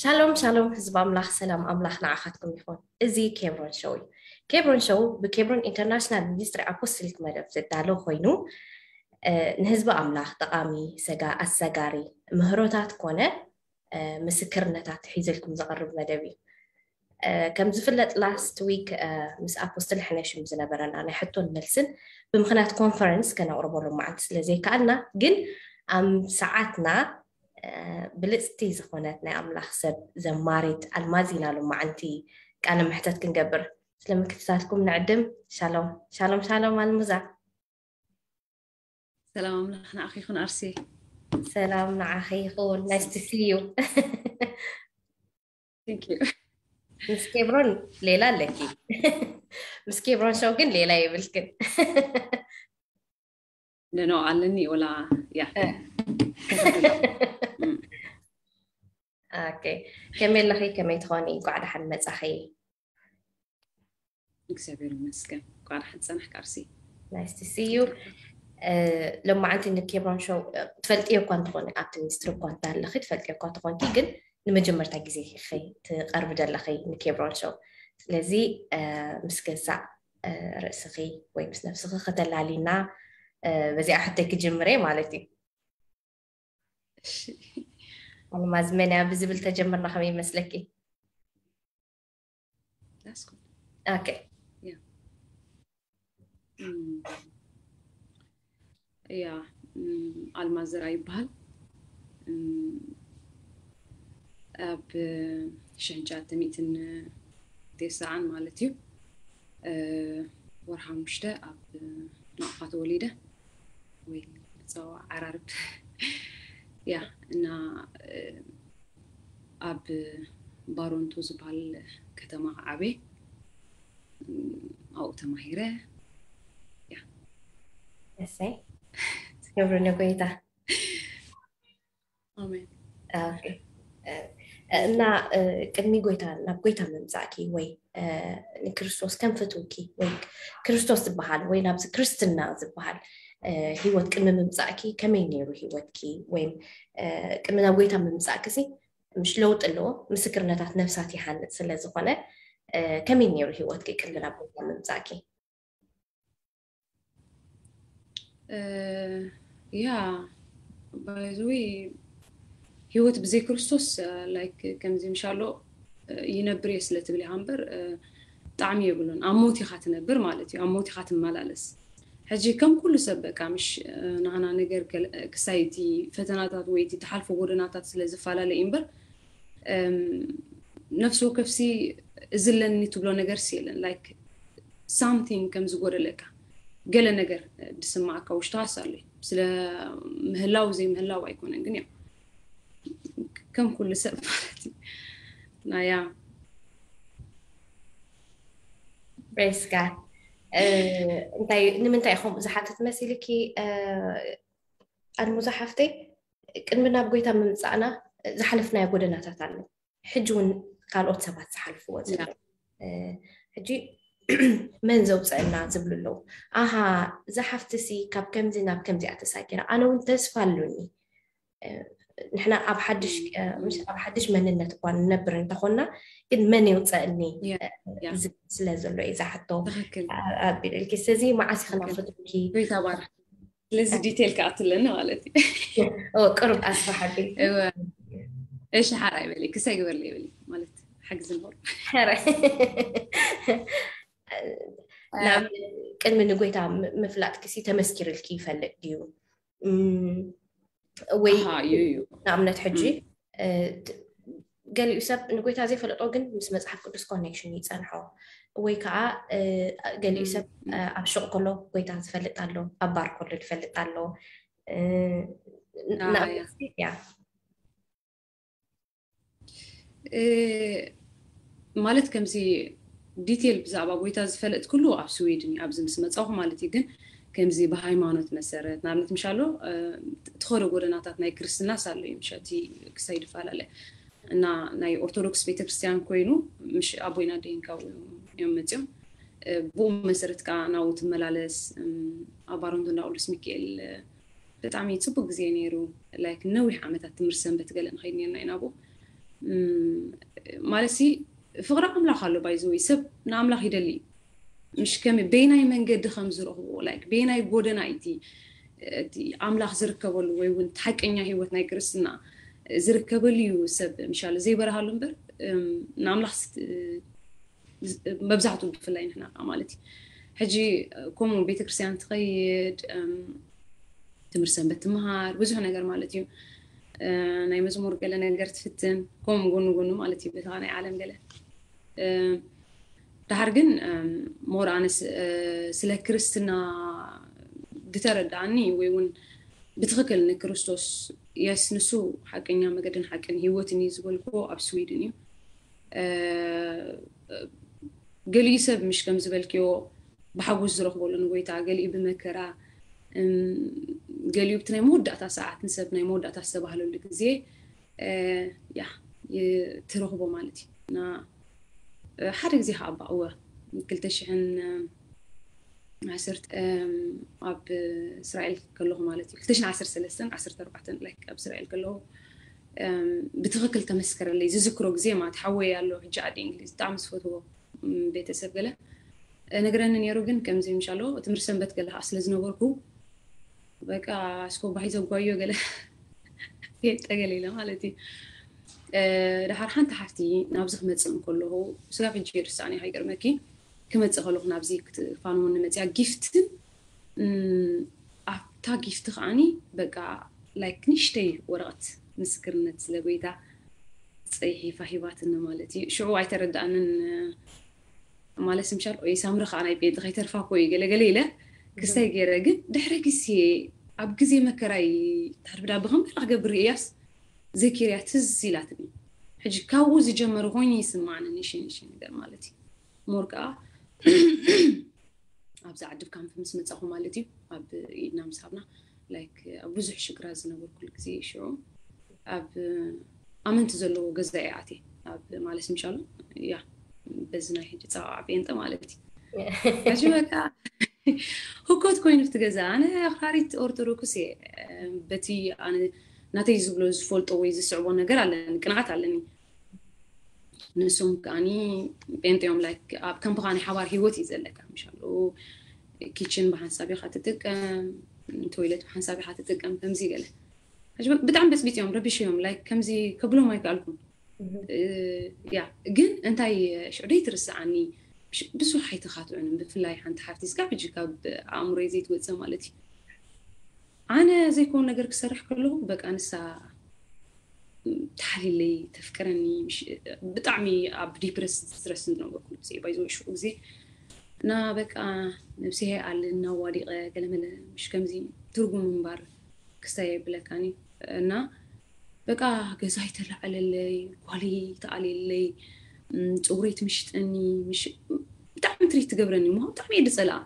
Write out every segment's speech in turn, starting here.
ሻሎም ሻሎም ህዝቢ ኣምላኽ፣ ሰላም ኣምላኽ ንዓኻትኩም ይኹን። እዚ ኬብሮን ሾው እዩ። ኬብሮን ሾው ብኬብሮን ኢንተርናሽናል ሚኒስትሪ ኣፖስትሊክ መደብ ዝዳሎ ኮይኑ፣ እ፣ ንህዝቢ ኣምላኽ ጠቓሚ፣ ሰጋ-፣ ኣሰጋሪ ምህሮታት ኮነ፣ እ፣ ምስክርነታት ሒዘልኩም ዝቐርብ መደብ እዩ። እ፣ ከም ዝፍለጥ ላስት ዊክ፣ እ፣ ምስ ኣፖስትል ሕነሽም ዝነበረና ናይ ሕቶን መልስን ብምኽንያት ኮንፈረንስ ከነቕርቦ ሎማዓንቲ ስለ ዘይከኣልና፣ ግን ኣብ ሰዓትና፣ እ፣ ብልጽቲ ዝኾነት ናይ ኣምላኽ ሰብ ዘማሪት ኣልማዝ ኢና ሎማዓንቲ ቃለ መሕተት ክንገብር። ስለ ምክትታልኩም ንዕድም። ሻሎም፣ ሻሎም፣ ሻሎም ኣልሙዛ። ሰላም ኣምላኽ ንዓኺ ይኹን ኣርሲ። ሰላም ንዓኺ ይኹን። Nice to see you። Thank you። ምስ ኬብሮን ሌላ ኣለኪ። ምስ ኬብሮን ሾው ግን ሌላ የብልክን። ነኖ ኣለኒ ወላ ያ። እ። እም። ኦኬ። ከመይ ኣለኺ? ከመይ ትኾኒ? እንኳዕ ደሓን መጻኺ። እግዚኣብሔር ይመስገን። እንኳዕ ደሓን ጸናሕካ ኣርሲ። Nice to see you። እ፣ ሎማዓንቲ ንኬብሮን ሾው፣ እ፣ ትፈልጥዮ እኳ እንተኾነ ኣብቲ ሚኒስትሪ እኳ እንተሃለኺ ትፈልጥዮ እኳ እንተኾንኪ፣ ግን ንመጀመርታ ግዜ ኢኺ ትቐርቢ ዘለኺ ንኬብሮን ሾው። ስለዚ፣ እ፣ ምስ ገዛእ፣ እ፣ ርእስኺ ወይ ምስ ነብስኺ ከተላሊና፣ እ፣ በዚኣ ሕቶይ ክጅምር እየ ማለት እዩ። እሺ። ኣልማዝ መን እያ ብዝብል ተጀምርና ከመይ ይመስለኪ? That's good። ኦኬ። ያ። እም፣ ያ፣ እም፣ ኣልማዝ ዘርኣይ ይበሃል። እም፣ ኣብ ሽሕን ትሽዓተ ሚእትን ተስዓን ማለት እዩ፣ እ፣ ወርሒ ሓሙሽተ ኣብ ናቕፋ ተወሊደ፣ ወይ ብጸዋ ዓራርብ። ያ፣ እና፣ እ፣ ኣብ ባሮንቶ ዝበሃል ከተማ ዓብየ፣ እም፣ ኣብኡ ተማሂረ። ያ። እሰይ፣ ክብሪ ንጎይታ። ኣሜን። ኦኬ። እ፣ እና፣ እ፣ ቅድሚ ጎይታ፣ ናብ ጎይታ ምምጻእኪ ወይ፣ እ፣ ንክርስቶስ ከም ፍትውኪ ወይ ክርስቶስ ዝበሃል ወይ ናብዚ ክርስትና ዝበሃል፣ እ፣ ህይወት ቅድሚ ምምጻእኪ ከመይ ነይሩ ህይወትኪ? ወይ፣ እ፣ ቅድሚ ናብ ጎይታ ምምጻእኪ ሲ ምሽ ለውጢ ኣለዎ፣ ምስክርነታት ነፍሳት ይሃንጽ ስለ ዝኾነ፣ እ፣ ከመይ ነይሩ ህይወትኪ ቅድሚ ናብ ጎይታ ምምጻእኪ? እ፣ ያ፣ by the way፣ ህይወት ብዘይ ክርስቶስ፣ እ፣ like ከምዚ ምሻሎ፣ እ፣ ይነብር እየ ስለ ትብል ኢኻ እምበር፣ እ፣ ጣዕሚ የብሉን። ኣብ ሞት ኢኻ ትነብር ማለት እዩ። ኣብ ሞት ኢኻ ትመላለስ። ሕጂ ከም ኩሉ ሰብ በቃ ምሽ፣ እ፣ ናህና ነገር ከል-፣ ክሳይ እቲ ፈተናታት ወይ እቲ ትሓልፎ ጎደናታት ስለ ዝፈላለ እዩ እምበር፣ እም፣ ነፍሲ ወከፍሲ እዚ ኣለኒ ትብሎ ነገርሲ የለን። Like something ከም ዝጎደለካ፣ ገለ ነገር ድስማዓካ ውሽጥኻስ ኣሎ እዩ። ስለ ምህላው ዘይምህላው ኣይኮነን፣ ግን ያው ከም ኩሉ ሰብ ማለት እዩ። ናያ Praise God። እ፣ እንታይ፣ ንምንታይ ኢኹም ዝሓትት መሲልኪ፣ እ፣ ኣልሙዛ ሓፍተይ፣ ቅድሚ ናብ ጎይታ ምምጻእና ዝሓለፍናዮ ጎደናታት ኣሎ። ሕጂ እውን ካልኦት ሰባት ዝሓልፍዎ ዘሎ። ያ። እ፣ ሕጂ መን ዘውፅአና ዝብሉ ኣለዉ። ኣሃ፣ እዛ ሓፍትሲ ካብ ከምዚ ናብ ከምዚኣ ተሳጊራ፣ ኣነ እውን ተስፋ ኣሉኒ። እ፣ ንሕና ኣብ ሓድሽ፣ እ፣ ምሽ ኣብ ሓድሽ መንነት እኳ ንነብር እንተኾንና፣ ግን መን የውፅአኒ፣ ያ፣ እ፣ ያ። ዝብል ስለ ዘሎ እዩ እዛ ሕቶ፣ ትኽክል። ኣ-፣ ኣቢለልኪ። ስለዚ መዓስ ኢኺ ናብ ፍትውኪ? ጎይታ ባርክ። ስለዚ ዲቴል ክኣቱ ኣለኒ ማለት እዩ። ኦ፣ ቅሩብ ኣስፋሕ ኣቢልኪ። እወ። እሺ፣ ሓራይ በሊ፣ ክሳይ ግበርለይ በሊ፣ ማለት ሓግዚ ንኸሉ። ኧረ። ናብ ቅድሚ ንጎይታ ም-፣ ምፍላጥኪ ሲ ተመስኪርልኪ ይፈልጥ ድዩ? እም፣ ወይ ኣሃ፣ እዩ፣ እዩ። ንኣብነት ሕጂ፣ እም። እ፣ ት-፣ ገሊኡ ሰብ ንጎይታ ዘይፈለጦ ግን ምስ መጽሓፍ ቅዱስ ኮኔክሽን ይጸንሖ፣ ወይ ከዓ፣ እ፣ ገሊኡ እም፣ ሰብ፣ እም። እ፣ ኣብ ሹቕ ከሎ ጎይታ ዝፈልጥ ኣሎ፣ ኣብ ባር ከሎ ዝፈልጥ ኣሎ። እ፣ ን-፣ ያ፣ ያ። ንኣብነት ያ። እ፣ ማለት ከምዚ ዲቴል ብዛዕባ ጎይታ ዝፈለጥክሉ ኣብ ስዊድን እዩ፣ ኣብዚ ምስ መጻኹ ማለት እዩ። ግን ከምዚ ብሃይማኖት መሰረት፣ ንኣብነት ምሻሎ፣ እ፣ ትኸዶ ጎደናታት ናይ ክርስትናስ ኣሎ እዩ፣ ምሸቲ ክሳይ ድፈላለ። እና ናይ ኦርቶዶክስ ቤተክርስትያን ኮይኑ፣ ምሽ ኣቦይና ደይንካ እዮም መጺኦም። እ፣ ብኡ መሰረት ከኣ ናብኡ ትመላለስ። እም፣ ኣብ ባሮንቶ እንዳ ቅዱስ ሚካኤል፣ እ፣ ብጣዕሚ ጽቡቅ ግዜ ነይሩ። ላይክ ነዊሕ ዓመታት ትምህርቲ ሰንበት ገለ ንኸይድ ነርና ኢና ኣብኡ። ማለት ሲ ፍቕሪ ኣምላኽ ኣሎ። ባይዘወይ ሰብ ንኣምላኽ ይደሊ እዩ። ምሽ ከመይ በይናይ መንገዲ ከም ዝረኽቦ፣ ላይክ በይናይ ጎደና እዩ እቲ እቲ ኣምላኽ ዝርከበሉ ወይ እውን ሓቀኛ ህይወት ናይ ክርስትና ዝርከበሉ እዩ። ሰብ ምሻለ ዘይበረሃሉ እምበር ንኣምላኽ መብዛሕቱ ብፍላይ ንሕና ማለት እዩ። ሕጂ ከምኡ ቤተክርስትያን ትኸይድ፣ ትምህርቲ ሰንበት ትምሃር፣ ብዙሕ ነገር ማለት እዩ። ናይ መዝሙር ገለ ነገር ትፍትን፣ ከምኡ ጎኑ ጎኑ ማለት እዩ በታ ናይ ዓለም ገለ። ድሓር ግን ሞር ኣነ ስለ ክርስትና ዝተረዳኣኒ ወይ እውን ብትኽክል ንክርስቶስ የስ ንሱ ሓቀኛ መገድን ሓቅን ህይወትን እዩ ዝበልኩዎ ኣብ ስዊድን እዩ። ገሊኡ ሰብ ምሽ ከም ዝበልክዮ ብሓጎስ ዝረኽበሉ ንጎይታ፣ ገሊኡ ብመከራ፣ ገሊኡ ብቲ ናይ መወዳእታ ሰዓት ንሰብ ናይ መወዳእታ ዝተባህለሉ ግዜ ያ ትረኽቦ ማለት እዩ። እና ሓደ ግዜ ከዓ እባ እወ ክልተ ሽሕን ዓሰርተ ኣብ እስራኤል ከለኹ ማለት እዩ ክልተ ሽሕን ዓሰርተ ሰለስተን ዓሰርተ ኣርባዕተን ላይክ ኣብ እስራኤል ከለኹ ብትኽክል ተመስከረለይ ዝዝክሮ ግዜ ማለት ሓወይ ኣሎ ሕጂ ዓዲ እንግሊዝ ብጣዕሚ ዝፈትዎ ቤተሰብ ገለ ነግረኒ ነይሩ። ግን ከምዚ ምሻሎ ትምህርቲ ሰንበት ገለ ከዓ ስለ ዝነበርኩ በቃ እስኮ ባሂ ዘጓዮ ገለ የጠገለ ኢለ ማለት እዩ። ድሓር ሓንቲ ሓፍቲ ናብዚ ክመፅእ እንከለኹ ስጋብ ሕጂ ይርስዓኒ ከይገርመኪ ክመፅእ ከለኹ ናብዚ ክትፋንወኒ መፅያ ጊፍትን ኣብታ ጊፍቲ ከዓኒ በቃ ላይክ ንሽተይ ወረቐት ምስክርነት ስለ ጎይታ ፅሒፋ ሂባትኒ ማለት እዩ። ሽዑ ኣይተረዳኣንን ማለት ምሻል ኦይ ሳምሪ ከዓ ናይ ቤንጢ ከይተርፋ ኮ እዩ ገለገለ ኢለ ክስታይ ገይረ። ግን ድሕሪ ግዜ ኣብ ግዜ መከራይ ታድብዳ ብከምበላ ክገብር እያስ ዘኪርያ ትዝ ኢላትኒ። ሕጂ ካብኡ ዝጀመረ ኮይኑ ይስማዕኒ ንሽንሽ ነገር ማለት እዩ። ሞር ከዓ ኣብዚ ዓዲ ካምፕ ምስ መፃኹ ማለት እዩ ኣብ ኢድና ምስ ሃብና ላይክ ኣብ ብዙሕ ሽግራት ዝነበርኩሉ ግዜ ሽዑ ኣብ ኣመንቲ ዘለዎ ገዛ እየ ኣትየ ኣብ ማለት ምሻሉ ያ በዚ ናይ ሕጂ ፀዋዓ ጴንጠ ማለት እዩ። ሕጂ በቃ ህኮት ኮይኑ ብቲ ገዛ ኣነ ኣኽራሪት ኦርቶዶክስ እየ። በቲ ኣነ ናተይ ዝብሎ ዝፈልጦ ወይ ዝስዕቦ ነገር ኣለኒ ቅንዓት ኣለኒ። ንሶም ከዓኒ ጴንጤ እዮም ላይክ ኣብ ከም ብኻ ናይ ሓባር ህይወት እዩ ዘለካ ምሻሉ ኪችን ብሓንሳብ ኢኻ ትጥቀም፣ ቶይለት ብሓንሳብ ኢኻ ትጥቀም ከምዚ ገለ ብጣዕሚ በፅቢፅ እዮም ረቢሽ እዮም ላይክ ከምዚ ከብሎም ኣይከኣልኩን። ያ ግን እንታይ ሽዑ ደይ ትርስዓኒ ብዙሕ ኣይተኻትዑን ብፍላይ ሓንቲ ሓፍቲ ስጋብ ሕጂ ካብ ኣእምሮይ ዘይትወፅእ ማለት እዩ። ኣነ ዘይኮን ነገር ክሰርሕ ከለኹ በቃ ንሳ ተሓልለይ ተፍቅረኒ ብጣዕሚ ኣብ ዲፕረስ ስትረስ ዝነበርኩ ግዜ ባይዘ ሽዑ ግዜ እና በቃ ነብሰ ኣለ እናዋዲቐ ገለመለ ምሽ ከምዚ ትርጉም ምንባር ክስታይ የብለካኒ እና በቃ ገዛይ ተላዓለለይ ጓለይ ተኣልየለይ ፀጉረይ ትምሽጠኒ ብጣዕሚ ትሪት ትገብረኒ ሞ ብጣዕሚ እየ ዝፀልኣ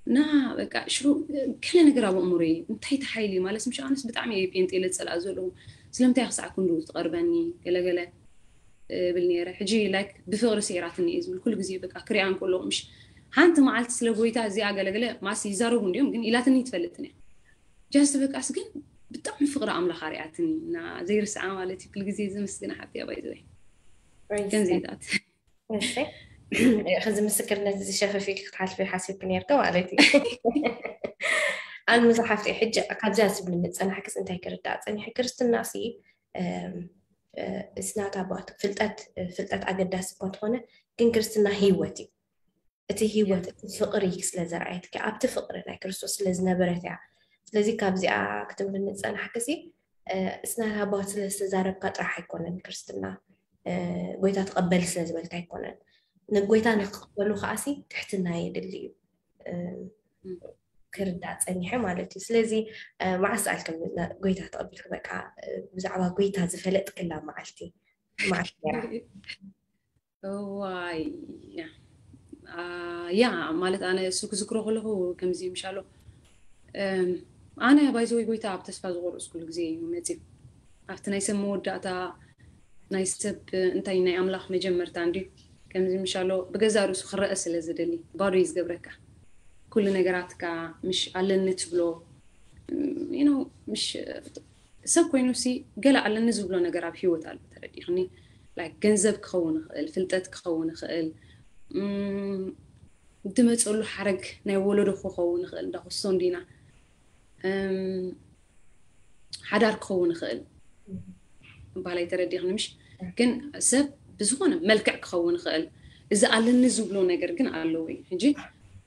እና በቃ ሽዑ ገለ ነገር ኣብ ኣእምሮይ እንታይ ተሓይሊ ማለት ምሽ ኣነስ ብጣዕሚ እየ ፔንጤ ኢለ ዝፀልኣ ዘለኹ ስለምንታይ ክሳዕ ክንድኡ ትቐርበኒ ገለገለ እብል ነይረ ሕጂ ላይክ ብፍቕሪ ስዒራትኒ እየ ዝብል ኩሉ ግዜ በቃ ክሪኣ እንከለኹ ምሽ ሓንቲ መዓልቲ ስለ ጎይታ እዚኣ ገለገለ ማስ ይዛረቡ እንዲዮም ግን ኢላትኒ ትፈልጥን እያ ጃስት በቃስ ግን ብጣዕሚ ፍቕሪ ኣምላኽ ኣርያትኒ እና ዘይርስዓ ማለት እዩ ኩሉ ግዜ ዘመስግና ሓብቲ እያ ባይዘወይ ከምዚታት ከዚ ምስክርነት እዚ ሸፈፊ ክትሓልፊ ሓሲብክ ነርክ ማለት እዩ ኣልምዛ ሓፍቲ ሕጂ ካብዚኣ ዝብል ምፀናሕክስ እንታይ ክርዳእ ፀኒሑ ክርስትና ሲ it's not about ፍልጠት ፍልጠት ኣገዳሲ እኳ እንተኾነ ግን ክርስትና ህይወት እዩ እቲ ህይወት እቲ ፍቕሪ ስለ ዘርኣየትኪ ኣብቲ ፍቕሪ ናይ ክርስቶስ ስለ ዝነበረት እያ ስለዚ ካብዚኣ ክትምሪ ንፀናሕክሲ it's not about ስለ ዝተዛረብካ ጥራሕ ኣይኮነን ክርስትና ጎይታ ተቐበል ስለ ዝበልካ ኣይኮነን ንጎይታ ንክቕበሉ ከዓሲ ትሕትና የድሊ እዩ ክርዳእ ፀኒሐ ማለት እዩ ስለዚ መዓስ ኣልክም ጎይታ ተቐቢልክ በቃ ብዛዕባ ጎይታ ዝፈለጥክላ መዓልቲ መዓልቲ ነራ ዋይ ያ ማለት ኣነ እሱ ክዝክሮ ከለኹ ከምዚ ምሻሎ ኣነ ባይዘወይ ጎይታ ኣብ ተስፋ ዝቆረፅኩሉ ግዜ እዩ መፅዩ ኣብቲ ናይ ሰብ መወዳእታ ናይ ሰብ እንታይ ናይ ኣምላኽ መጀመርታ እንዲ ከምዚ ምሻሎ ብገዛ ርእሱ ክረአ ስለ ዝደሊ ባዶ እዩ ዝገብረካ ኩሉ ነገራትካ ምሽ ኣለኒ ትብሎ ምሽ ሰብ ኮይኑ ሲ ገለ ኣለኒ ዝብሎ ነገር ኣብ ሂወት ኣሎ። ተረዲእክኒ? ላይክ ገንዘብ ክኸውን ይኽእል፣ ፍልጠት ክኸውን ይኽእል፣ እም፣ ዝመፀሉ ሓረግ ናይ ወለዶ ክኸውን ይኽእል፣ እንዳ ክስቶ እንዲና፣ እም፣ ሓዳር ክኸውን ይኽእል። ባላይ ተረዲእክኒ ምሽ? ግን ሰብ ብዝኾነ መልክዕ ክኸውን ይኽእል። እዚ ኣለኒ ዝብሎ ነገር ግን ኣለዎ እዩ። ሕጂ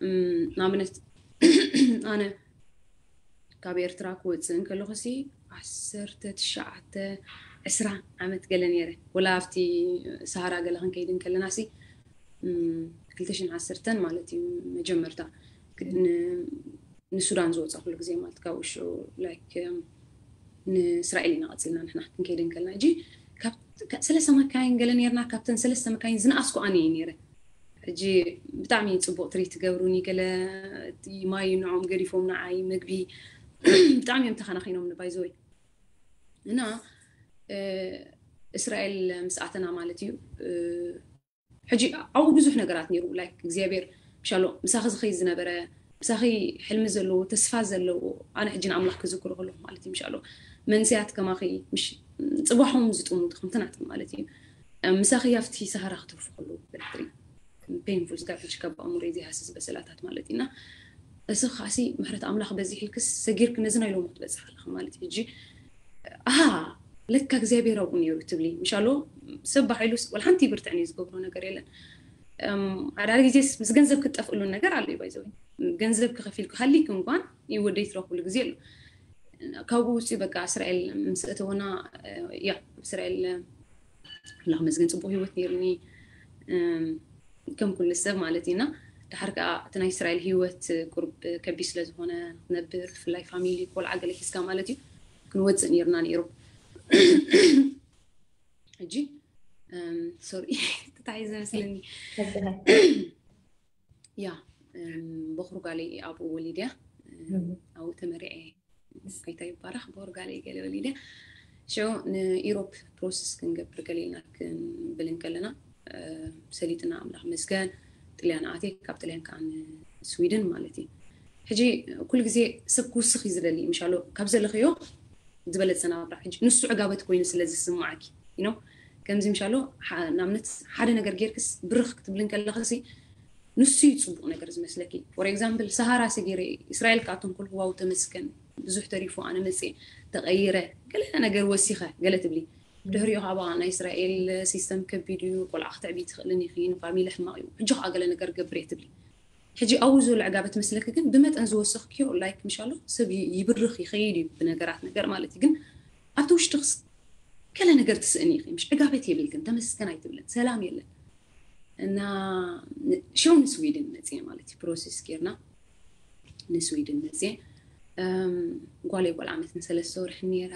እም፣ ንኣብነት ኣነ ካብ ኤርትራ ክወፅእ እንከለኹ ሲ ዓሰርተ ትሽዓተ ዕስራ ዓመት ገለ ነይረ። ወላ ኣብቲ ሰሃራ ገለ ክንከይድ እንከለና ሲ እም፣ ክልተ ሽሕን ዓሰርተን ማለት እዩ መጀመርታ ክ- ን- ንሱዳን ዝወፀ ኩሉ ግዜ ማለት ካብኡ ሽዑ ላይክ እም፣ ንእስራኤል ኢና ቀፂልና ንሕና ክንከይድ እንከለና። ሕጂ ካብ ከ- ሰለስተ መካይን ገለ ነርና። ካብተን ሰለስተ መካይን ዝነኣስኩ ኣነ እየ ነይረ። ሕጂ ብጣዕሚ ፅቡቅ ትሪት ትገብሩኒ። ገለ እቲ ማይ ንዖም ገዲፎም ንዓይ መግቢ ብጣዕሚ እዮም ተኸናኺኖም ንባይዘወይ እና እ፣ እስራኤል ምስ ኣተና ማለት እዩ እ፣ ሕጂ ኣብኡ ብዙሕ ነገራት ነይሩ። ላይክ እግዚኣብሔር ምሻሎ ምሳኺ ዝኸይድ ዝነበረ፣ ምሳኺ ሕልሚ ዘለዎ፣ ተስፋ ዘለዎ፣ ኣነ ሕጂ ንኣምላኽ ክዝክሮ ከለኹ ማለት እዩ። ምሻሎ መንስያት ከማኺ ምሽ ፅባሖም ዝጥሙ ከምቲ ናትም ማለት እዩ። ምሳኺ ኣብቲ ሰሃራ ክትርፉ ከለዉ በትሪ ፔንፉል ስጋብ ሕጂ ካብ ኣእምሮ ዘይሃስስ በሰላታት ማለት እዩ። እና እዚ ከዓሲ ምሕረት ኣምላኽ በዚሕልክስ ሰጊርክ ነዚ ናይ ሎሚ ክትበፅሕ ኣለኻ ማለት እዩ። ሕጂ ኣሃ ለካ እግዚኣብሔር ኣብኡ ነይሩ ትብሊ ምሻሎ ሰብ ባሒሉ ወላ ሓንቲ ብርትዕን እዩ ዝገብሮ ነገር የለን። ሓደ ሓደ ግዜስ ምስ ገንዘብ ክትጠፍእሉ ነገር ኣሎ እዩ ባይዘው ገንዘብ ክኸፊል ክሃሊክ እንኳን ይወደይ ትረኽብሉ ግዜ ኣሎ። ካብኡ ውፅኡ በቃ እስራኤል ምስ እተወና ያ እስራኤል ኣምላኽ መስገን ፅቡቅ ህይወት ነይርኒ ከም ኩሉ ሰብ ማለት እዩ። እና ድሓር ከዓ እቲ ናይ እስራኤል ህይወት ቁርብ ከቢድ ስለ ዝኾነ ክትነብር ብፍላይ ፋሚሊ ቆልዓ ገለ ሒዝካ ማለት እዩ ክንወፅእ ነይርና ነይሩ። ሕጂ ሶሪ ተታሒዘ መስለኒ። ያ በኹር ጓለይ ኣብኡ ወሊድያ ኣብኡ ተመሪዐ። ጎይታ ይባረኽ። በኹር ጓለይ ገለ ወሊድያ ሽዑ ንኢሮፕ ፕሮሰስ ክንገብር ገለ ኢልና ክንብል እንከለና ሰሊጥና ኣምላኽ መስገን ጥልያን ኣትየ ካብ ጥልያን ከዓ ንስዊድን ማለት እዩ። ሕጂ ኩሉ ግዜ ሰብ ክውስኽ እዩ ዝደሊ ምሻሎ ካብ ዘለኽዮ ዝበለፀ ናብራ ሕጂ ንሱ ዕጋበት ኮይኑ ስለ ዝስማዓኪ you know ከምዚ ምሻሎ ንኣብነት ሓደ ነገር ጌርክስ ብርኽ ክትብል እንከለኽሲ ንሱ እዩ ፅቡቅ ነገር ዝመስለኪ። ፎር ኤግዛምፕል ሰሃራ ሰጊረ እስራኤል ክኣቶም ከልኩ ዋው ተመስገን ብዙሕ ተሪፉ ኣነ መፅየ ተቀይረ ገለ ነገር ወሲኸ ገለ ትብሊ ድሕሪኡ ካባ ናይ እስራኤል ሲስተም ከቢድ እዩ ቆልዓ ክትዕቢ ትኽእልን ኢኺ ንፋሚሊ ሕማቅ እዩ ሕጂ ከዓ ገለ ነገር ገብር እየ ትብሊ። ሕጂ ኣብኡ ዘሎ ዕጋበት መስለኪ ግን ብመጠን ዝወሰኽክዮ ላይክ ምሻሎ ሰብ ይብርኽ ይኸይድ እዩ ብነገራት ነገር ማለት እዩ። ግን ኣብቲ ውሽጥኽስ ገለ ነገር ትስእኒ ኢኺ ምሽ ዕጋበት የብልክን ተመስገን ኣይትብልን ሰላም የለን። እና ሸው ንስዊድን መፅየ ማለት እዩ ፕሮሴስ ጌርና ንስዊድን መፅየ ጓለይ ቆልዓ ዓመትን ሰለስተ ወርሒ ነይራ።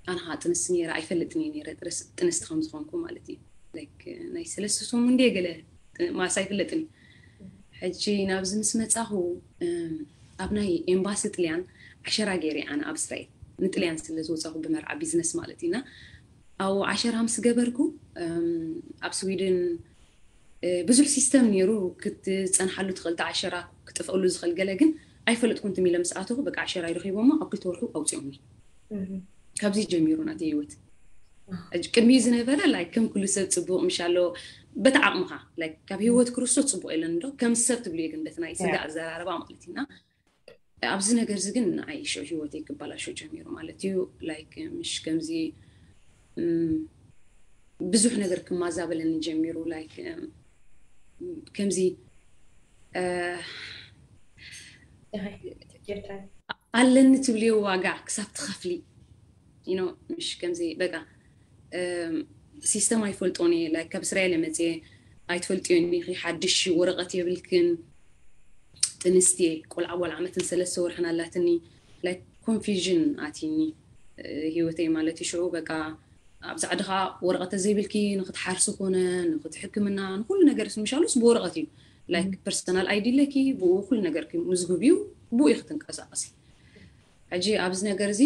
ኣነ ከዓ ጥንስቲ ነይረ ኣይፈልጥን እየ ነይረ ጥንስቲ ከም ዝኾንኩ ማለት እዩ። ናይ ሰለስተ ሰሙን እንደ ገለ ማስ ኣይፍለጥን። ሕጂ ናብዚ ምስ መፃኹ ኣብ ናይ ኤምባሲ ጥልያን ዓሸራ ገይረ ኣነ ኣብ እስራኤል ንጥልያን ስለ ዝወፃኹ ብመርዓ ቢዝነስ ማለት እዩ። እና ኣብኡ ዓሸራ ምስ ገበርኩ ኣብ ስዊድን ብዙሕ ሲስተም ነይሩ ክትፀንሓሉ ትኽእል ዓሸራ ክጥፍእሉ ዝኽእል ገለ ግን ኣይፈለጥኩን ትም ኢለ ምስ ኣተኹ በቃ ዓሸራ ይረኺቦሞ ኣብ ክልተ ወርሑ ኣውፅኦምኒ። ካብዚ ጀሚሩ ናተ ህይወት ቅድሚ ዝነበረ ላይክ ከም ኩሉ ሰብ ፅቡቅ ምሻሎ በቲ ዓቕምኻ ላይክ ካብ ህይወት ክርስቶስ ፅቡቅ የለን ዶ ከም ሰብ ትብሉ ግን በቲ ናይ ስጋ ኣዘራርባ ማለት እዩና ኣብዚ ነገር እዚ ግን ንዓይ ሽዑ ህይወተይ ክባላሾ ጀሚሩ ማለት እዩ። ላይክ ምሽ ከምዚ ብዙሕ ነገር ክማዛበለኒ ጀሚሩ ላይክ ከምዚ ኣለኒ ትብልዮ ዋጋ ክሳብ ትኸፍሊ ምሽ ከምዚ በቃ ሲስተም ኣይፈልጦን እየ ላይክ ካብ እስራኤል መፅየ ኣይትፈልጥዮን ኢኺ ሓድሽ ወረቐት የብልክን ጥንስቲ ቆልዓ ወላ ዓመትን ሰለስተ ወርሕን ኣላትኒ ላይክ ኮንፊዥን ኣትኒ ህይወተይ ማለት እዩ ሽዑ በቃ ኣብ ዛዕድኻ ወረቐተ ዘይብልኪ ንክትሓርሲ ኮነ ንክትሕክምና ንኩሉ ነገር ምሻሉስ ብወረቐት እዩ ላይክ ፐርሰናል ኣይዲ ኣለኪ ብኡ ኩሉ ነገር ምዝግብ እዩ ብኡ እዩ ክትንቀሳቀሲ ሕጂ ኣብዚ ነገር እዚ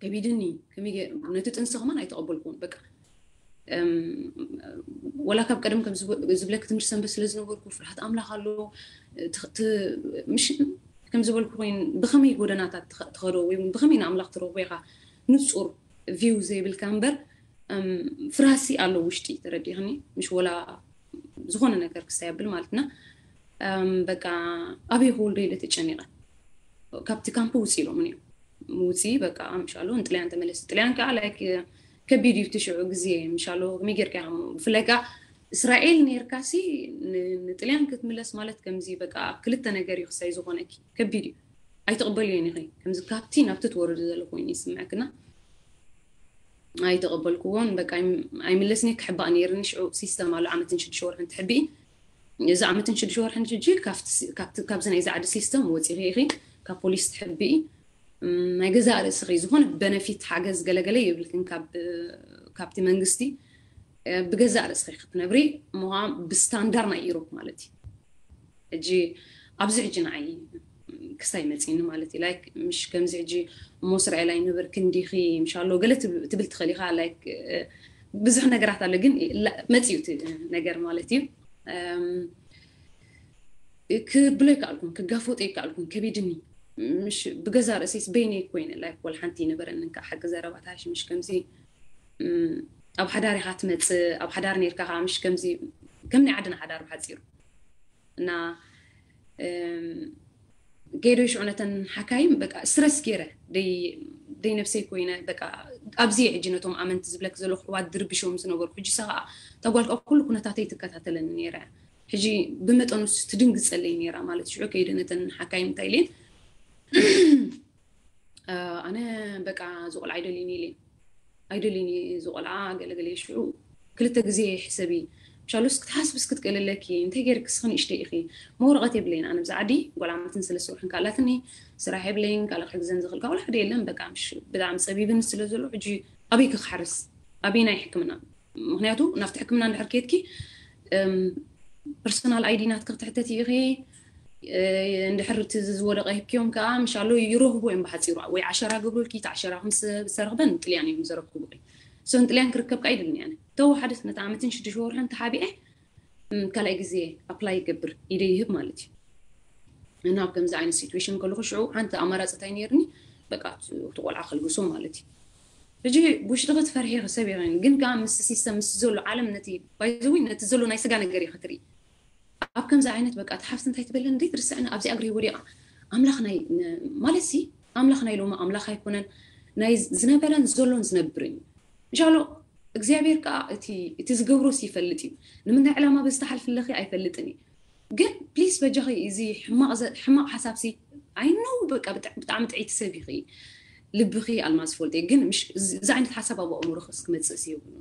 ከቢድኒ ከመይ ነቲ ጥንሲ ከማን ኣይተቐበልኩን በቃ ወላ ካብ ቀደም ከም ዝብለክ ትምህርቲ ሰንበት ስለ ዝነበርኩ ፍርሃት ኣምላኽ ኣሎ ምሽ ከም ዝበልኩ ኮይኑ ብኸመይ ጎደናታት ትኸዶ ወይ ብኸመይ ንኣምላኽ ትረኽቦ ኢኻ ንፁር ቪው ዘይብልካ እምበር ፍራሲ ኣሎ ውሽጢ ተረዲኽኒ። ምሽ ወላ ዝኾነ ነገር ክስታይ ኣብል ማለትና በቃ ኣበይ ክወልዶ ኢለ ተጨኒቐ። ካብቲ ካምፕ ውፅ ኢሎምን እዮም። ውፂ በቃ ምሻሎ ንጥልያን ተመለስ። ጥልያን ከዓ ላይክ ከቢድ እዩ ትሽዑ ግዜ ምሻሎ ከመይ ጌርካ ብፍላይ ከዓ እስራኤል ነርካሲ ንጥልያን ክትምለስ ማለት ከምዚ በቃ ክልተ ነገር እዩ ክሳይ ዝኾነኪ ከቢድ እዩ። ኣይትቕበልዮን ኢኺ ከምዚ ካብቲ ናብቲ ትወርዱ ዘሎ ኮይኑ ይስምዐክና። ኣይተቐበልክዎን በቃ ኣይምለስኒ ክሕባእ ነይርኒ። ሽዑ ሲስተም ኣሎ ዓመትን ሽዱሽተ ወርሕን ትሕብኢ። እዚ ዓመትን ሽዱሽተ ወርሕን ሕጂ ካብዚ ናይዚ ዓዲ ሲስተም ወፂኺ ኢኺ ካብ ፖሊስ ትሕብኢ። ናይ ገዛእ ርእስኺ ዝኾነ በነፊት ሓገዝ ገለገለ የብልክን ካብቲ መንግስቲ። ብገዛእ ርእስኺ ክትነብሪ ምዃን ብስታንዳር ናይ ኢሮፕ ማለት እዩ። ሕጂ ኣብዚ ሕጂ ንዓይ ክስታይ መፂኒ ማለት እዩ። ላይክ ምሽ ከምዚ ሕጂ እሞ እስራኤል ኣይነበርክን ዲኺ ምሻሎ ገለ ትብል ትኽእል ኢኻ። ላይክ ብዙሕ ነገራት ኣሎ ግን መፅዩ ነገር ማለት እዩ። ክብሎ ይከኣልኩን ክጋፈጦ ይከኣልኩን ከቢድኒ ምሽ ብገዛ ርእሰይስ በይነይ ኮይነ ላይክ ወላ ሓንቲ ይነበረንን ከዓ ሓቂ ዘረባታሽ ምሽ ከምዚ ኣብ ሓዳር ኢኻ ትመፅእ ኣብ ሓዳር ነርካ ከዓ ምሽ ከምዚ ከም ናይ ዓድና ሓዳር ብሓፂሩ እና ከይዶ ሽዑ ነተን ሓካይም በቃ ስትረስ ገይረ ደይ ነብሰይ ኮይነ በቃ ኣብዚ ሕጂ ነቶም ኣመንቲ ዝብለክ ዘሎ ክሕዋት ድርብሾም ዝነበሩ ሕጂ ሳ ከዓ ተጓልካ ኩሉ ኩነታተይ ትከታተለኒ ነይረ። ሕጂ ብመጠኑ ትድንግፀለይ ነይራ ማለት ሽዑ ከይደ ነተን ሓካይም እንታይ ኢለን ኣነ በቃ ዝቆልዓ ኣይደልይን ኢለን ኣይደልይን ዝቆልዓ ገለገለ ሽዑ ክልተ ግዜ ሕሰቢ ምሻሉስ ክትሓስብስ ክትክእልለኪ እንታይ ገይርክስ ንእሽተይ ኢኺ መወረቐት የብለይን ኣነ ብዛ ዓዲ ጓል ዓመትን ሰለስተ ወርሕን ካላትኒ ስራሕ የብለይን ካልእ ክሕግዘን ዝኽእል ካብ ሓደ የለን በቃ ብጣዕሚ ፀቢብን ስለ ዘሎ ሕጂ ኣበይ ክክሓርስ ኣበይ ናይ ሕክምና ምክንያቱ ናብቲ ሕክምና እንድሕር ከድኪ ፐርሶናል ኣይዲ ናትኪ ክትሕተት ኢኺ እንድሕር እቲ ዝወደቀ ሂብክዮም ከዓ ምሻሎ ይረኽቡ እዮም ብሓፂሩ ወይ ዓሸራ ገብሩልኪ እቲ ዓሸራ ምስ ዝተረኽበን ጥልያን እዮም ዘረክቡ ሶ ንጥልያን ክርከብ ከዓ ይድልኒ ኣነ ተወሓደት ነቲ ዓመትን ሽዱሽተ ወርሕን ተሓቢአ ካልኣይ ግዜ ኣፕላይ ይገብር ኢደ ይህብ ማለት እዩ እና ኣብ ከምዚ ዓይነት ሲትዌሽን ከለኩ ሽዑ ሓንቲ ኣማራፂ እንታይ ነይርኒ በቃ እቲ ቆልዓ ከልግሶ ማለት እዩ ሕጂ ብውሽጥኺ ትፈርሒ ክሰብ ይኽእል ግን ከዓ ምስ ሲስተም ምስ ዘሎ ዓለም ነቲ ባይዘዊ ነቲ ዘሎ ናይ ስጋ ነገር እዩ ክትርኢ ኣብ ከምዚ ዓይነት በቃ እቲ ሓፍቲ እንታይ ትበለን እንዴት ርስዕና ኣብዚ ኣግሪ ወዲቓ ኣምላኽ ናይ ማለት ሲ ኣምላኽ ናይ ሎማ ኣምላኽ ኣይኮነን ናይ ዝነበረን ዘሎን ዝነብርን እዩ እንሻሎ እግዚኣብሔር ከዓ እቲ ዝገብሮስ ይፈልጥ እዩ ንምንታይ ዕላማ በዚ ተሓልፍለኺ ኣይፈልጥን እዩ ግን ፕሊስ በጃኺ እዚ ሕማቕ ሓሳብ ሲ ኣይነው በቃ ብጣዕሚ ጥዒቲ ሰብ ኢኺ ልብኺ ኣልማዝ ፎልጤ ግን እዚ ዓይነት ሓሳብ ኣብ ኣእምሮኺ ክመፅእ ሲ የብሉ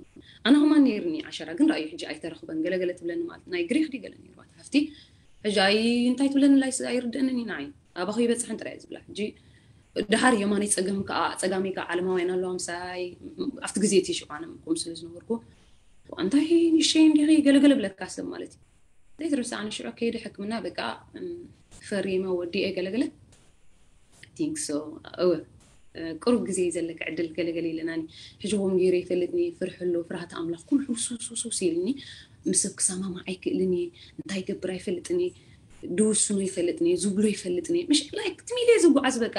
ኣነ ከማን ነይርኒ ዓሸራ ግን ራእዩ ሕጂ ኣይተረኽበን ገለገለ ትብለኒ ማለት ናይ ግሪክ ዲ ገለ ነይርዋ ሓፍቲ ሕጂ ኣይ እንታይ ትብለኒ ላይ ኣይርድእንን ኢና ኣይ ኣባኺ ይበፅሕን ጥራይ ዝብላ ሕጂ ድሓር የማነይ ፀገም ከዓ ፀጋመይ ከዓ ዓለማውያን ኣለዋ ምሳይ ኣብቲ ግዜ እቲ ሽቋነ ምቁም ስለ ዝነበርኩ እንታይ ንሸይ እንዲኺ ገለገለ ብለካ ሰብ ማለት እዩ ዘይትርሳዕ ንሽዑ ከይደ ሕክምና በቃ ፈሪመ ወዲኤ ገለገለ ቲንክ ሶ እወ ቁሩብ ግዜ ዘለካ ዕድል ገለገለ ኢለናኒ ሕጂ ከም ገይረ ይፈልጥኒ ፍርሒ ኣሎ ፍርሃት ኣምላኽ ኩሉ ሕውስውስውስ ኢልኒ ምስ ሰብ ክሰማማዕ ኣይክእልን እየ እንታይ ይገብር ኣይፈልጥን እየ ድውስኖ ይፈልጥን እየ ዝብሎ ይፈልጥን እየ ምሽ ላይክ ትሚል እየ ዝጓዓዝ በቃ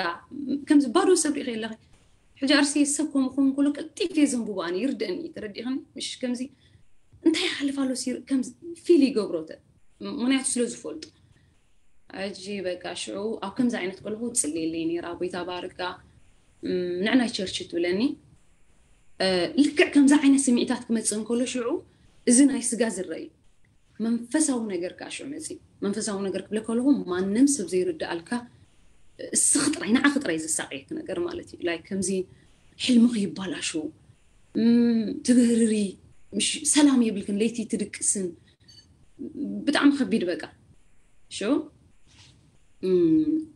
ከምዚ ባዶ ሰብ ሪኢኸ ኣለኸ ሕጂ ኣርሲ ሰብ ከም ክኸውን ከሎ ቀልጢፍ እየ ዘንብቦ ኣነ ይርድአኒ ተረዲእኽኒ ምሽ ከምዚ እንታይ ይሓልፍ ኣሎ ከም ፊል ይገብሮ ምክንያቱ ስለ ዝፈልጡ ሕጂ በቃ ሽዑ ኣብ ከምዚ ዓይነት ከለኹ ትፅልየለይ ነይራ ጎይታ ባርካ ንዕናይ ቸርች ትብለኒ ልክዕ ከምዚ ዓይነት ስምዒታት ክመፅእ እንከሎ ሽዑ እዚ ናይ ስጋ ዝረአ እዩ መንፈሳዊ ነገር ከዓ ሽዑ መፅእ መንፈሳዊ ነገር ክብለ ከለኹ ማንም ሰብ ዘይርድኣልካ እስኺ ጥራይ ንዓኺ ጥራይ ዘሳቀየክ ነገር ማለት እዩ ላይ ከምዚ ሕልምኺ ይባላሾ ትብህርሪ ሰላም የብልክን ለይቲ ትድቅስን ብጣዕሚ ከቢድ በቃ ሽዑ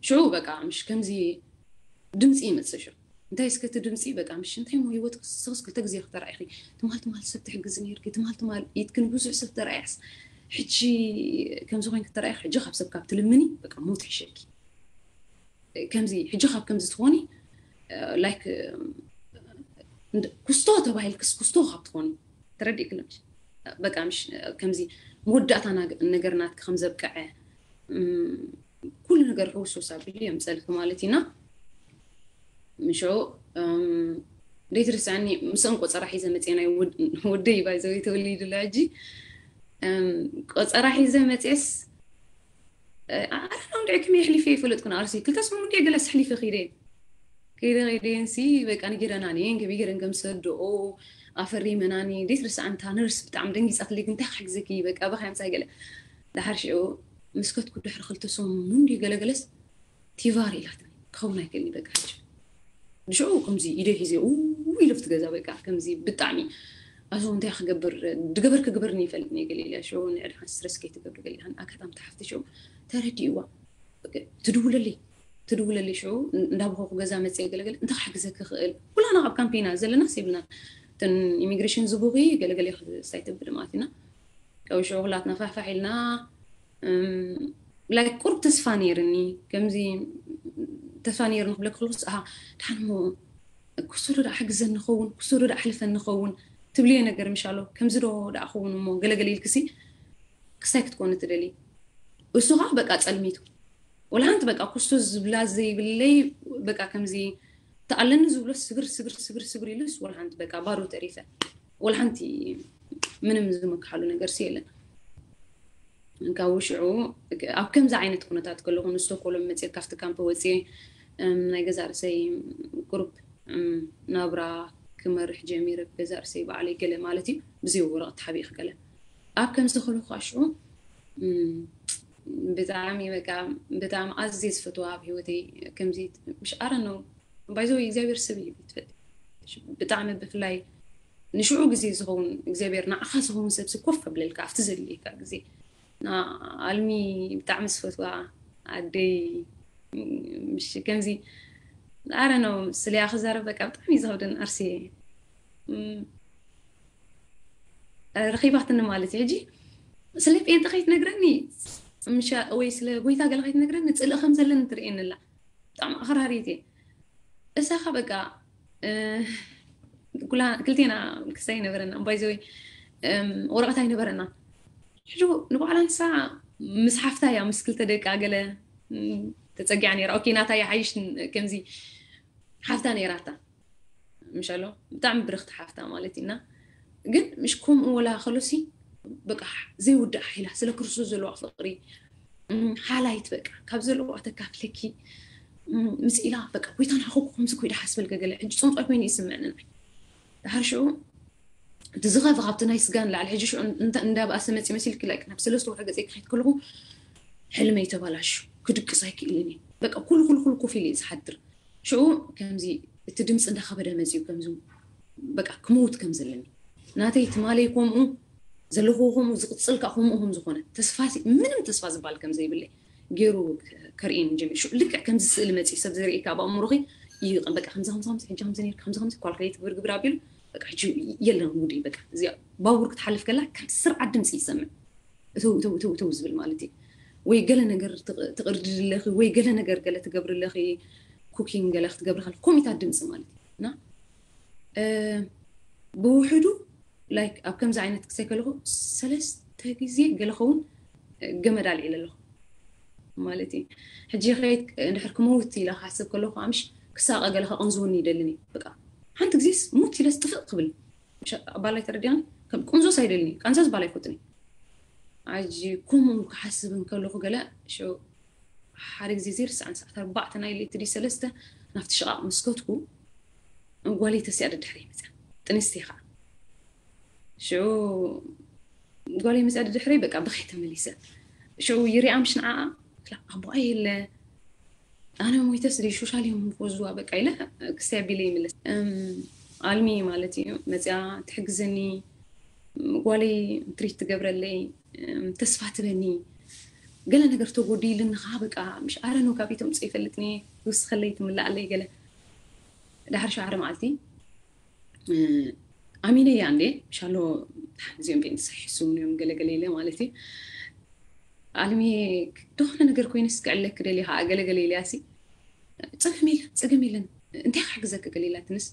ሽዑ በቃ ምሽ ከምዚ ድምፂ ይመፅእ ሽዑ እንታይ እስከ እቲ ድምፂ በቃ ምሽ እንታይ ሞ ህይወት ክስክስ ክልተ ግዜ ክተረኣይኺ ትማል ትማል ሰብ ትሕግዝ ነርኪ ትማል ትማል ኢትክን ብዙሕ ሰብ ተረኣያስ ሕጂ ከምዚ ኮይን ክተረኣይ ሕጂ ካብ ሰብ ካብ ትልምኒ በቃ ሞት ይሸኪ ከምዚ ሕጂ ካብ ከምዚ ትኾኒ ላይክ ኩስቶ ተባሂልክስ ኩስቶ ካብ ትኾኒ ተረዲእክለምሽ በቃ ምሽ ከምዚ መወዳእታ ነገር ናትኪ ከም ዘብቅዐ ኩሉ ነገር ሕውስውስ ኣቢሉ የምፀልኪ ማለት ኢና። ምሾ ደይትርስዓኒ። ምስኦም ቆፀራ ሒዘ መፅአ ናይ ወደይ ባይዘወይ ተወሊዱላ ሕጂ። ቆፀራ ሒዘ መፅስ ኣረና እንድዒ ከመይ ኣሕሊፈ ይፈለጥኩን ኣርሲ ክልተ ሰሙን ገለስ ኣሕሊፈ ክይደ። ከይደ ከይደ ንሲ በቃ ንጌረና ነን ከመይ ገረን ከም ሰድኦ ኣፈሪመናኒ። ደይትርስዓንታ ነርስ ብጣዕሚ ደንጊፃትለይ ግን እንታይ ክሕግዘኪ በቃ በካ ምሳይ ገለ። ዳሓር ሽዑ ምስከትኩ ድሕሪ ክልተ ሰሙን እንዲ ገለገለስ ቲቫር ኢላትኒ። ክኸውን ኣይክእልኒ በቃ ሕጂ። ብሽዑ ከምዚ ኢደ ሒዘ ኡ ኢለ ኣብቲ ገዛ በቃ ከምዚ ብጣዕሚ ኣዞ እንታይ ክገብር ድገበር ክግበርኒ ይፈልጥኒ ገለ ኢለ ሽዑ ንዕድሓን ስትረስ ከይትገብር ገለ ኢለ ኣጋጣሚ ተሓፍቲ ሽዑ ተረዲእዋ። ትድውለለይ ትድውለለይ ሽዑ እንዳብኸኩ ገዛ መፅየ ገለገለ እንታይ ክሕግዘኪ ክእል ኩላና ኣብ ካምፕ ኢና ዘለና ስ ይብልና። እተን ኢሚግሬሽን ዝቡኺ ገለገለ ክሳይ ትብል ማለት ኢና። ካብ ሽዑ ኩላትና ፋሕፋሕ ኢልና ላይክ ቁሩብ ተስፋ ነይርኒ። ከምዚ ተስፋ ነይርኒ ክብለክ ከለኩስ ኣሃ ድሓን እሞ ክስቶ ዶ ደኣ ሓግዘኒ ኸውን ክስቶ ዶ ደኣ ኣሕልፈኒ ኸውን ትብልዮ ነገር ምሻሎ ከምዚ ዶ ደኣ ኸውን እሞ ገለገለ ኢልክሲ ክሳይ ክትኮኒ ትደሊ። እሱ ከዓ በቃ ፀልሚቱ ወላ ሓንቲ በቃ ኩስቶ ዝብላ ዘይብለይ በቃ ከምዚ ተኣለኒ ዝብሎ ስግር ስግር ስግር ስግር ኢሉስ ወላ ሓንቲ በቃ ባዶ ተሪፈ። ወላ ሓንቲ ምንም ዝመክሓሉ ነገር ሲ የለን። ካብ ውሽዑ ኣብ ከምዚ ዓይነት ኩነታት ከለኹ ንስቶኮሎም መፅእ ካብቲ ካምፕ ወፅእ ናይ ገዛ ርእሰይ ግሩፕ ናብራ ክመርሕ ጀሚረ ብገዛ ርእሰይ በዓለይ ገለ ማለት እዩ ብዘይ ወረቐት ተሓቢእክ ገለ ኣብ ከምዚ ከለኹ ከዓ ሽዑ ብጣዕሚ በቃ ብጣዕሚ ኣዝየ ዝፈትዋ ኣብ ህይወተይ ከምዚ ምሽ ኣረ ነው ባይዘ እግዚኣብሔር ሰብ እዩ ትፈልጥ ብጣዕሚ ብፍላይ ንሽዑ ግዜ ዝኸውን እግዚኣብሔር ንዓኻ ዝኸውን ሰብሲ ኮፍ ኣብለልካ ኣብቲ ዘድልየካ ግዜ ኣልሚ ብጣዕሚ ዝፈትዋ ኣደይ ምሽ ከምዚ ኣረ ነው ስለያ ክዛረብ በቃ ብጣዕሚ ዝኸብደን ኣርሲ ረኺባትኒ ማለት እዩ ሕጂ ስለ ጴንጠ ከይትነግረኒ ወይ ስለ ጎይታ ገለ ከይትነግረኒ ፅልእ ከም ዘለኒ ትርእየኒ ኣላ ብጣዕሚ ኣኽራሪት እየ እሳኻ በቃ ክልቴና ክስታይ ይነበረና ባይዘወይ ወረቐት ኣይነበረና ሕጂ ንባዕላ ንሳ ምስ ሓፍታ እያ ምስ ክልተ ደቂ ገለ ተፀጊዓ ነይራ ኦኬ ናታ ይሓይሽ ከምዚ ሓፍታ ነይራታ ምሻሎ ብጣዕሚ ብርኽቲ ሓፍታ ማለት ኢና ግን ምሽ ከምኡ ወላ ከሎሲ በቃ ዘይውዳእ ሓይላ ስለ ክርስቶስ ዘለዋ ፍቅሪ ሓላይት በቃ ካብ ዘለዋ ተካፍለኪ ምስ ኢላ በቃ ጎይታ ንዓኹ ከምዚ ኮይዳ ሓስበልከ ገለ ሕጂ ፅንጦ ኮይኑ ይስምዕኒ ናይ ድሓር ሽዑ እቲ ዝኸፈ ካብቲ ናይ ስጋ ንላዕሊ ሕጂ ሽዑ እንዳብኣሰ መፂ መሲልኪ ላይክ ናብ ሰለስተ ወርሒ ገፀይ ክኸይድ ከለኹ ሕልመይ ተባላሹ ክድቅስ ኣይክእልን እየ በቃ ኩሉ ኩሉ ኩሉ ኮፍ ኢለ እየ ዝሓድር ሽዑ ከምዚ እቲ ድምፂ እንዳኸበደ መፅኡ ከምዚ በቃ ክመውት ከም ዘለኒ ናተይ ትማለይ ከምኡ ዘለኹዎ ከምኡ ዝቕፅል ከዓ ከምኡ ከም ዝኾነ ተስፋ ምንም ተስፋ ዝበሃል ከም ዘይብለይ ገይሩ ከርእየኒ ጀሚሩ ሽዑ ልክዕ ከምዚ ስእሊ መፅኡ ሰብ ዘርእየካ ኣብ ኣእምሮኺ እዩ በቃ ከምዚ ከምዚ ከምዚ ሕጂ ከምዚ ነይርካ ከምዚ ከምዚ ኳልኩሌት ግብር ግብር ኣቢሉ በቃ ሕጂ የለን ጉዲ በቃ እዚኣ ባቡር ክትሓልፍ ከላ ከም ስርዓት ድምፂ ይሰምዕ እተው እተው እተው እተው ዝብል ማለት እዩ ወይ ገለ ነገር ትቕርድለኺ ወይ ገለ ነገር ገለ ትገብርለኺ ኩኪንግ ገለ ክትገብሪ ከለ ኮሚታት ድምፂ ማለት እዩ እና ብውሕዱ ላይክ ኣብ ከምዚ ዓይነት ክሰይ ከለኹ ሰለስተ ግዜ ገለ ኸውን ገመድ ኣልዒለ ኣለኹ ማለት እዩ ሕጂ ከየት እንድሕር ክመውት ኢለ ክሓስብ ከለኹ ኣምሽ ክሳቐ ገለ ከቐንዝውኒ ይደልን እዩ በቃ ሓንቲ ግዜስ ሙት ኢለስ ጥፍእ ክብል ኣባላይ ተረዲኒ ከም ቁንዞስ ኣይደልኒ ቃንዛስ ባላይ ፈትኒ ኣጂ ከምኡ ክሓስብ እንከለኹ ገለ ሓደ ግዜ ዘይርስዓን ሰዓት ኣርባዕተ ናይ ለይቲ ድዩ ሰለስተ ናብቲ ሽቓቕ ምስ ከድኩ ጓለይ ተሲኣ ደድሕረይ መፅያ ጥንስቲ ከዓ ሽዑ ጓለይ መፅያ ደድሕረይ በቃ ብኸይ ተመሊሰ ሽዑ ይሪኣ ምሽ ንዓኣ ኣቦኣ የለ ኣነ ሞይተስ ድዩ ሾሻል እዮም ክወዝዋ በቃ ኢለ ክስቲ ኣቢለ ይምለስ ኣልሚ ማለት እዩ መፅያ ትሕግዘኒ ጓለይ ትሪት ትገብረለይ ተስፋ ትበኒ ገለ ነገር ተጎዲልኒ ከዓ በቃ ምሽ ኣረ ነው ካብ ኢቶም ፅእ ይፈልጥኒ ይውስኸለይ ትምላኣለይ ገለ ዳሕር ሸዓረ መዓልቲ ኣሚነ እያ እንዴ ሻሎ እዚኦም ቤን ዝሰሒሱን እዮም ገለገለ ኢለ ማለት እዩ ኣልሚ ዝኾነ ነገር ኮይነስ ክዕለክ ደልየ ከዓ ገለገለ ኢለያ ሲ ፀገም የለን ፀገም የለን እንታይ ክሕግዘክ ገለ ኢላትንስ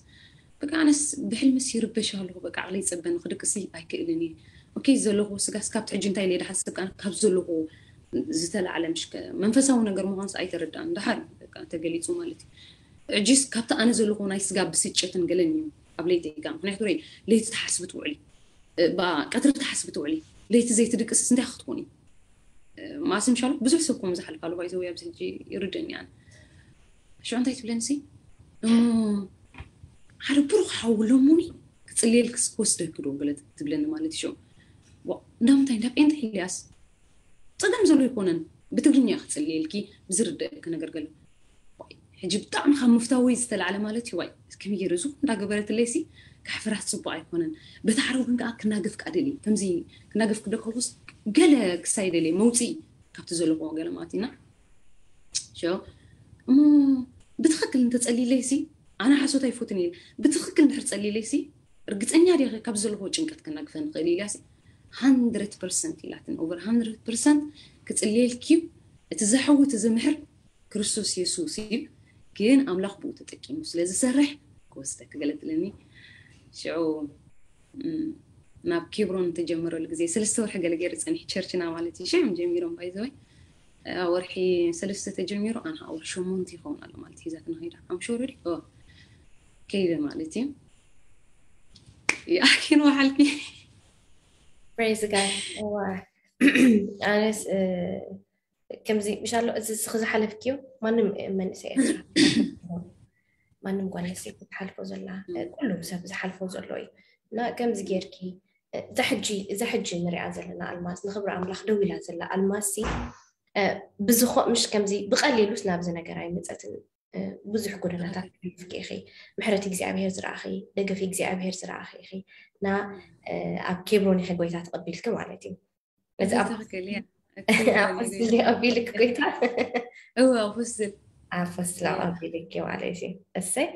በቃ ኣነስ ብሕልምስ ይርበሽ ኣለኹ በቃ ዓቕለይ ይፀበኒ ክድቅሲ ኣይክእልን እየ ኦኬ ዘለኹ ስጋስ ካብቲ ሕጂ እንታይ ኢለ ዝሓስብ ከዓ ካብ ዘለኹ ዝተላዕለ ምሽ መንፈሳዊ ነገር ምዃንስ ኣይተረዳእን። ደሓር በቃ ተገሊጹ ማለት እዩ። እጅስ ካብቲ ኣነ ዘለኹ ናይ ስጋ ብስጭትን ገለን እዩ ኣብ ለይቲ ጋ ምክንያቱ ረ ለይቲ ትሓስብ ትውዕሊ፣ ቀትሪ ትሓስብ ትውዕሊ፣ ለይቲ ዘይትድቅስ እንታይ ክትኮን እዩ? ማሲ ምሻሉ ብዙሕ ሰብ ከም ዝሓልፋሉ ባይዘው ኣብዚ ሕጂ ይርድእኒ ኣነ። ሽዑ እንታይ ትብለኒ ሲ እሞ ሓደ ብሩኽ ሓው ሎሙኒ ክጽልየልክስ ክወስደኪ ዶ ገለ ትብለኒ ማለት እዩ። ሽዑ እንዳምንታይ እንዳ ጴንጠ ኢልያስ ጸገም ዘሎ ኣይኮነን። ብትግርኛ ክጽልየልኪ ብዝርደእኪ ነገር ገለ ሕጂ ብጣዕሚ ካብ ምፍታወይ ዝተላዕለ ማለት እዩ። ዋይ ከመይ ገይሩ እዚ እንዳገበረትለይ ሲ ካሕፍራት ጽቡቅ ኣይኮነን። በቲ ሓደ ወገን ከዓ ክናገፍ ከዓ ደልየ ከምዚ ክናገፍ ክደከልኩስ ገለ ክሳይ ደልየ መውፅኢ ካብቲ ዘለኹዎ ገለ ማለት ኢና። እሞ ብትኽክል እንተጸሊለይ ሲ ኣነ ሓሶት ኣይፎትን እየ። ብትኽክል እንድሕር ጸሊለይ ሲ ርግጸኛ ዲኺ ካብ ዘለኹዎ ጭንቀት ክናግፈ ንኽእል ኢልያ ሲ hundred percent ኢላትን over hundred percent ክጽልየልኪ እዩ። እቲ ዘሕዊ እቲ ዝምሕር ክርስቶስ የሱስ እዩ። ግን ኣምላኽ ብኡ ተጠቂሙ ስለ ዝሰርሕ ክወስደኪ ገለ ትለኒ። ሽዑ ናብ ኬብሮን ተጀመረሉ ግዜ ሰለስተ ወርሒ ገለ ገይሩ ጸኒሕ ቸርችና ማለት እዩ። ሽዑ ጀሚሮም ባይዘወይ ወርሒ ሰለስተ ተጀሚሩ ኣነ ወርሒ ሸሞንተ ይኸውን ኣሎ ማለት ሒዛትና ከይዳ ኣምሾረዲ ከይደ ማለት እዩ። ይኣኪን ወሓልኪ ፕሬዝ ጋድ። ኣነስ ከምዚ ምሻሎ እዚ ስኺ ዝሓለፍክዮ ማንም መንእሰይ ኤርትራ ማንም ጓል ኣንስተይቲ ትሓልፎ ዘላ ኩሉም ሰብ ዝሓልፎ ዘሎ እዩ። እና ከምዚ ጌርኪ እዛ ሕጂ እዛ ሕጂ ንሪኣ ዘለና ኣልማዝ ንኽብሪ ኣምላኽ ደው ኢላ ዘላ ኣልማዝ ሲ ብዝኾ ምሽ ከምዚ ብቐሊሉስ ናብዚ ነገር ኣይመፀትን። ብዙሕ ጎደናታት ትሕልፍኪ ኢኺ። ምሕረት እግዚኣብሄር ዝረኣኺ፣ ደገፍ እግዚኣብሄር ዝረኣኺ ኢኺ። እና ኣብ ኬብሮን ኢኺ ጎይታ ተቐቢልኪ ማለት እዩ። እዚ ኣፖስትል ኣቢልክ ጎይታ ኣፖስትል ኣፖስትል ኣቢልክ ማለት እዩ። እሰይ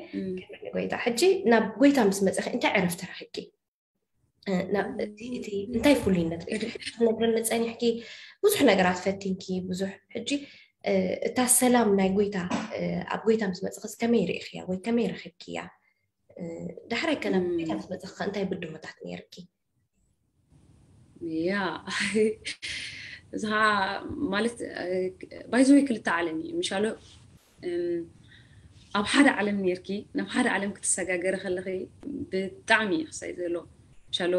ጎይታ። ሕጂ ናብ ጎይታ ምስ መፀኺ እንታይ ዕረፍቲ ረኺብኪ? እቲ እንታይ ፍሉይነት ነግረኒ ፀኒሕኪ? ብዙሕ ነገራት ፈቲንኪ ብዙሕ። ሕጂ እታ ሰላም ናይ ጎይታ ኣብ ጎይታ ምስ መፅኽስ ከመይ ርኢኽያ ወይ ከመይ ረኺብክያ? ዳሕራይ ከ ናብ ጎይታ ምስ መፅኽካ እንታይ ብድሆታት ነይርኪ? ያ እዛ ማለት ባይዘወይ ክልተ ዓለም እዩ ምሻሎ ኣብ ሓደ ዓለም ኔርኪ ናብ ሓደ ዓለም ክትሰጋገሪ ከለኺ ብጣዕሚ እዩ ክሳይ ዘሎ። ሻሎ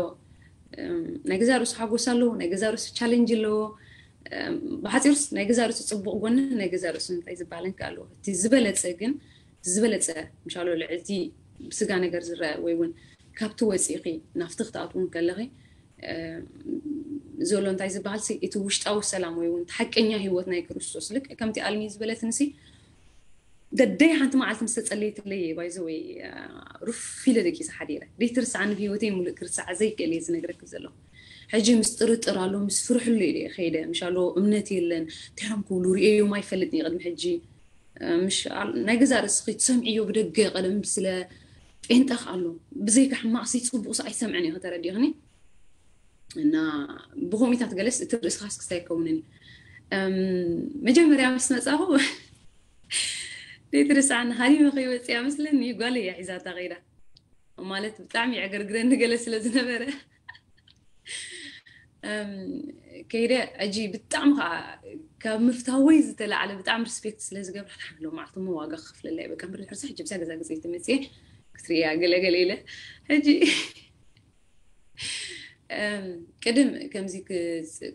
ናይ ገዛ ርእሱ ሓጎስ ኣለዎ፣ ናይ ገዛ ርእሱ ቻለንጅ ኣለዎ። ብሓፂሩስ ናይ ገዛ ርእሱ ፅቡቕ ጎኒ ናይ ገዛ ርእሱ እንታይ ዝበሃል እንከ ኣለዎ። እቲ ዝበለፀ ግን ዝበለፀ ምሻሎ ልዕልቲ ብስጋ ነገር ዝረአ ወይ እውን ካብቲ ወፂእኺ ናብቲ ክትኣትውን ከለኺ ዘሎ እንታይ ዝበሃል እቲ ውሽጣዊ ሰላም ወይ እውን ሓቀኛ ህይወት ናይ ክርስቶስ ልክ ከምቲ ኣልሚ ዝበለትንሲ ደደይ ሓንቲ መዓልቲ ምስ ተጸለየትለይ ባይዘ ወይ ሩፍ ኢለ ደቂሰ ሓዲረ ዘይትርስዓኒ ብህይወተይ ሙሉእ ክርስዓ ዘይክእል እየ ዝነግረክ ዘለኹ። ሕጂ ምስ ጥርጥር ኣሎ ምስ ፍርሕሉ ኢለ ከይደ ምሻሎ እምነት የለን። እንታይ እዮም ክብሉ ርእዮም ኣይፈልጥን ቅድሚ ሕጂ ናይ ገዛ ርእስኺ ትሰምዕዮ ብደገ ቀደም ስለ ጴንጠኽ ኣሎ ብዘይካ ሕማቕሲ ፅቡቕሲ ኣይሰምዕን እየ ከተረዲኽኒ እና ብኮሚታት ገለስ እቲ ርእስኻስ ክስታይ ይከውንን መጀመርያ ምስ መፃኹ ዘይትርስዓኒ ሃሊመ ከይወፅያ መስለኒ ጓል እያ ሒዛታ ከይዳ ማለት ብጣዕሚ የዕገርግረኒ ገለ ስለ ዝነበረ ከይደ ሕጂ ብጣዕሚ ከዓ ካብ ምፍታወይ ዝተላዕለ ብጣዕሚ ሪስፔክት ስለ ዝገብራ ሎ ማለት ሞ ዋጋ ክፍለላይ በቃ ምሪ ሕርሳ ሕጂ ብሳ ገዛ ግዜ ትመፅየ ክትርእያ ገለገለ ኢለ ሕጂ ቅድም ከምዚ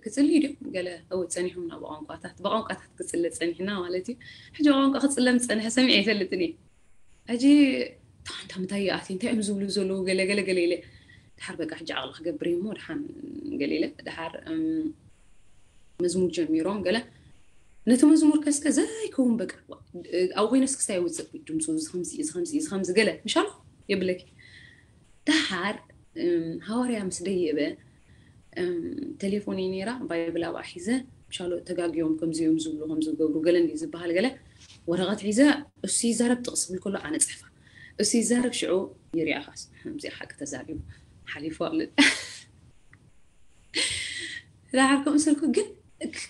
ክፅልዩ ድዮም ገለ እው ፀኒሖም ናብ ቋንቋታት ብቋንቋታት ክፅለ ፀኒሕና ማለት እዩ። ሕጂ ቋንቋ ክፅለም ዝፀንሐ ሰሚዐ ይፈልጥን እየ። ሕጂ ታንታ ምታይ ይኣት እንታይ እዮም ዝብሉ ዘለዉ ገለ ገለ ገለ ኢለ ድሓር በቃ ሕጂ ዓቕሊ ክገብር እሞ ድሓን ገለ ኢለ ድሓር መዝሙር ጀሚሮም ገለ ነቲ መዝሙር ከስከ ዘይከውን በቃ ኣብኡ ኮይነስ ክስታይ ይውፅእ ድምፁ ዝከምዚ ዝከምዚ ዝከምዚ ገለ ምሻሉ የብለኪ። ደሓር ሃዋርያ ምስ ደየበ ቴሌፎን እዩ ነይራ ባይብል ኣብኣ ሒዘ ምሻሎ ተጋግዮም ከምዚኦም ዝብሉ ከምዝገብሩ ገለ እንዲ ዝበሃል ገለ ወረቐት ሒዘ እሱ ይዛረብ ጥቕስ ብል ከሎ ኣነ ፅሕፋ እሱ ይዛረብ ሽዑ ይሪኣኻስ ከምዚኣ ሓቂ ተዛሪቡ ሓሊፉ ኣሎ። ደሓር ከምኡ ስልኩ ግን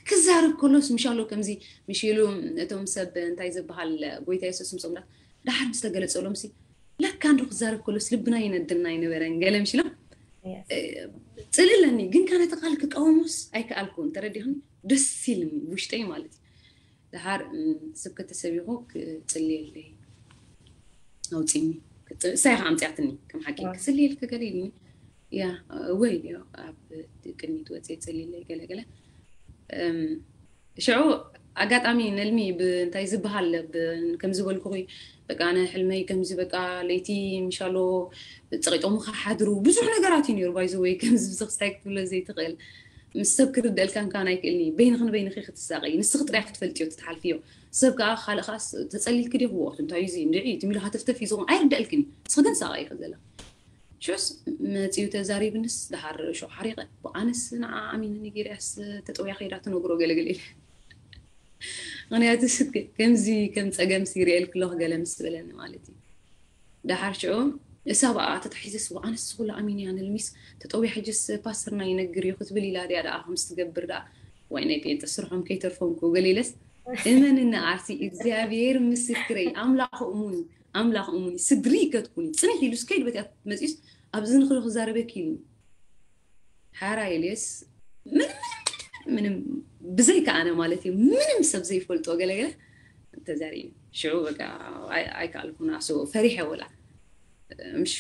ክዛረብ ከሎስ ምሻሎ ከምዚ ምሽ ኢሉ እቶም ሰብ እንታይ ዝበሃል ጎይታ የሱስ ምስ ኣምላኽ ደሓር ምስ ተገለጸሎም ሲ ለካ እንዶ ክዛረብ ከሎስ ልብና ይነድና ኣይነበረን ገለ ምሽ ኢሎም ጽልእ ኣለኒ፣ ግን ከ ነቲ ቃል ክቃወሞስ ኣይከኣልኩን። ተረዲኽኒ? ደስ ኢልኒ ውሽጠይ ማለት እዩ። ደሓር ስብከተ ሰብ ይኹ ክጽልየለይ ኣውፂኒ። እሳይ ከዓ ኣምፅያትኒ ከም ሓቂ ክፅልየልከ ገለ ኢልኒ። ያ ወይ ኣብ ቅድሚት ወፅየ ፅልየለይ ገለ ገለ ሽዑ ኣጋጣሚ ነልሚ ብእንታይ ዝበሃል ከም ዝበልኩኺ በቃ ኣነ ሕልመይ ከምዚ በቃ ለይቲ ምሻሎ ፀቂጦም ክሓድሩ ብዙሕ ነገራት እዩ ነይሩ። ባይዘ ወይ ከምዚ ብዝኽስታይ ክትብሎ ዘይትኽእል ምስ ሰብ ክርደእልካ እንካን ኣይክእልኒ። በይንኽን በይንኺ ክትሳቀይ ንስኺ ጥራይ ክትፈልጥዮ ትትሓልፍዮ። ሰብ ከዓ ካልእ ከዓ ተፀሊልክ ዲ ክወቅቱ እንታይ እዩ እዚ እንድዒ ትሚሉ ሃተፍተፍ እዩ ዝኸውን ኣይርደእልክን። ንስኺ ግን ሳቀ ይኽእል ዘለኺ ሽስ መፂኡ ተዛሪብንስ ደሓር ሸው ሓሪቐ ብኣነስ ንዓ ኣሚነ ነጊርያስ ተጠውያ ከይዳ ትነግሮ ገለገለ ኢለ። ምክንያቱ ከምዚ ከም ፀገም ሲሪኤል ክለኽ ገለ ምስ በለኒ ማለት እዩ። ደሓር ሽዑ እሳ በኣ ተታሒዘስ ኣነስ ኩላ ኣሚን እያ ንልሚስ ተጠውያ ሕጅስ ፓስተርና ይነግር እዩ ክትብል ኢላ ድያ ደኣ ከምስ ትገብር ደኣ ወይ ናይ ጴንጠ ስርሖም ከይተርፎም ክው ገለ ኢለስ እመንና ኣርሲ እግዚኣብሔር ምስክረይ ኣምላኽ እሙን ኣምላኽ እሙን ስድሪ ይከትኩኒ ፅንሕ ኢሉ ስከይድ በትያ መፂስ ኣብዚ ንክሉ ክዛረበክ ኢሉ ሓራ ኢልስ ምንም ምንም ብዘይካ ኣነ ማለት እዩ ምንም ሰብ ዘይፈልጦ ገለገለ ተዛሪ ሽዑ በቃ ኣይከኣልኩን ኣስቦ ፈሪሐ ወላ ምሽ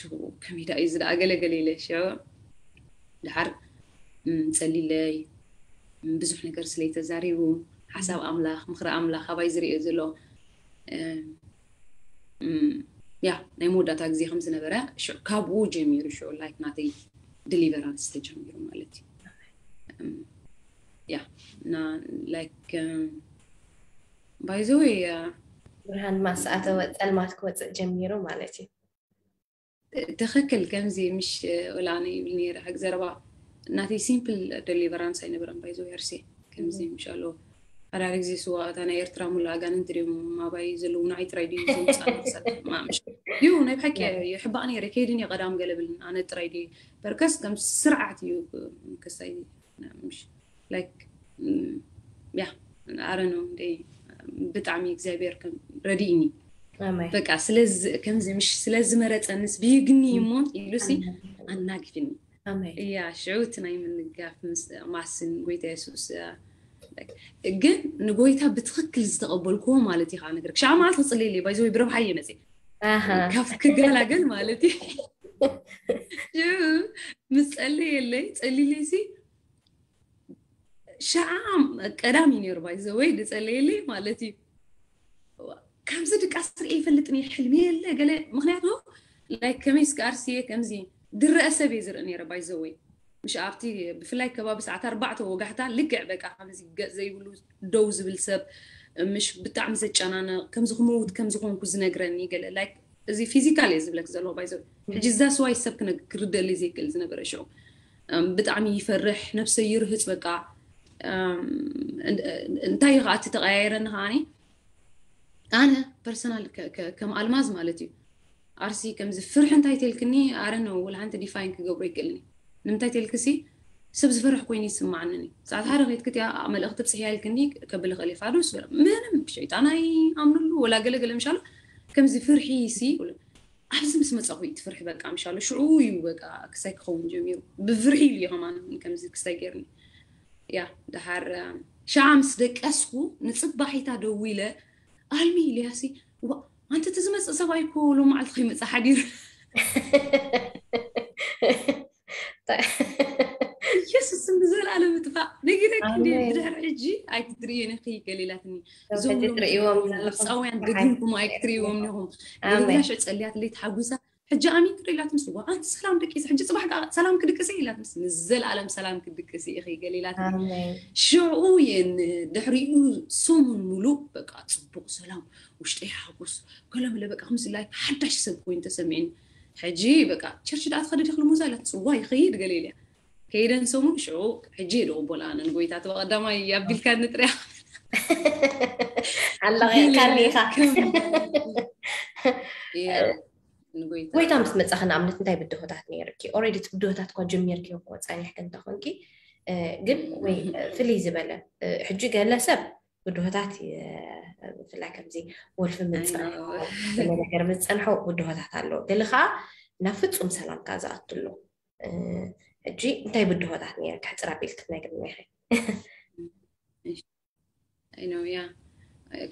ከመይ ዳ እዩ ዝደኣ ገለገለ ኢለ ሽዑ ድሓር ፀሊለይ ብዙሕ ነገር ስለይተዛሪቡ ሓሳብ ኣምላኽ ምኽሪ ኣምላኽ ኣባይ ዝርእዮ ዘሎ ያ ናይ መወዳእታ ግዜ ከም ዝነበረ ካብኡ ጀሚሩ ሽዑ ላይክ ናተይ ዲሊቨራንስ ተጀሚሩ ማለት እዩ። ያ እና ላይክ ባይዘወይ ብርሃን ማስኣተወ ፀልማት ክወፅእ ጀሚሩ ማለት እዩ። ትኽክል ከምዚ ምሽ ወላ ኣነ ይብል ነይረ ሕግ ዘረባ ናተይ ሲምፕል ደሊቨራንስ ኣይነበረን ባይዘወይ ኣርሴ ከምዚ ምሻሎ ሓዳሪ ግዜ ስዋ እታ ናይ ኤርትራ ሙሉ ኣጋንንቲ ድዮም ኣባይ ዘለዉ ንዓይ ጥራይ ድዩ ዘውፅኣና ክሳብ ማምሽ እዩ ናይ ብሓቂ ይሕባእ ነይረ ከይድን እየ ቀዳም ገለ ብልን ኣነ ጥራይ ድዩ በርከስ ከም ስርዓት እዩ ክሳይ ምሽ ላይክ ያ ኣረኖ እንደ ብጣዕሚ እግዚኣብሔር ከም ረድእኒ በቃ ስለዚ ከምዚ ምሽ ስለዝመረፀንስ ብይግኒ እሞ ኢሉሲ ኣናግፍኒ እያ ሽዑ እቲ ናይ ምንጋፍ ማስን ጎይታ የሱስ ግን ንጎይታ ብትኽክል ዝተቐበልክዎ ማለት ኢኻ ነገር ክሻ ማለት ክፅልል ባይዘ ወይ ብረብሓ እየ መፅእ ካብ ክገላገል ማለት እዩ ምስ ጸልየለይ ጸሊለይሲ ሸዓ ቀዳም እዩ ነይሩ ባይዘ ወይ ዝጸለየለይ ማለት እዩ። ከምዚ ድቃስ ርኢ ይፈልጥን እየ ሕልሚ የለ ገለ ምክንያቱ ላይክ ከመይ እስከ ኣርሲየ ከምዚ ድረአ ሰብ እየ ዝርኢ ነይረ ባይዘ ወይ ምሽ ኣብቲ ብፍላይ ከባቢ ሰዓት ኣርባዕተ ወጋሕታ ልክዕ በቃ ከምዚ ገፅ ዘይብሉ ደው ዝብል ሰብ ምሽ ብጣዕሚ ዘጨናነቕ ከምዚ ክመውት ከም ዝኾንኩ ዝነግረኒ ገለ ላይክ እዚ ፊዚካል እየ ዝብለክ ዘለኹ ባይዘ ሕጂ እዛ ስዋይ ሰብ ክርደሊ ዘይክእል ዝነበረ ሽዑ ብጣዕሚ ይፈርሕ ነብሰ ይርህፅ በቃ እንታይ እዩ ከዓ እቲ ተቀያየረኒ ከዓኒ ኣነ ፐርሰናል ከም ኣልማዝ ማለት እዩ ኣርሲ ከምዚ ፍርሒ እንታይ ተልክኒ ኣረን ወላ ሓንቲ ዲፋይን ክገብሮ ይክእልኒ ንምንታይ ተልክሲ ሰብ ዝፈርሕ ኮይኑ ይስማዓኒ ሰዓት ሓደ ከይትክትያ መልእክቲ ፅሕያ ኢልክኒ ከብል ክእል ፋዱስ ምንም ሸይጣን ኣይኣምንሉ ወላ ገለገለ ምሻሉ ከምዚ ፍርሒ ሲ ኣብዚ ምስ መፃኹ እዩ ትፍርሒ በቃ ምሻሉ ሽዑ እዩ በቃ ክሳይ ክኸውን ጀሚሩ ብፍርሒ ኢሉ እዩ ከማን ከምዚ ክሳይ ገይርኒ ያ ድሓር ሸዓ ምስ ደቀስኩ ንፅባሒታ ደዊለ ኣልሚ ኢልያሲ ኣንቲ እቲ ዝመፅእ ሰብኣይ እኮ ሎማዓልቲ ከይመፅእ ሓዲሩ ኢየሱስ ስም ብዘለኣለም ምጥፋእ ነጊረኪ እንዲ ብድሕሪ ሕጂ ኣይክትርእዮ ነኺ ገሊላትኒ እዞም ግብፃውያን ደጊምኩም ኣይክትርእይዎም ኒኹም ገሊላሽ ጸልያት ለይ ተሓጉሳ ሕጂ ኣሚን ክርኢ ኢላት ምስ ኣንቲ ሰላም ደቂስ ሕጂ ፅባሕ ሰላም ክድቅሲ ኢላት ምስ ንዘለኣለም ሰላም ክድቅሲ ኢኺ ገሊላት ሽዑ የን ድሕሪኡ ሰሙን ሙሉእ በቃ ፅቡቅ ሰላም ውሽጠይ ሓጎስ ከለምለ በቃ ከምዚ ላይክ ሓዳሽ ሰብ ኮይኑ ተሰሚዕኒ ሕጂ በቃ ቸርች ደኣ ትኸደ ዲኽ ልሙዛ ኢላት ፅዋ ይኸይድ ገለ ኢልያ ከይደን ሰሙን ሽዑ ሕጂ የደ ቅቦላ ኣነ ንጎይታ ተበቀዳማይ ኣቢልካ ንጥርያ ኣለቂቕካኒ ኢኻ ጎይታ ምስ መፃኺ ንኣብነት እንታይ ብድሆታት ነይርኪ ኦረዲ ብድሆታት እኳ ጀሚርኪ እኮ ፀኒሕኪ እንተኾንኪ ግን ወይ ፍልይ ዝበለ ሕጂ ገለ ሰብ ብድሆታት ብፍላይ ከምዚ ወልፊ ምፅንሖ ነገር ምፅንሖ ብድሆታት ኣለዎ ገለ ከዓ ናብ ፍፁም ሰላምካ ዝኣትሎ ሕጂ እንታይ ብድሆታት ነይረ ክሕፅር ኣቢል ክትነግርኒ ኢኺ? I know, yeah.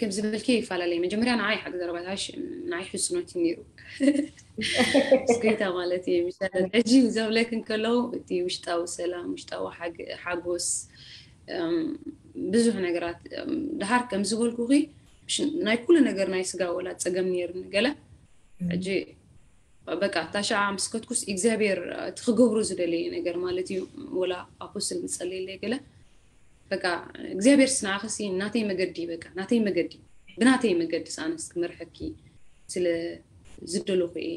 ከም ዝበልኪ ይፈላለየ። መጀመርያ ንዓይ ሓቂ ዘረባታሽ ንዓይ ሕፅኖት እዩ ነይሩ። ስክሪታ ማለት እዩ። ምሻለት ሕጂ ዘብለክ እንከለዉ እቲ ውሽጣዊ ሰላም፣ ውሽጣዊ ሓጎስ፣ ብዙሕ ነገራት ድሃር ከም ዝበልኩኺ ናይ ኩሉ ነገር ናይ ስጋ ወላ ፀገም ነይርኒ ገለ ሕጂ በቃ ታሻ ምስ ከትኩስ እግዚኣብሔር እቲ ክገብሮ ዝደለየ ነገር ማለት እዩ። ወላ ኣፖስትል ምጸለየለይ ገለ በቃ እግዚኣብሔር ስንዓኸሲ ናተይ መገዲ በቃ ናተይ መገዲ ብናተይ መገዲ ሳነስ ክመርሐኪ ስለ ዝደለኹ እየ።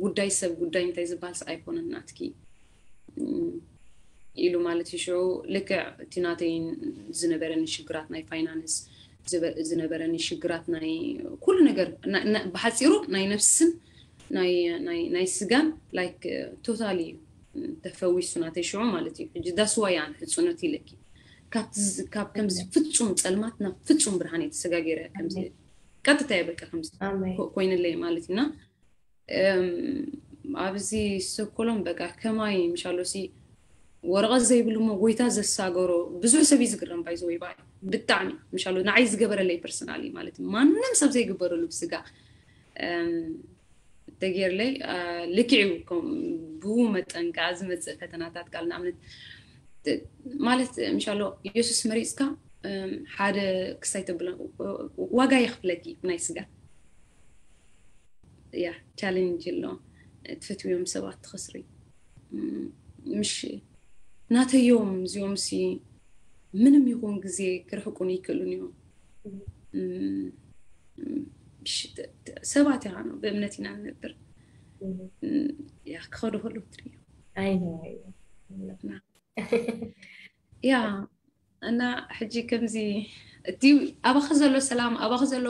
ጉዳይ ሰብ ጉዳይ እንታይ ዝበሃል ኣይኮነን ናትኪ ኢሉ ማለት እዩ። ሽዑ ልክዕ እቲ ናተይ ዝነበረኒ ሽግራት ናይ ፋይናንስ ዝነበረኒ ሽግራት ናይ ኩሉ ነገር ብሓፂሩ ናይ ነፍስን ናይ ስጋን ላይክ ቶታሊ እዩ ተፈዊሱ ናተይ ሽዑ ማለት እዩ። ሕጂ that's why ኣነ ሕፅኖት ኢለኪ ካብ ከምዚ ፍፁም ፀልማት ናብ ፍፁም ብርሃን እየ ተሰጋጊረ ከምዚ ቀጥታ እየ በቃ ከምዚ ኮይንለይ ማለት እዩ። እና ኣብዚ ሰኮሎም በቃ ከማይ ምሻሎ ሲ ወረቐት ዘይብሉ እሞ ጎይታ ዘሳገሮ ብዙሕ ሰብ እዩ ዝግረም ባይዘወይ ባይ ብጣዕሚ ምሻሎ ንዓይ ዝገበረለይ ፐርሰናሊ ማለት እዩ። ማንም ሰብ ዘይግበረሉ ብስጋ ተጌርለይ ልክዕ እዩ። ብኡ መጠን ከዓ ዝመፅእ ፈተናታት ቃል ንኣብነት ማለት ምሻሎ ኢየሱስ መሪፅካ ሓደ ክሳይ ተብሎ ዋጋ የኽፍለኪ ናይ ስጋ ያ ቻሌንጅ ኣሎ። ትፈትውዮም ሰባት ትኸስሪ ምሽ ናተዮም እዚኦም ሲ ምንም ይኹን ግዜ ክርሕቁን ይክእሉን እዮም። ሰባት ኢና ብእምነት ኢና ንነብር። ያ ክኸዱ ከለዉ ትርእዮ ኣይ ነው ያ እና ሕጂ ከምዚ እቲ ኣባኺ ዘሎ ሰላም ኣባኺ ዘሎ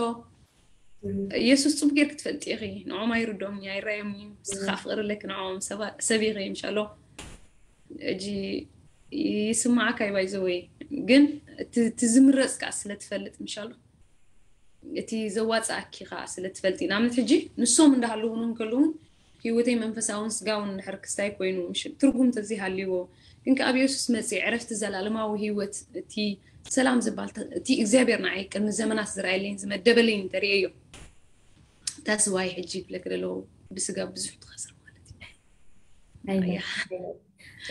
ኢየሱስ ጽቡቅ ጌርክ ትፈልጢ ኢኺ። ንዖም ኣይርዶም ኣይራዮም እዩ ስኻ ፍቅሪ ኣለክ ንዖም ሰብ ኢኺ ምሻሎ እጂ ይስማዓካ ይባይ ዘወይ ግን እቲ ዝምረጽ ከዓ ስለ ትፈልጥ ምሻሎ እቲ ዘዋፅኣኪ ከዓ ስለ ትፈልጢ ንኣብነት ሕጂ ንሶም እንዳሃለውን እንከለውን ህይወተይ መንፈሳውን ስጋውን እንድሕር ክስታይ ኮይኑ ትርጉም ተዘይሃልይዎ ግን ከኣብ የሱስ መፅእ ዕረፍቲ ዘላለማዊ ህይወት እቲ ሰላም ዝበሃል እቲ እግዚኣብሔር ንዓይ ቅድሚ ዘመናት ዝረኣየለይን ዝመደበለይን እንተርእየዮ that's why ሕጂ ይብለክ ደለዎ ብስጋ ብዙሕ ትኸስር ማለት እዩ።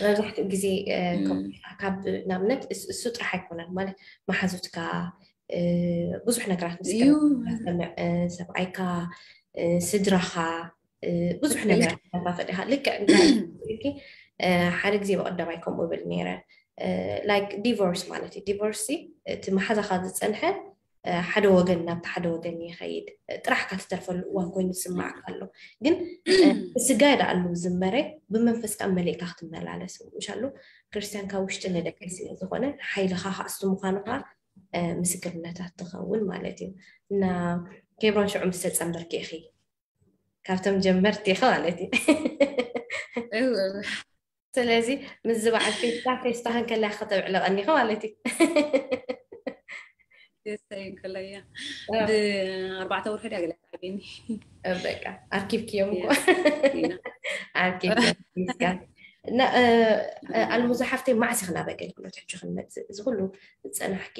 መብዛሕትኡ ግዜ ካብ ንኣብነት እሱ ጥራሕ ኣይኮነን ማለት መሓዙትካ ብዙሕ ነገራት ምስ ሰብኣይካ ስድራኻ ብዙሕ ነገራት ተካፈል ኢኻ ልክዕ ሓደ ግዜ ብቀዳማይ ከምኡ ብል ነይረ like divorce ማለት እዩ divorce እቲ መሓዛኻ ዝፀንሐ ሓደ ወገን ናብቲ ሓደ ወገን ይኸይድ ጥራሕካ ትተርፈሉ እዋን ኮይኑ ዝስማዕካ ኣሎ ግን ስጋ ደኣሉ ዝመረ ብመንፈስካ መሊእካ ክትመላለስ ምሻሉ ክርስቲያን ካብ ውሽጢ ንደቂ ስለ ዝኾነ ሓይልኻ ከኣስቱ ምዃኑ ከዓ ምስክርነታት ትኸውን ማለት እዩ እና ኬብሮን ሽዑ ምስ ተፀንበርኪ ኢኺ ካብቶም ጀመርቲ ኢኺ ማለት እዩ ስለዚ ምስ ዝበዓል ፌስታ ፌስታ ከንከላ ከተብዕለቀኒ ኢኺ ማለት እዩ ፌስታ ከለያ ብኣርባዕተ ወርሒ ድያ ገለ ዓብኒ በቃ ኣርኪብክዮም እኮ ኣርኪብክዮም ኣልሙዛ ሓፍተይ ማዕስ ኢኽና ኣብ ኣገልግሎት ሕጂ ክንመፅእ እዚ ኩሉ ዝፀናሕኪ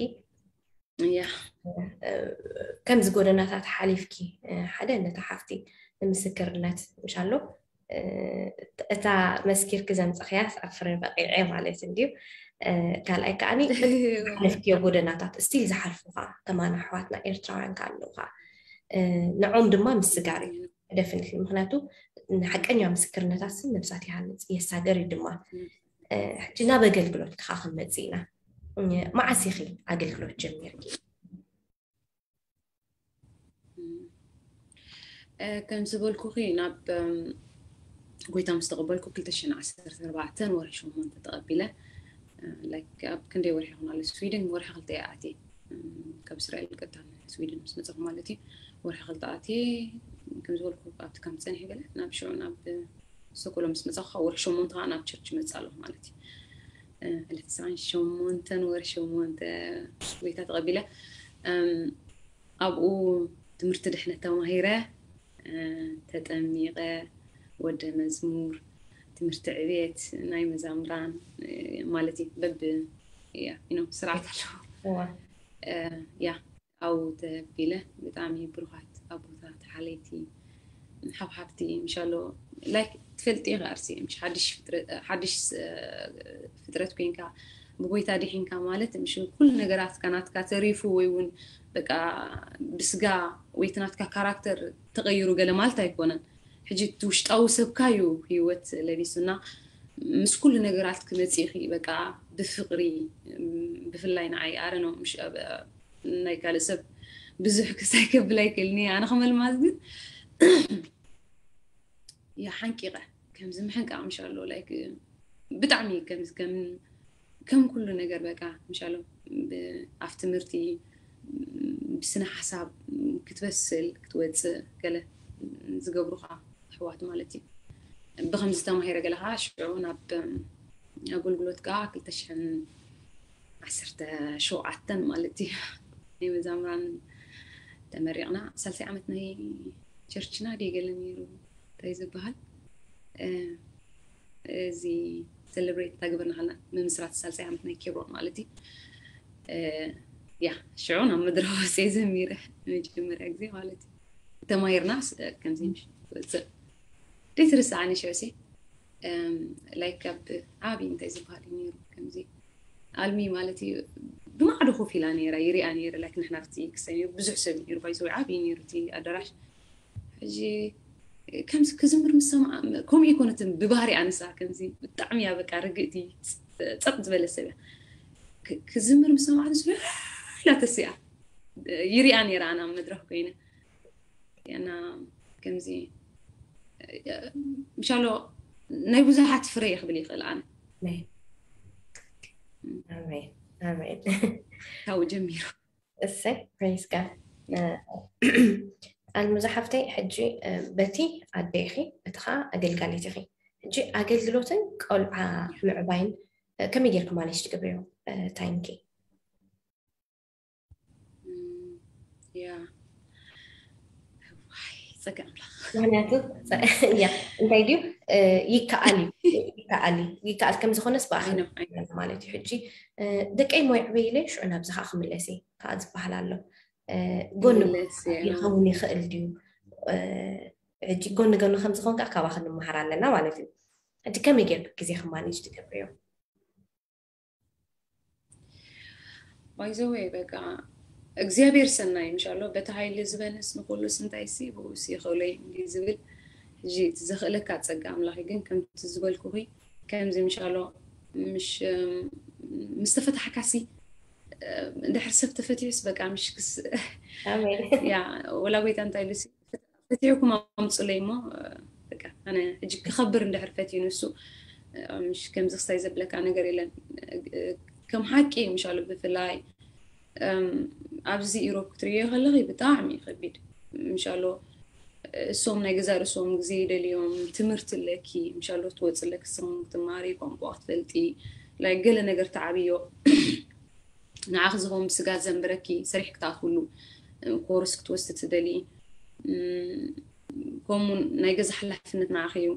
እያ ከምዚ ጎደናታት ሓሊፍኪ ሓደ ነታ ሓፍቲ ንምስክርነት ምሻሎ እታ መስኪርኪ ዘምፀኽያስ ኣብ ፍረ በቂዐ ማለት እንድዩ ካልኣይ ከዓኒ ሓለፍክዮ ጎደናታት ስቲል ዝሓልፉ ከዓ ከማና ኣሕዋትና ኤርትራውያን ከዓ ኣለዉ ከዓ ንዖም ድማ ምስጋር እዩ ደፍንት ምክንያቱ ንሓቀኛ ምስክርነታት ስም ነብሳት ይሃንፅ የሳገር እዩ ድማ ሕጂ ናብ ኣገልግሎት ከዓ ክንመፅእ ኢና መዓስ ኢኺ ኣገልግሎት ጀሚርኪ ከም ዝበልኩኺ ናብ ጎይታ ምስ ተቐበልኩ ክልተ ሽሕን ዓሰርተ ኣርባዕተን ወርሒ ሸሞንተ ተቐቢለ ኣብ ክንደይ ወርሒ ይኹን ኣሎ ስዊድን ወርሒ ክልተ እየ ኣትየ ካብ እስራኤል ቀጥታ ስዊድን ምስ መፀኹ ማለት እዩ ወርሒ ክልተ ኣትየ ከም ዝበልኩ ኣብቲ ከም ፀኒሐ ገለ ናብ ሽዑ ናብ ሰኮሎ ምስ መፃኹ ወርሒ ሸሞንተ ከዓ ናብ ቸርች መፅእ ኣለኹ ማለት እዩ ዕለት ዕስራን ሸሞንተን ወርሒ ሸሞንተ ጎይታ ተቐቢለ ኣብኡ ትምህርቲ ድሕነት ተማሂረ ተጠሚቐ ወደ መዝሙር ትምህርቲ ዕቤት ናይ መዛምራን ማለት እዩ። በብ ስርዓት ኣለዎ። ያ ኣብኡ ተቢለ ብጣዕሚ ብሩኻት ኣቦታት ሓለይቲ ሓብሓብቲ ምሻሎ ላይክ ትፈልጥ ኢኻ ኣርሲ ሓድሽ ፍጥረት ኮንካ ብጎይታ ድሒንካ ማለት ምሽ ኩሉ ነገራትካ ናትካ ተሪፉ ወይ እውን በቃ ብስጋ ወይ ናትካ ካራክተር ተቐይሩ ገለ ማለት ኣይኮነን። ሕጂ እቲ ውሽጣዊ ሰብካ እዩ ህይወት ለቢሱና ምስ ኩሉ ነገራት ክመፅእኺ በቃ ብፍቕሪ ብፍላይ ንዓይ ኣረኖ ናይ ካልእ ሰብ ብዙሕ ክሳይ ከብል ኣይክእልኒ ኣነ ከመልማዝ ግን ሓንቂቐ ከምዚ ምሕንቃቕ ምሻሎ ላይክ ብጣዕሚ ከምዚ ከም ከም ኩሉ ነገር በቃ ምሻሎ ኣብ ትምህርቲ ብስነ ሓሳብ ክትበስል ክትወፅእ ገለ ዝገብሩካ ኣሕዋት ማለት እዩ። ብከምዚ ተማሂረ ገለ ከዓ ሽዑ ናብ ኣገልግሎት ከዓ ክልተ ሽሕን ዓሰርተ ሸውዓተን ማለት እዩ ናይ መዛምራን ተመሪቕና ሳልሳይ ዓመት ናይ ቸርችና ድዩ ገለ ነይሩ እንታይ ዝበሃል እዚ ሴሌብሬት ታግበርና ከለና ምምስራት ሳልሳይ ዓመት ናይ ኬብሮን ማለት እዩ። ያ ሽዑ ናብ መድረኽ ወፅየ ዘሚረ መጀመርያ ግዜ ማለት እዩ። ተማሂርና ከምዚ ወፅእ ደይትርስዓኒ ሽዑ ሲ ላይክ ካብ ዓብዪ እንታይ ዝበሃል እዩ ነይሩ ከምዚ ኣልሚ ማለት እዩ ብማዕዶ ኮፍ ኢላ ነይራ ይሪኣ ነይረ ላይክ ንሕና ርቲ ክሰ ብዙሕ ሰብ ነይሩ ባይዘ ዓብዪ ነይሩ እቲ ኣዳራሽ ሕጂ ከምዚ ክዝምር ምስ ሰምዓ ከምኡ ይኮነትን ብባህሪ ኣነሳ ከምዚ ብጣዕሚ እያ በቃ ርግእቲ ፀጥ ዝበለ ሰብ እያ ክዝምር ምስ ሰምዓ ኢላ ተሲኣ ይሪኣ ነይራ ኣና መድረክ ኮይነ እና ከምዚ ምሻሎ ናይ ብዙሓት ፍረ ክብል ይኽእል ኣነ ኣሜን ኣሜን ካብኡ ጀሚሩ እሰይ praise God ኣልሙዛ ሓፍተይ ሕጂ በቲ ኣደ ኢኺ በቲ ከዓ ኣገልጋሊት ኢኺ ሕጂ ኣገልግሎትን ቆልዓ ምዕባይን ከመይ ጌርኪ ማኔጅ ትገብርዮ ታይምኪ ያ ዋይ ፀጋ ኣምላኽ ምክንያቱ ያ እንታይ ድዩ ይከኣል እዩ ይከኣል እዩ ይከኣል ከም ዝኾነስ ብኣኽል ማለት እዩ ሕጂ ደቀይ ሞይ ዕበይለ ሽዑ ናብዚ ከዓ ክምለስ እየ ከዓ ዝበሃል ኣሎ ጎን ይኸውን ይኽእል ድዩ ሕጂ ጎኒ ጎኒ ከም ዝኾን ከዓ ካባኽ ንምሃር ኣለና ማለት እዩ ሕጂ ከመይ ጌርክ ግዜ ክማኔጅ ትገብርዮ ባይዘወይ በቃ እግዚኣብሔር ሰናይ ምሻሎ በቲ ሃይሊ ዝበንስ ንኩሉስ እንታይ ሲ ብኡስ ይኽእሎ እዩ ዝብል ሕጂ እቲ ዘኽእለካ ፀጋ ኣምላኽ ግን ከምቲ ዝበልኩኺ ከምዚ ምሻሎ ምሽ ምስ ተፈታሕካሲ እንድሕር ሰብ ተፈቲሑስ በቃ ምሽ ክስ ያ ወላ ጎይታ እንታይ ኢሉ ፈቲሕኩም ኣምፁለይ እሞ በቃ ኣነ ሕጂ ክኸብር እንድሕር ፈትዩ ንሱ ምሽ ከምዚ ክስታይ ዘብለካ ነገር የለን ከም ሓቂ ምሻሉ ብፍላይ ኣብዚ ኢሮብ ክትርእዮ ከለኺ ብጣዕሚ ከቢድ ምሻሎ እሶም ናይ ገዛ ርእሶም ግዜ ይደልዮም ትምህርቲ ኣለኪ ምሻሎ ትወፅእ ኣለኪ ስም ክትማሪ ቋንቋ ክትፈልጢ ላይ ገለ ነገር ተዓብዮ ንዓኺ ዝኸውን ብስጋ ዘንብረኪ ሰሪሕ ክትኣትውሉ ኮርስ ክትወስድ ትደሊ ከምኡ ናይ ገዛ ሓላፍነት ንዓኺ እዩ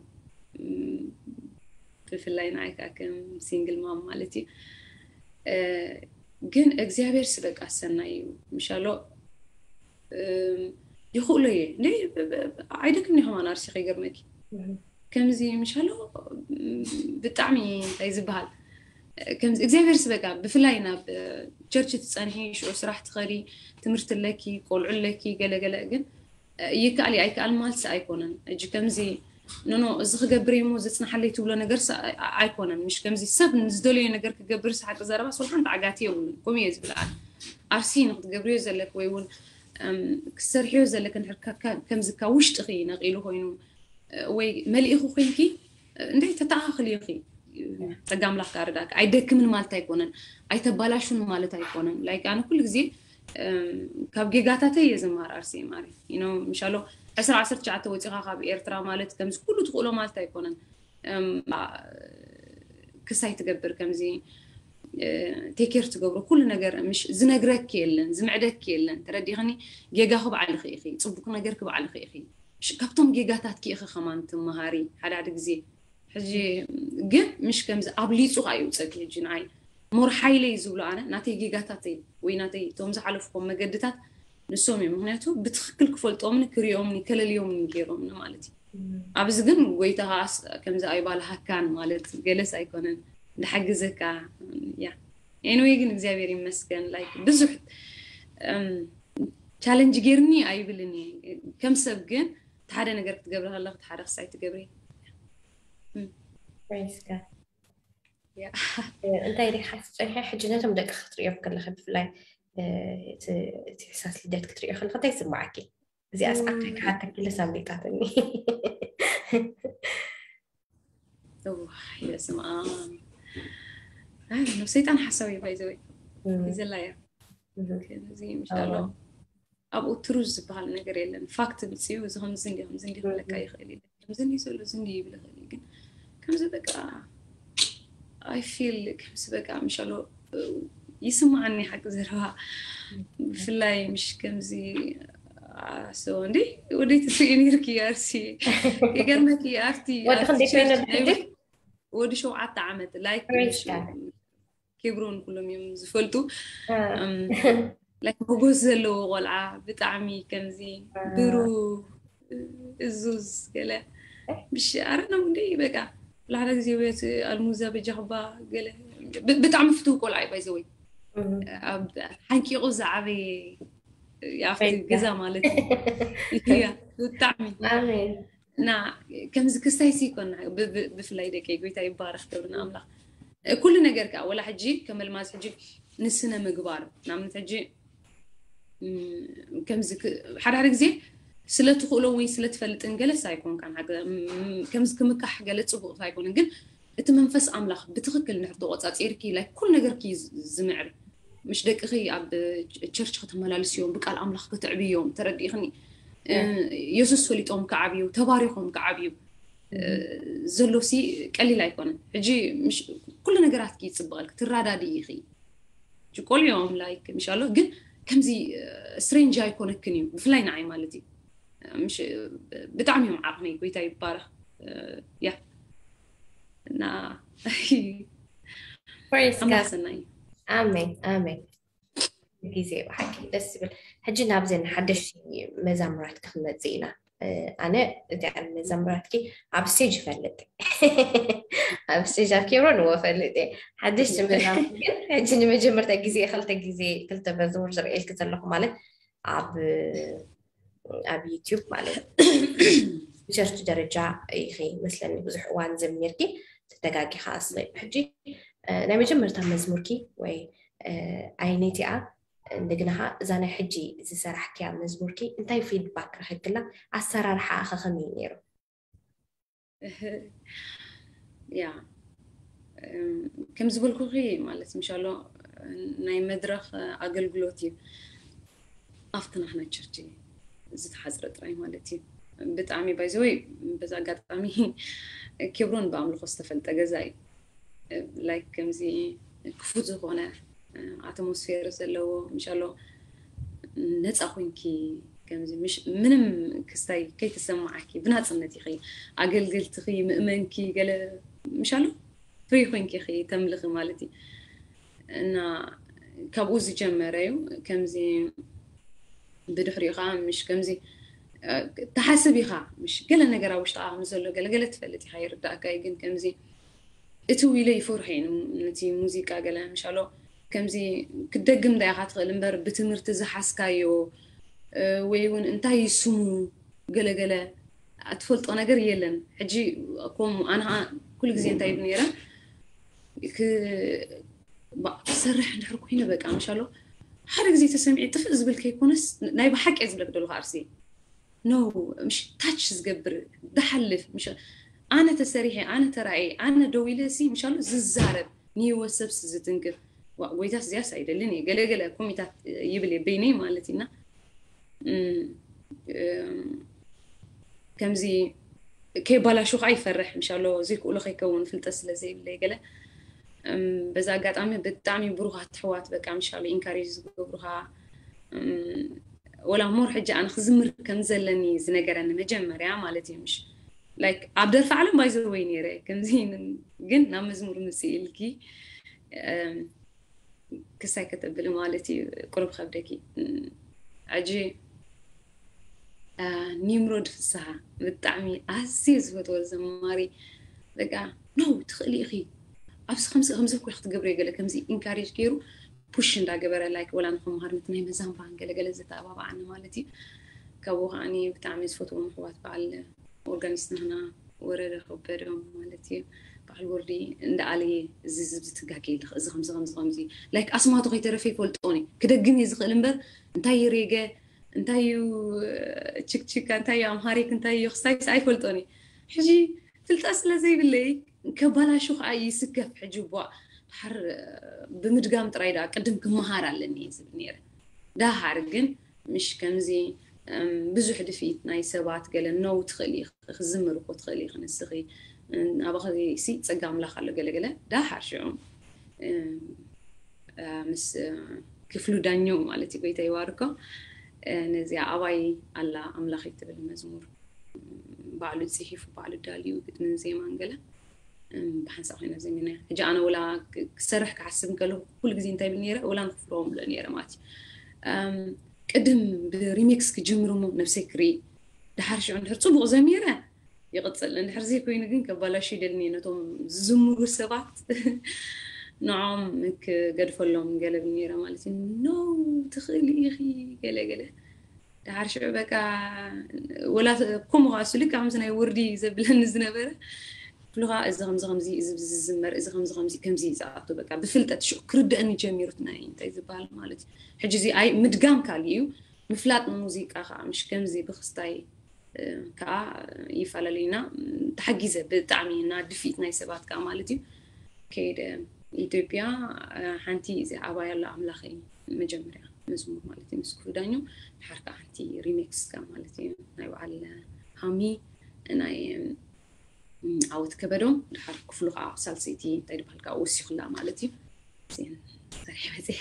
ብፍላይ ንዓይ ከዓ ከም ሲንግል ማም ማለት እዩ ግን እግዚኣብሔር ስበቃ ሰናይ እዩ ምሻሎ ይኽእሎ እየ እንደ ኣይደክም ኒ ከማን ኣርሲ ከይገርመኪ ከምዚ ምሻሎ ብጣዕሚ እንታይ ዝበሃል ከምዚ እግዚኣብሔር ስበቃ ብፍላይ ናብ ቸርች ትፀንሒ ሽዑ ስራሕ ትኸዲ ትምህርቲ ኣለኪ ቆልዑ ኣለኪ ገለገለ ግን ይከኣል ኣይከኣል ማልሲ ኣይኮነን እጂ ከምዚ ኖኖ እዚ ክገብር እሞ ዘፅናሓለይ ትብሎ ነገር ኣይኮነን ምሽ ከምዚ ሰብ ንዝደለዮ ነገር ክገብር ሓቂ ዘረባ ስልሓን ተዓጋቲ የብሉን ከምኡ እየ ዝብል ኣርሲ ንክትገብርዮ ዘለክ ወይ እውን ክሰርሕዮ ዘለክ ከምዚ ካብ ውሽጥኺ ነቂሉ ኮይኑ ወይ መሊእኹ ኮይንኪ እንደ ተተኣኻኽል ኢኺ ጸጋ ኣምላኽ ጋርዳክ ኣይደክምን ማለት ኣይኮነን ኣይተባላሹን ማለት ኣይኮነን ላይክ ኣነ ኩሉ ግዜ ካብ ጌጋታተይ እየ ዝማር ኣርሲ ማሪ you know ምሻሎ ዕስራ ዓሰርተ ትሽዓተ ወፂኻ ካብ ኤርትራ ማለት ከምዚ ኩሉ ትኽእሎ ማለት ኣይኮነን ክሳይ ትገብር ከምዚ ቴኬር ትገብሮ ኩሉ ነገር ምሽ ዝነግረክ የለን ዝምዕደክ የለን ተረዲኽኒ ጌጋ ክብዓልኺ ኢኺ ፅቡቅ ነገር ክብዓልኺ ኢኺ ካብቶም ጌጋታት ክኢኺ ከማን ትመሃሪ ሓደ ሓደ ግዜ ሕጂ ግን ምሽ ከምዚ ኣብሊፁ ከዓ ይውፀግ ሕጂ ንዓይ ሞር ሓይለይ ዝብሎ ኣነ ናተይ ጌጋታተይ ወይ ናተይ እቶም ዝሓለፍኩም መገድታት ንሶም እዮም። ምክንያቱ ብትክክል ክፈልጦምኒ ክሪኦምኒ ከለልዮምኒ ገይሮምኒ ማለት እዩ። ኣብዚ ግን ጎይታ ከዓስ ከምዚ ኣይባልሃካን ማለት ገለስ ኣይኮነን፣ እንዳሓግዘካ። ያ ኤንወይ ግን እግዚኣብሔር ይመስገን። ላይክ ብዙሕ ቻለንጅ ገይርኒ ኣይብልን እየ። ከም ሰብ ግን ሓደ ነገር ክትገብሪ ከለክ ሓደ ክሳይ ትገብሪ። እንታይ ሪሓ ትፀንሐ ሕጂ ነቶም ደቂ ክትሪኦም ከለካ ብፍላይ እቲ ሕሳስ ልደት ክትሪኦ ከለካ እንታይ ይስማዓኪ? እዚኣ ሰዓት ክሓተኪለ ሳምሪጣትኒ። ስማ ሰይጣን ሓሳዊ ባይዘወይ ዘላ እያ። እዚ ምሻሎ ኣብኡ ትሩዝ ዝበሃል ነገር የለን። ፋክት ምፅዩ እዚ ከምዚ እንዲ ከምዚ እንዲ ክብለካ ይኽእል እዩ። ከምዚ እንዲ ዘሎ እዚ እንዲ ይብል ይኽእል እዩ። ግን ከምዚ በቃ ኣይ ፊል ከምዚ በቃ ምሻሎ ይስማዓኒ ሓቂ ዘረባ ብፍላይ ምሽ ከምዚ ሰው እንዲ ወደይ ትስኢ ነርኪ ኣርሲ ይገርመኪ ኣርቲ ወዲ ክንደይ ኮይነ ወዲ ሸውዓተ ዓመት ላይክ ኬብሮን ኩሎም እዮም ዝፈልጡ። ላይክ ሞጎስ ዘለዎ ቆልዓ ብጣዕሚ ከምዚ ብሩ እዙዝ ገለ ምሽ ኣረና እንደ በቃ ብላዕለ ግዜ ቤት ኣልሙዛ በጃኽባ ገለ ብጣዕሚ ፍትው ቆልዓ እዩ ባይዘወይ ሓንቂቑ ዝዓበየ ኣብቲ ገዛ ማለት እዩ። ብጣዕሚ እና ከምዚ ክስታይ ሲ ይኮና ብፍላይ ደቂ ጎይታ ይባረክ ክብሪ ንኣምላኽ። ኩሉ ነገር ከዓ ወላ ሕጂ ከመልማዝ ሕጂ ንስነ ምግባር ናምነት ሕጂ ከምዚ ሓደ ሓደ ግዜ ስለ ትኽእሎ ወይ ስለ ትፈልጥን ገለስ ኣይኮንካን። ከምዚ ክምካሕ ገለ ፅቡቅ ኣይኮነን፣ ግን እቲ መንፈስ ኣምላኽ ብትኽክል እንድሕር ተቆፃፂርኪ ላይ ኩሉ ነገርኪ ዝምዕር። ምሽ ደቅኺ ኣብ ቸርች ከተመላልስዮም ብቃል ኣምላኽ ከተዕብዮም ተረዲእኽኒ። የሱስ ፈሊጦም ክዓብዩ ተባሪኾም ክዓብዩ ዘሎሲ ቀሊል ኣይኮነን። ሕጂ ኩሉ ነገራትኪ ይፅበቐልኪ ትራዳዲ ኢኺ። ቆልዮም ላይክ ምሻሎ ግን ከምዚ ስትሬንጅ ኣይኮነክን እዩ ብፍላይ ንዓይ ማለት እዩ። ብጣዕሚ እዮም ዓቕነይ ጎይታ ይባረኽ። ያ እና ኣምላኽ ሰናይ። ኣሜን ኣሜን። ግዜ ብሓቂ ደስ ዝብል። ሕጂ ናብዘን ሓደሽቲ መዛሙራት ክመፅእ ኢና። ኣነ እዚኣን መዛሙራትኪ ኣብ ስቴጅ ይፈልጥ ኣብ ስቴጅ ኣብ ኬብሮን እዎ ፈልጥ እየ። ሓደሽቲ መዛሙር ግን ሕጂ ንመጀመርታ ግዜ ክልተ ግዜ ክልተ መዝሙር ዝርእየልኪ ዘለኹ ማለት ኣብ ኣብ ዩቲዩብ ማለት ብቸርች ደረጃ ኢኺ መስለኒ ብዙሕ እዋን ዘሚርኪ ተተጋጊኻ ኣስበይ። ሕጂ ናይ መጀመርታ መዝሙርኪ ወይ ኣይነቲኣ እንደገና እዛ ናይ ሕጂ ዝሰራሕክያ መዝሙርኪ እንታይ ፊድባክ ረኺብክላ? ኣሰራርሓ ከ ከመይ ነይሩ? ያ ከም ዝበልኩኺ ማለት ምሻሎ ናይ መድረኽ ኣገልግሎት እዩ ኣብቲ ናሕና ቸርች ዝተሓፅረ ጥራይ ማለት እዩ። ብጣዕሚ ባይዘወይ በዚ ኣጋጣሚ ኬብሮን ብኣምልኾ ዝተፈልጠ ገዛ እዩ። ላይክ ከምዚ ክፉት ዝኾነ ኣትሞስፌር ዘለዎ ምሻሎ ነፃ ኮንኪ ከምዚ ምንም ክስታይ ከይተሰማዓኪ ብናፅነት ኢኺ ኣገልገልትኺ ምእመንኪ ገለ ምሻሎ ፍሪ ኮንኪ ኢኺ ተምልኺ ማለት እዩ። እና ካብኡ ዝጀመረ እዩ ከምዚ ብድሕሪኡ ከዓ ምሽ ከምዚ ተሓስብ ኢኻ ምሽ ገለ ነገር ኣብ ውሽጥኻ ከም ዘሎ ገለገለ ትፈልጥ ኢኻ ይርዳእካ እዩ። ግን ከምዚ እቲ ዊለ ይፈርሑ እዮም ነቲ ሙዚቃ ገለ ምሻሎ ከምዚ ክደግም ዳ ኢኻ ትኽእል እምበር ብትምህርቲ ዝሓዝካዮ ወይ እውን እንታይ ይስሙ ገለገለ ኣትፈልጦ ነገር የለን። ሕጂ ከምኡ ኣነ ከዓ ኩሉ ግዜ እንታይ ይብል ነይረ ክሰርሕ እንድሕር ኮይነ በቃ ምሻሎ ሓደ ግዜ ተሰሚዒ ጥፍእ ዝብል ከይኮነስ ናይ ብሓቂ ዝብለክ ደለኹ ኣርሲ ኖ ምሽ ታች ዝገብር ዝሓልፍ ምሽ ኣነ ተሰሪሐ ኣነ ተራእየ ኣነ ደው ኢለ ሲ ምሻሎ ዝዛረብ ንህይወት ሰብስ ዝትንክፍ ጎይታስ እዚያስ ኣይደልን እየ ገለገለ ኮሚታት ይብል እየ በይነይ ማለት ኢና ከምዚ ከይባላሹ ከዓ ይፈርሕ ምሻሎ ዘይክእሎ ከይከውን ፍልጠት ስለ ዘይብለይ ገለ በዛ ኣጋጣሚ ብጣዕሚ ብሩኻት ኣሕዋት በቃ ምሻሎ ኢንካሬጅ ዝገብሩኻ ወላ ሞር ሕጂ ኣነ ክዝምር ከም ዘለኒ ዝነገረኒ መጀመርያ ማለት እዩ ምሽ like ኣብ ደርፊ ዓለም ባይዘወይ ነይረ ከምዚ ግን ናብ መዝሙር ምፅእ ኢልኪ ክሳይ ከተብሊ ማለት እዩ። ቁሩብ ከብደኪ ሕጂ ኒምሮድ ፍስሃ ብጣዕሚ ኣዝየ ዝፈትዎ ዘማሪ በቃ ኖ ትኽእሊ ኢኺ ኣብዚ ከምዚ ከምዚ እኮ ክትገብሪ ገለ ከምዚ ኢንካሬጅ ገይሩ ፑሽ እንዳገበረ ላይክ ወላ ንክመሃር ነቲ ናይ መዛምራን ገለገለ ዘተኣባብዓኒ ማለት እዩ። ካብኡ ከዓኒ ብጣዕሚ ዝፈትዎም ኣሕዋት በዓል ኦርጋኒስት ንህና ወረደ ከበደ ማለት እዩ። በዓል ወርዲ እንዳኣለየ እዚ ዝብዚ ትጋገ ኢልክ እዚ ከምዚ ከምዚ ከምዚ ላይክ ኣስማቱ ከይተረፈ ይፈልጦኒ ክደግም እየ ዝኽእል እምበር እንታይ እዩ ሬገ እንታይ እዩ ችክችካ እንታይ እዩ ኣምሃሪክ እንታይ እዩ ክስታይስ ኣይፈልጦኒ ሕጂ ፍልጠት ስለ ዘይብለይ ከባላሹ ከዓ ይስከፍ ሕጂ ቧ ድሓር ብምድጋም ጥራይ ዳ ቅድም ክመሃር ኣለኒ ዝብል ነይረ ዳሓር ግን ምሽ ከምዚ ብዙሕ ድፊት ናይ ሰባት ገለ ነው ትኽእል ክዝምር እኮ ትኽእል ክንስኺ ኣባኸ ሲ ፀጋ ኣምላኽ ኣሎ ገለገለ ዳሓር ሽዑ ምስ ክፍሉ ዳኘው ማለት እዩ ጎይታ ይዋርኮ ነዚኣ ኣባይ ኣላ ኣምላኽ ትብል መዝሙር ባዕሉ ፅሒፉ ባዕሉ ዳልዩ ግጥምን ዜማን ገለ ብሓንሳብ ኮይና ዘሚና ሕጂ ኣነ ወላ ክሰርሕ ክሓስብ ከለኩ ኩሉ ግዜ እንታይ ብል ነረ ወላ ንክፍርዎም ብሎ ነረ ማለት እዩ ቅድም ብሪሚክስ ክጅምር ሞ ነብሰይ ክርኢ ድሓር ሽዑ እንድሕር ፅቡቅ ዘሚረ ይቕፅል እንድሕር ዘይኮይኑ ግን ከባላሹ ይደልኒ ነቶም ዝዝምሩ ሰባት ንዖም ክገድፈሎም ገለ ብል ነረ ማለት እዩ ኖ ትኽእሊ ኢኺ ገለ ገለ ድሓር ሽዑ በቃ ወላ ከምኡ ከዓ ስልክ ከምዚ ናይ ወርዲ ዘብለኒ ዝነበረ ክፍሉ ከዓ እዚ ከምዚ ከምዚ እዚ ዝዝመር እዚ ከምዚ ከምዚ ከምዚ ዝኣቱ በቃ ብፍልጠት ሽዑ ክርደአኒ ጀሚሩት ናይ እንታይ ዝበሃል ማለት እዩ ሕጂ እዚ ኣይ ምድጋም ካል እዩ ምፍላጥ ሙዚቃ ከዓ ምሽ ከምዚ ብክስታይ ከዓ ይፈላለዩና ተሓጊዘ ብጣዕሚ እና ድፊት ናይ ሰባት ከዓ ማለት እዩ ከይደ ኢትዮጵያ ሓንቲ እዚ ኣባይ ኣሎ ኣምላኸይ መጀመርያ መዝሙር ማለት እዩ ምስ ክፍሉ ዳኘው ድሓር ከዓ ሓንቲ ሪሜክስ ከዓ ማለት እዩ ናይ በዓል ሃሚ ናይ ዓወት ከበዶም ድሓር ክፍሉ ከዓ ሳልሰይቲ እንታይ ድበሃል ከዓ ወሲኹላ ማለት እዩ ሰሪሐ መፅየ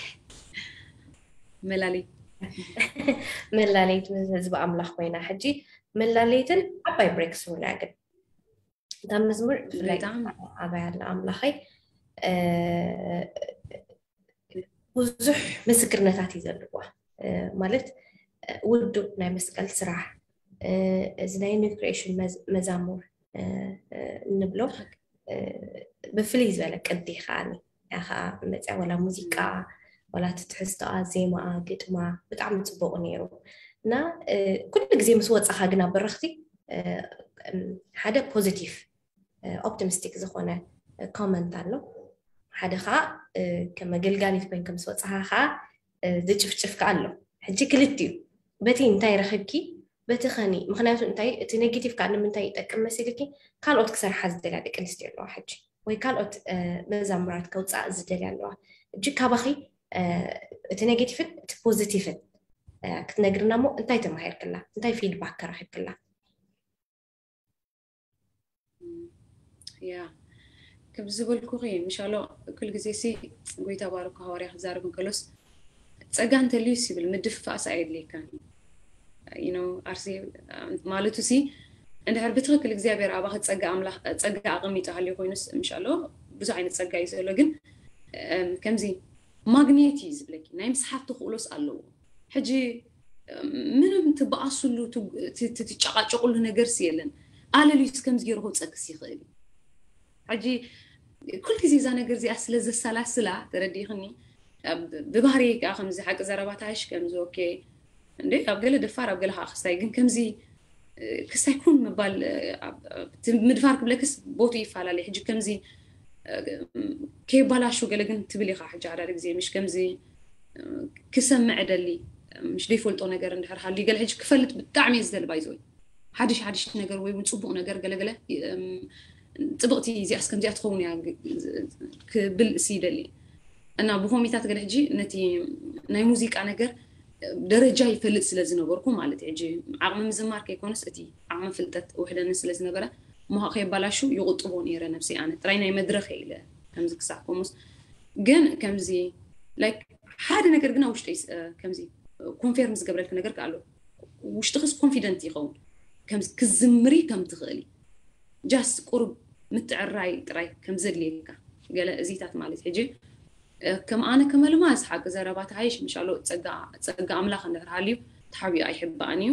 መላለይ መላለይት ምስ ህዝቢ ኣምላኽ ኮይና ሕጂ መላለይትን ዓባይ ብሬክ ስሩን እያ ግን እታ መዝሙር ብፍላይ ኣባይ ኣላ ኣምላኸይ ብዙሕ ምስክርነታት እዩ ዘለዋ ማለት ውዱእ ናይ መስቀል ስራሕ እዚ ናይ ኒው ክሪኤሽን መዛሙር እንብሎ ብፍልይ ዝበለ ቅዲ ከዓኒ እያ ከዓ መፅያ ዋላ ሙዚቃ ዋላ እቲ ትሕዝቶኣ ዜማኣ ግጥማ ብጣዕሚ ፅቡቅ ነይሩ እና ኩሉ ግዜ ምስ ወፃኻ ግን ኣብ በረኽቲ ሓደ ፖዚቲቭ ኦፕቲሚስቲክ ዝኾነ ኮመንት ኣሎ ሓደ ከዓ ከም ኣገልጋሊት ኮይንካ ምስ ወፃኻ ከዓ ዝጭፍጭፍ ከዓ ኣሎ ሕጂ ክልቲኡ በቲ እንታይ ረኺብኪ በቲ ኸኒ ምክንያቱ እንታይ እቲ ኔጌቲቭ ከዓ ንምንታይ ይጠቅም መሲልኪ ካልኦት ክሰርሓ ዝደልያ ደቂ ኣንስትዮ ኣለዋ ሕጂ ወይ ካልኦት መዛሙራት ከውፃእ ዝደልያ ኣለዋ ሕጂ ካባኺ እቲ ኔጌቲቭን እቲ ፖዚቲቭን ክትነግርና ሞ እንታይ ተማሂርክላ እንታይ ፊድባክ ከረኺብክላ ያ ከም ዝበልኩኺ ምሻሎ ኩል ግዜ ሲ ጎይታ ባርኮ ሃዋርያ ክዛረብ እንከሎስ ጸጋ እንተልዩስ ይብል ምድፍፋእስ ኣየድልየካን እዩ you know ኣርሲ ማለቱ ሲ እንድሕር ብትክክል እግዚኣብሔር ኣባኺ ጸጋ ኣምላኽ ጸጋ ኣቐሚጡ ሃልዩ ኮይኑስ ምሻሎ ብዙሕ ዓይነት ጸጋ እዩ ዘሎ ግን ከምዚ ማግኔት እዩ ዝብለኪ ናይ ምስሓብ ተኽእሎስ ኣለዎ ሕጂ ምንም ትበኣስሉ ትጨቃጨቁሉ ነገር የለን ኣለልዩስ ከምዚ ገይሩ ክውፀክስ ይኽእል እዩ ሕጂ ኩል ግዜ እዛ ነገር እዚኣ ስለ ዘሰላስላ ተረዲእክኒ ብባህሪ ከዓ ከምዚ ሓቂ ዘረባታሽ ከምዚ ኦኬ እንደ ኣብ ገለ ደፋር ኣብ ገለ ከዓ ክስታይ ግን ከምዚ ክስታይ ኩን ምባል ምድፋር ክብለክስ ቦቱ ይፈላለ ሕጂ ከምዚ ከይባላሹ ገለ ግን ትብል ኢኻ ሕጂ ሓዳደ ግዜ ምሽ ከምዚ ክሰምዕ ደሊ ምሽ ዘይፈልጦ ነገር እንድሕር ሃልዩ ገለ ሕጂ ክፈልጥ ብጣዕሚ እየ ዝደሊ ባይዘወይ ሓድሽ ሓድሽ ነገር ወይ እውን ፅቡቅ ነገር ገለገለ ፅብቅቲ እዚኣስ ከምዚኣ ትኸውን እያ ክብል እሲ ይደሊ እና ብኮሚታት ገለ ሕጂ ነቲ ናይ ሙዚቃ ነገር ደረጃ ይፈልጥ ስለ ዝነበርኩ ማለት ሕጂ ዓቕሚ ምዝማር ከይኮነስ እቲ ዓቕሚ ፍልጠት ውሕደኒ ስለ ዝነበረ ሞሃ ከየባላሹ ይቁጥቦ ነይረ ነብሰይ ኣነ ጥራይ ናይ መድረክ ኢለ ከምዚ ክሳዕ ኮሙስ ግን ከምዚ ላይክ ሓደ ነገር ግና ውሽጠይ ከምዚ ኮንፌርም ዝገብረልክ ነገር ኣሎ ውሽጥክስ ኮንፊደንት ይኸውን ከምዚ ክዝምሪ ከም ትኽእሊ just ቁሩብ ምትዕራይ ጥራይ ከም ዘድልየካ ገለ እዚታት ማለት ሕጂ ከም ኣነ ከመልማስ ሓቂ ዘረባ ተሓይሽ ምሻሎ ጸጋ ኣምላኽ እንድሕር ሃልዩ ተሓቢኡ ኣይሕባእን እዩ።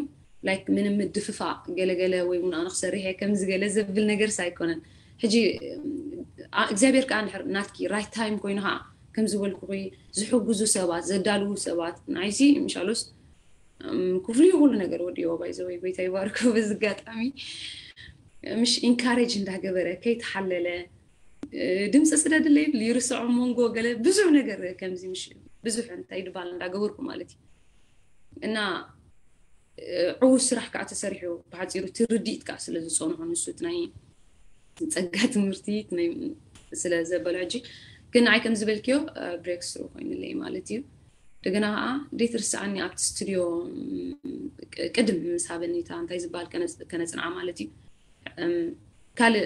ላይክ ምንም ምድፍፋእ ገለገለ ወይ እውን ኣነ ክሰርሕ እየ ከምዚ ገለ ዘብል ነገርስ ኣይኮነን። ሕጂ እግዚኣብሔር ከዓ እንድሕር ናትኪ right time ኮይኑ ከዓ ከም ዝበልኩኺ ዝሕግዙ ሰባት ዘዳልዉ ሰባት ንዓይሲ ምሻሎስ ክፍሉ እዩ ኩሉ ነገር ወዲዎ ባይዘወይ ጎይታ ይባርኮ። በዚ ኣጋጣሚ ምሽ ኢንካሬጅ እንዳገበረ ከይተሓለለ ድምፂ ስደድለ ይብል ይርስዖ መንጎ ገለ ብዙሕ ነገር ከምዚ ምሽ ብዙሕ እንታይ ድባል እንዳገበርኩ ማለት እዩ እና ዕዉት ስራሕ ከዓ ተሰሪሑ ብሓፂሩ ትርድኢት ከዓ ስለ ዝፀንሖ ንሱ ናይ ጸጋ ትምህርቲ ስለ ዘበሎ ሕጂ ግን ንዓይ ከም ዝበልክዮ ብሬክ ስሩ ኮይኑለይ ማለት እዩ። እንደገና ከዓ ደይትርስዓኒ ኣብቲ ስቱድዮ ቅድም ምስ ሃበኒታ እንታይ ዝበሃል ከነፅንዓ ማለት እዩ። ካልእ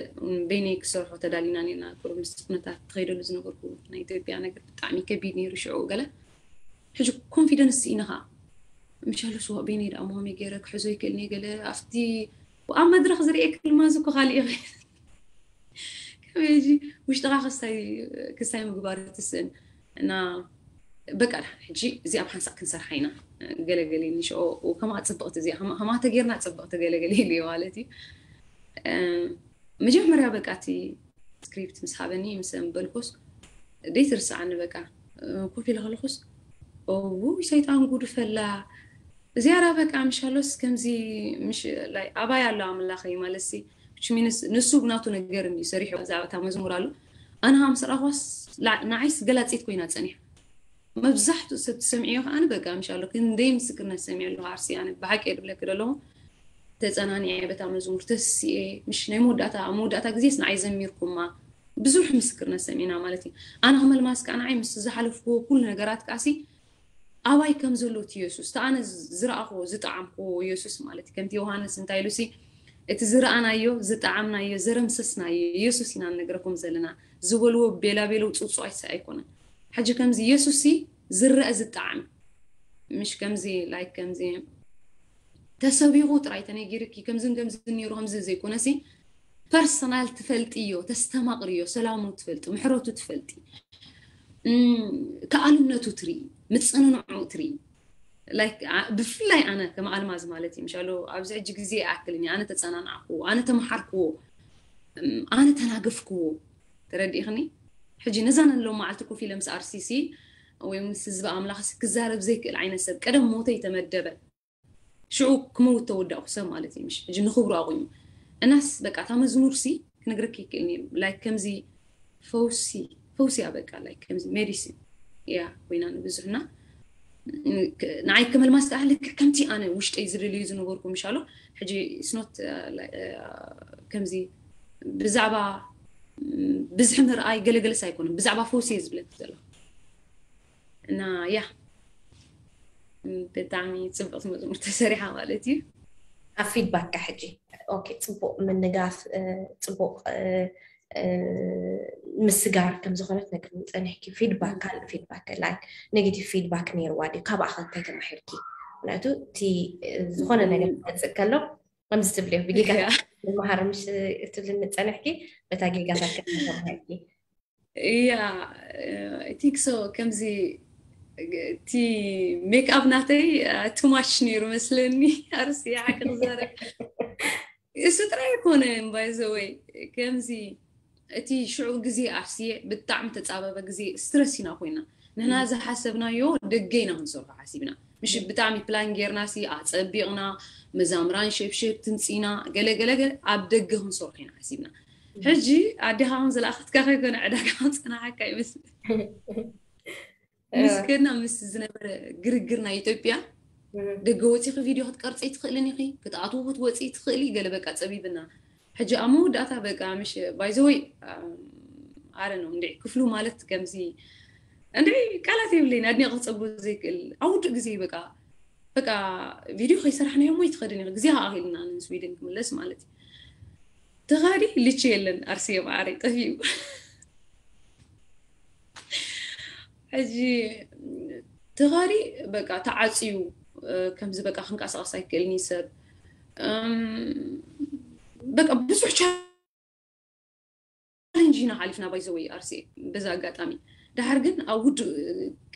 በይነይ ክሰርሖ ተዳሊና ኔና ቁሩብ ምስ ኩነታት ተኸይደሉ ዝነበርኩ ናይ ኢትዮጵያ ነገር ብጣዕሚ ከቢድ ነይሩ ሽዑ ገለ ሕጂ ኮንፊደንስ ስኢነ ከዓ ምሻሉ ስዋ በይነይ ደኣ መሆመይ ገይረ ክሕዞ ይክእልኒ ገለ ኣብቲ ኣብ መድረክ ዝርእየ ክልማዝ እኮ ካሊእ ይኽእል ከመይ ሕጂ ውሽጥኻ ክስታይ ክስታይ ምግባር ትስእን እና በቃ ሕጂ እዚኣ ብሓንሳእ ክንሰርሓ ኢና ገለገለ ንሽኦ ከማ ፅብቕቲ እዚኣ ከማ ተጌርና ፅብቕቲ ገለገለ ኢሉ ማለት እዩ መጀመርያ በቃ እቲ ስክሪፕት ምስ ሃበኒ ምስ በልኩስ ደይትርስዓኒ በቃ ኮፍ ኢለ ከለኹስ ውይ ሰይጣን ጉዱ ፈላ እዚያራ በቃ ምሻሎስ ከምዚ ኣባይ ኣሎ ኣምላኸይ ማለት ሲ ንሱ ብናቱ ነገር እንዲ ሰሪሑ ዛዕባታ መዝሙር ኣሎ ኣነ ሃም ስራኳስ ንዓይስ ገላፂት ኮይና ፀኒሕ መብዛሕትኡ ሰብ ትሰምዕዮ ከዓኒ በቃ ምሻሎ ክንደይ ምስክርነት ሰሚዐ ኣለኹ ዓርሲ ኣነ ብሓቂ ድብለክ ደለኹ ተፀናኒዐ በታ መዝሙር ተስኤ ምሽ ናይ መወዳእታ ኣብ መወዳእታ ግዜስ ንዓይ ዘሚርኩማ ብዙሕ ምስክርነት ሰሚዕና ማለት እዩ ኣነ ከመልማስ ከዓ ንዓይ ምስ ዝሓለፍኩዎ ኩሉ ነገራት ከዓሲ ኣባይ ከም ዘሎ እቲ የሱስ እቲ ኣነ ዝረኣኽዎ ዝጠዓምክዎ የሱስ ማለት እዩ ከምቲ ዮሃንስ እንታይ ኢሉሲ እቲ ዝረኣናዮ ዝጠዓምናዮ ዘረምሰስናዮ የሱስ ኢና ንነግረኩም ዘለና ዝበልዎ ቤላቤለው ፅውፅዋይ ኣይኮነን ሕጂ ከምዚ የሱስ ዝረአ ዝጠዓም ምሽ ከምዚ ላይክ ከምዚ ተሰቢኹ ጥራይ ተነጊርኪ ከምዝን ከምዝን ነይሩ ከምዚ ዘይኮነሲ ፐርሰናል ትፈልጥዮ ተስተማቕርዮ ሰላሙ ትፈልጢ ምሕረቱ ትፈልጢ ከኣልነቱ ትርኢ ምፅንንዑ ትርኢ ብፍላይ ኣነ ከም ኣልማዝ ማለት እዩ ምሻሎ ኣብዚ ሕጂ ግዜ ይኣክልኒ ኣነ ተፀናናዕክዎ ኣነ ተመሓርክዎ ኣነ ተናገፍክዎ ተረዲእኽኒ ሕጂ ነዛ ነሎ መዓልቲ ኮፍ ኢለ ምስ ኣርሲሲ ወይ ምስ ህዝቢ ኣምላኽ ክዛረብ ዘይክእል ዓይነት ሰብ ቀደም ሞተይ ተመደበ ሽዑ ክመውት ተወዳእኩ ሰብ ማለት እዩ ምሽ ሕጂ ንኽብሩ ኣቑሙ እናስ በቃ እታ መዝሙር ሲ ክነግረኪ ይክእል ላይክ ከምዚ ፈውሲ ፈውሲ እያ በቃ ላይክ ከምዚ ሜዲሲን እያ ኮይና ንብዙሕና ንዓይ ከመልማስ ከዓ ልክዕ ከምቲ ኣነ ውሽጠይ ዝደልዩ ዝነበርኩ ምሻሎ ሕጂ ስኖት ከምዚ ብዛዕባ ብዝሒ ምርኣይ ገለገለስ ኣይኮነን ብዛዕባ ፈውሲ እየ ዝብለክ ዘለኹ እና ያ ብጣዕሚ ፅብቕቲ መዝሙር ተሰሪሓ ማለት እዩ ኣብ ፊድባክ ሕጂ ኦኬ ፅቡቅ ምንጋፍ ፅቡቅ ምስጋር ከም ዝኾነት ነግርኒ ፀኒሕኪ ፊድባክ ካልእ ፊድባክ ላይክ ኔጌቲቭ ፊድባክ ነይርዋ ድዩ ካባኣ ከ እንታይ ተማሂርኪ ምክንያቱ እቲ ዝኾነ ነገር ክመፅእ ከሎ ከምዚ ትብልዮ ብጌጋ መሃር ምሽ ትብልኒ ፀኒሕኪ በታ ጌጋታት ከተማሂርኪ ያ ቲንክ ሶ ከምዚ እቲ ሜክኣፕ ናተይ ቱማች ነይሩ መስለኒ ኣርሲ ሓቂ ክዛረብ እሱ ጥራይ ኣይኮነን ባይዘወይ ከምዚ እቲ ሽዑ ግዜ ኣርሲየ ብጣዕሚ ተፃበበ ግዜ ስትረስ ኢና ኮይና ንሕና ዝሓሰብናዮ ደገ ኢና ክንሰርሖ ሓሲብና ምሽ ብጣዕሚ ፕላን ጌርና ሲ ኣፀቢቕና መዛምራን ሸብሸብ ትምፂና ገለገለ ኣብ ደገ ክንሰርሖ ኢና ሓሲብና ሕጂ ኣዴኻ ከም ዝለኣኸትካ ከይኮነ ዕዳጋ ከም ፀናሓካ ይመስል ምስ ከድና ምስ ዝነበረ ግርግር ናይ ኢትዮጵያ ደገ ወፂኺ ቪድዮ ክትቀርፂ ትኽእልን ኢኺ ክትኣትዉ ክትወፂ ትኽእሊ ገለ በቃ ፀቢብና ሕጂ ኣብ መወዳእታ በቃ ምሽ ባይዘወይ ኣረ ነው እንዲ ክፍሉ ማለት ከምዚ እንዲ ቃላት የብለይን ኣድኒቀ ክፀግቦ ዘይክእል ኣብ ውድእ ግዜ በቃ በቃ ቪድዮ ከይሰራሕናዮ ሞ ይትኸድን ኢኺ ግዜ ኣኺልና ንስዊድን ክምለስ ማለት እዩ ተኻዲ ልቺ የለን ኣርሲ የማዓረይ ጠፊኡ ሕጂ ተኻዲ በቃ ተዓፅዩ ከምዚ በቃ ክንቀሳቀስ ኣይክእልኒ ሰብ በቃ ብዙሕ ቻለንጅ ኢና ሓሊፍና ባይዘወይ ኣርሲ። በዛ ኣጋጣሚ ድሓር ግን ኣብ ውዱእ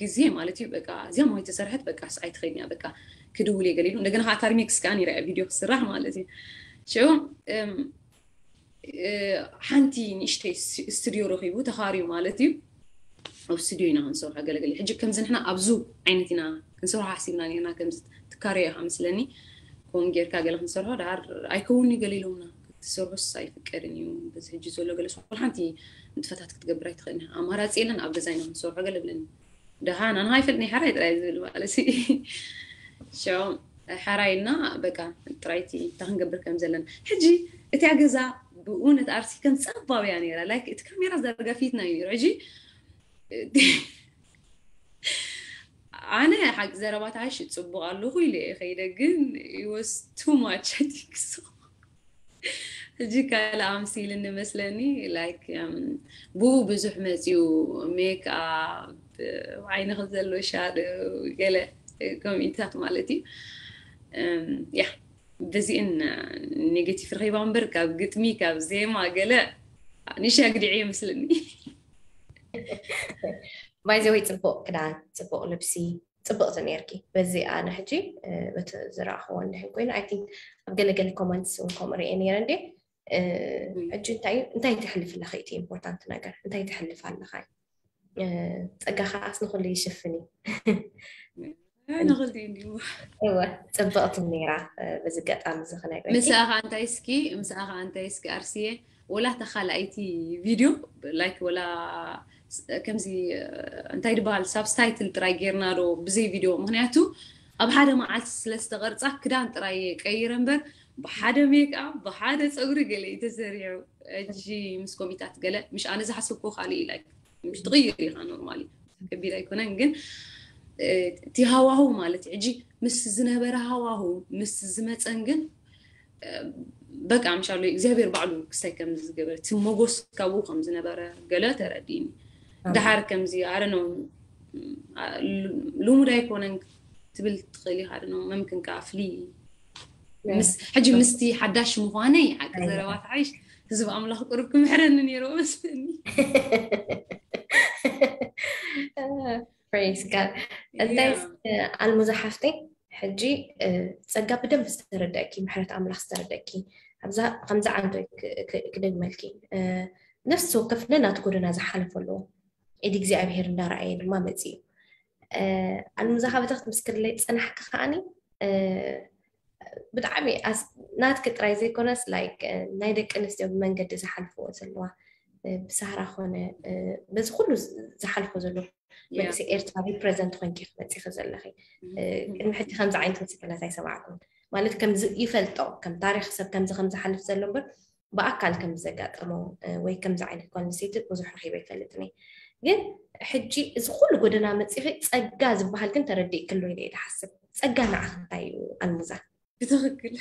ግዜ ማለት እዩ በቃ እዚኣ ማይ ተሰርሐት በቃ ስኣይ ትኸድንያ በቃ ክድውል እየ ገለ ኢሉ። እንደገና ከዓ ታሪሜክስ ከዓ ነይረ ቪድዮ ክስራሕ ማለት እዩ። ሽዑ ሓንቲ ንእሽተይ ስቱዲዮ ረኺቡ ተኻርዩ ማለት እዩ። ኣብ ስቱዲዮ ኢና ክንሰርሖ ገለገለ። ሕጂ ከምዚ ንሕና ኣብዚ ዓይነት ኢና ክንሰርሖ ሓሲብና ነርና። ከምዚ ትካረዮ ኢኻ መስለኒ። ከምኡ ጌርካ ገለ ክንሰርሖ ድሓር ኣይከውንኒ ገለ ኢሎምና። ክትሰርሑስ ኣይፍቀድን እዩ። በዚ ሕጂ ዘሎ ገለስ ሓንቲ ንጥፈታት ክትገብር ኣይትኽእልን። ኣማራፂ የለን ኣብ ገዛ ኢና ክንሰርሖ ገለ ብለኒ። ደሓን ኣነ ኣይፈልጥ ናይ ሓራይ ጥራይ ዝብል ማለት ሲ ሸው ሓራይና በቃ ጥራይቲ እንታይ ክንገብር ከም ዘለና ሕጂ እቲያ ገዛ ብእውነት ኣርሲ ከም ጸባብያ ነይራ ላይክ እቲ ካሜራ ዘርጋ ፊትና እዩ ነይሩ ሕጂ ኣነ ሓቂ ዘረባት ዓይሽ ጽቡቕ ኣለኹ ኢለ እየ ከይደ ግን was too much I think so ሕጂ ካልእ ኣምሲልኒ መስለኒ ላይክ ብኡ ብዙሕ መፅዩ ሜክ ኣፕ ዓይንኺ ዘሎ ሻዶ ገለ ኮሚታት ማለት እዩ ያ በዚእን ኔጌቲቭ ረኺባ እምበር ካብ ግጥሚ ካብ ዜማ ገለ ንሻ ግዲዕ ይመስለኒ ባይዘወይ ፅቡቅ ክዳን ፅቡቅ ልብሲ ፅብቕቲ ነርኪ በዚ ኣነ ሕጂ በቲ ዝረኣኽዎ እንድሕን ኮይኑ ኣይ ቲንክ ኣብ ገለገለ ኮመንትስ እውን ከምኡ ርኤ ነረ እንዴ ሕጂ እንታይ እንታይ ተሕልፍ ኣለኺ እቲ ኢምፖርታንት ነገር እንታይ ተሕልፍ ኣለኻ ፀጋ ከዓስ ንኩሉ ይሽፍን እዩ ንኽልቲ እንዲሁ እወ ፅብቕቲ ነራ በዚ ገጣሚ እዚ ክነግረኪ ምሳኻ እንታይ እስኪ ምሳኻ እንታይ እስኪ ኣርሲየ ወላ ተኻልኣይቲ ቪድዮ ላይክ ወላ ከምዚ እንታይ ድበሃል ሳብስታይትል ጥራይ ጌርና ዶ ብዘይ ቪድዮ ምክንያቱ ኣብ ሓደ መዓልቲ ስለ ዝተቐርፃ ክዳን ጥራይ ቀይረ እምበር ብሓደ ሜክኣፕ ብሓደ ፀጉሪ ገለ እዩ ተሰሪዑ ሕጂ ምስ ኮሚታት ገለ ምሽ ኣነ ዝሓሰብኩ ካልእ እዩ ላይክ ምሽ ትቕይር ኢኻ ኖርማሊ ከቢድ ኣይኮነን ግን እቲ ሃዋሁ ማለት ሕጂ ምስ ዝነበረ ሃዋሁ ምስ ዝመፀን ግን በቃ ምሻሎ እግዚኣብሔር ባዕሉ ክስታይ ከም ዝገበረ እቲ ሞጎስ ካብኡ ከም ዝነበረ ገለ ተረዲኒ ድሓር ከምዚ ኣረ ነው ልሙድ ኣይኮነን ትብል ትኽእል ኢኻ ኣረ ነው መምክን ከዓ ፍሊ ሕጂ ምስቲ ሓዳሽ ምዃነይ ሓቂ ዘረባት ሓይሽ ህዝቢ ኣምላኽ ቁሩብ ክምሕረኒ ነይሩ መስለኒ ፕሬስ ጋድ እንታይ ኣልሙዛ ሓፍተይ ሕጂ ፀጋ ብደንብ ዝተረደእኪ ምሕረት ኣምላኽ ዝተረደእኪ ኣብዛ ከምዚ ዓንቶ ክደግመልኪ ነፍሲ ወከፍ ነናቱ ጎደና ዝሓለፈ ኣለዎ ኢድ እግዚኣብሄር እንዳረኣየ ድማ መፅእ እዩ ኣልሙዛ ካበታ ክትምስክርለይ ፀናሕኪ ከዓኒ ብጣዕሚ ናትኪ ጥራይ ዘይኮነስ ላይክ ናይ ደቂ ኣንስትዮ ብመንገዲ ዝሓልፍዎ ዘለዋ ብሳህራ ኮነ በዚ ኩሉ ዝሓልፎ ዘሎ መንእሰይ ኤርትራ ሪፕረዘንት ኮንኪ ክትመፂኺ ዘለኺ ቅድሚ ሕጂ ከምዚ ዓይነት ምስክርነት ኣይሰማዕኩን ማለት ከምዚ ይፈልጦ ከም ታሪክ ሰብ ከምዚ ከም ዝሓልፍ ዘሎ እምበር ብኣካል ከም ዘጋጠሞ ወይ ከምዚ ዓይነት ጓል ኣንስተይቲ ብዙሕ ረኺበ ይፈልጥኒ ግን ሕጂ እዚ ኩሉ ጎደና መፂኺ ፀጋ ዝበሃል ግን ተረዲእክሉ ኢለ ዝሓስብ ፀጋ ንዓኽ እንታይ እዩ ኣልሙዛ ብትኽክል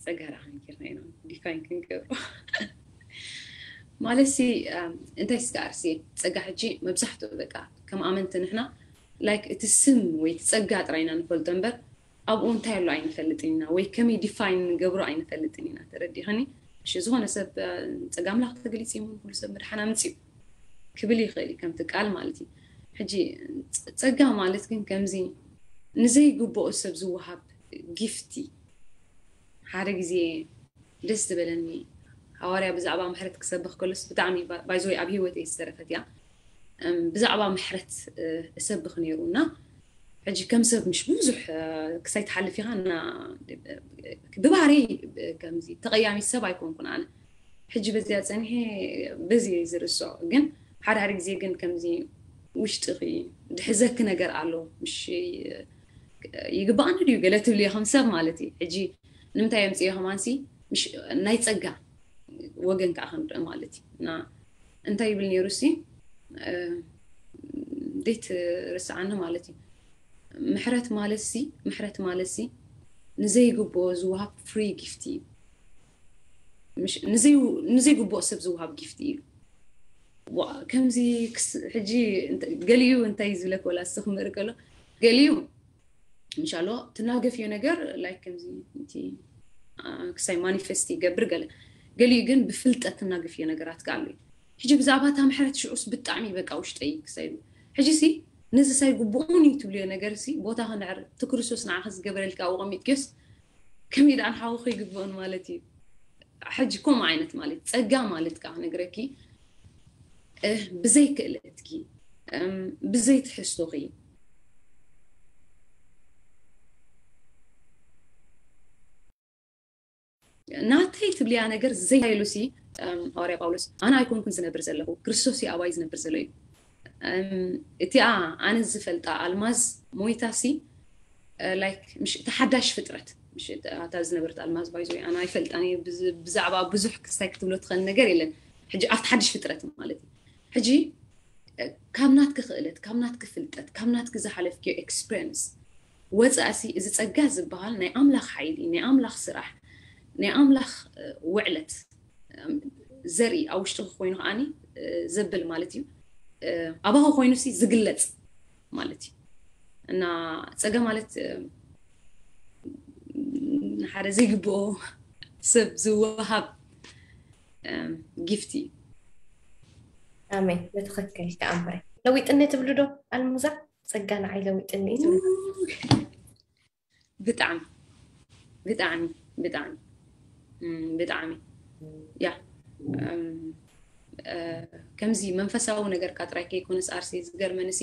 ፀጋ ዳ ከመይ ጌርና ኢና ዲፋይን ክንገብሮ ማለት ሲ እንታይ ስጋ ኣርሲ ፀጋ ሕጂ መብዛሕትኡ በቃ ከም ኣመንቲ ንሕና ላይክ እቲ ስም ወይ እቲ ፀጋ ጥራይና ንፈልጦ እምበር ኣብኡ እንታይ ኣሎ ኣይንፈልጥን ኢና ወይ ከመይ ዲፋይን ንገብሮ ኣይንፈልጥን ኢና ተረዲኸኒ እሺ ዝኾነ ሰብ ፀጋ ኣምላኽ ተገሊፅ እዩ ኩሉ ሰብ ምድሓን ኣምፅኡ ክብል ይኽእል እዩ ከምቲ ቃል ማለት እዩ ሕጂ ፀጋ ማለት ግን ከምዚ ንዘይግብኦ ሰብ ዝወሃብ ጊፍቲ ሓደ ግዜ ደስ ዝበለኒ ሃዋርያ ብዛዕባ ምሕረት ክሰብኽ ከሎስ ብጣዕሚ ባይዘወይ ኣብ ህይወተይ ዝተረፈት እያ ብዛዕባ ምሕረት እሰብኽ ነይሩ እና ሕጂ ከም ሰብ ምሽ ብዙሕ ክሳይ ትሓልፍ ኢኻ እና ብባህሪ ከምዚ ተቐያሚ ሰብ ኣይኮንኩን ኣነ ሕጂ በዚያ ፀኒሐ በዚ ዝርስዖ ግን ሓደ ሓደ ግዜ ግን ከምዚ ውሽጥኺ ድሕዘኪ ነገር ኣሎ ምሽ ይግባኣኒ ድዩ ገለ ትብልዮ ከም ሰብ ማለት እዩ ሕጂ ንምንታይ የምፅዮ ከማንሲ ናይ ፀጋ ወገን ከዓ ክንርኢ ማለት እዩ እና እንታይ ይብል ነይሩ ሲ እንዴት ርስዓኒ ማለት እዩ ምሕረት ማለት ሲ ምሕረት ማለት ሲ ንዘይግብኦ ዝወሃብ ፍሪ ጊፍቲ እዩ ንዘይግብኦ ሰብ ዝወሃብ ጊፍቲ እዩ ከምዚ ሕጂ ገሊኡ እንታይ ዝብለክ ወላ ስኽምር ከሎ ገሊኡ እንሻሎ ትናገፍዮ ነገር ላይክ ከምዚ እቲ ክሳይ ማኒፌስት ይገብር ገለ ገሊኡ ግን ብፍልጠት እናግፍዮ ነገራት ከ ኣሎ እዩ። ሕጂ ብዛዕባ እታ ምሕረት ሽዑስ ብጣዕሚ በቃ ውሽጠይ ክሳይ ኢሉ ሕጂ ሲ ነዚ ሳይ ግቡኡን እዩ ትብልዮ ነገር ሲ ቦታ ክንዕር እቲ ክርስቶስ ንዓኸ ዝገበረልካ ኣብኡ ቀሚጥክዮስ ከመይ ደኣ ንሓውኺ ይግብኦን ማለት እዩ። ሕጂ ከምኡ ዓይነት ማለት ጸጋ ማለት ከዓ ክነግረኪ ብዘይ ክእለትኪ ብዘይ ትሕዝቶኺ ናተይ ትብልያ ነገር ዘይሉ ሲ ሃዋርያ ጳውሎስ ኣነ ኣይኮንኩን ዝነብር ዘለኹ ክርስቶስ እዩ ኣባይ ዝነብር ዘሎ እዩ። እቲኣ ኣነ ዝፈልጣ ኣልማዝ ሞይታ ሲ ላይክ ምሽ እቲ ሓዳሽ ፍጥረት ምሽ እታ ዝነበረት ኣልማዝ ባይዞ ኣነ ኣይፈልጣን እየ። ብዛዕባ ብዙሕ ክስታይ ክትብሎ ትኽእል ነገር የለን። ሕጂ ኣብቲ ሓድሽ ፍጥረት ማለት እዩ። ሕጂ ካብ ናትኪ ክእለት ካብ ናትኪ ፍልጠት ካብ ናትኪ ዝሓለፍክዮ ኤክስፐሪንስ ወፃእሲ እዚ ፀጋ ዝበሃል ናይ ኣምላኽ ሓይሊ ናይ ኣምላኽ ስራሕ ናይ ኣምላኽ ውዕለት ዘርኢ ኣብ ውሽጥኺ ኮይኑ ከዓኒ ዘብል ማለት እዩ። ኣባኺ ኮይኑሲ ዝግለፅ ማለት እዩ። እና ፀጋ ማለት ንሓደ ዘይግብኦ ሰብ ዝወሃብ ጊፍት እዩ። ኣሜን። ብትኽክል ተኣምረ ለዊጥኒ ትብሉ ዶ ኣልሙዛ? ፀጋ ንዓይ ለዊጥኒ እዩ ትብሉ? ብጣዕሚ ብጣዕሚ ብጣዕሚ ብጣዕሚ ያ ከምዚ መንፈሳዊ ነገርካ ጥራይ ከይኮነስ ኣርሲ ዝገርመንሲ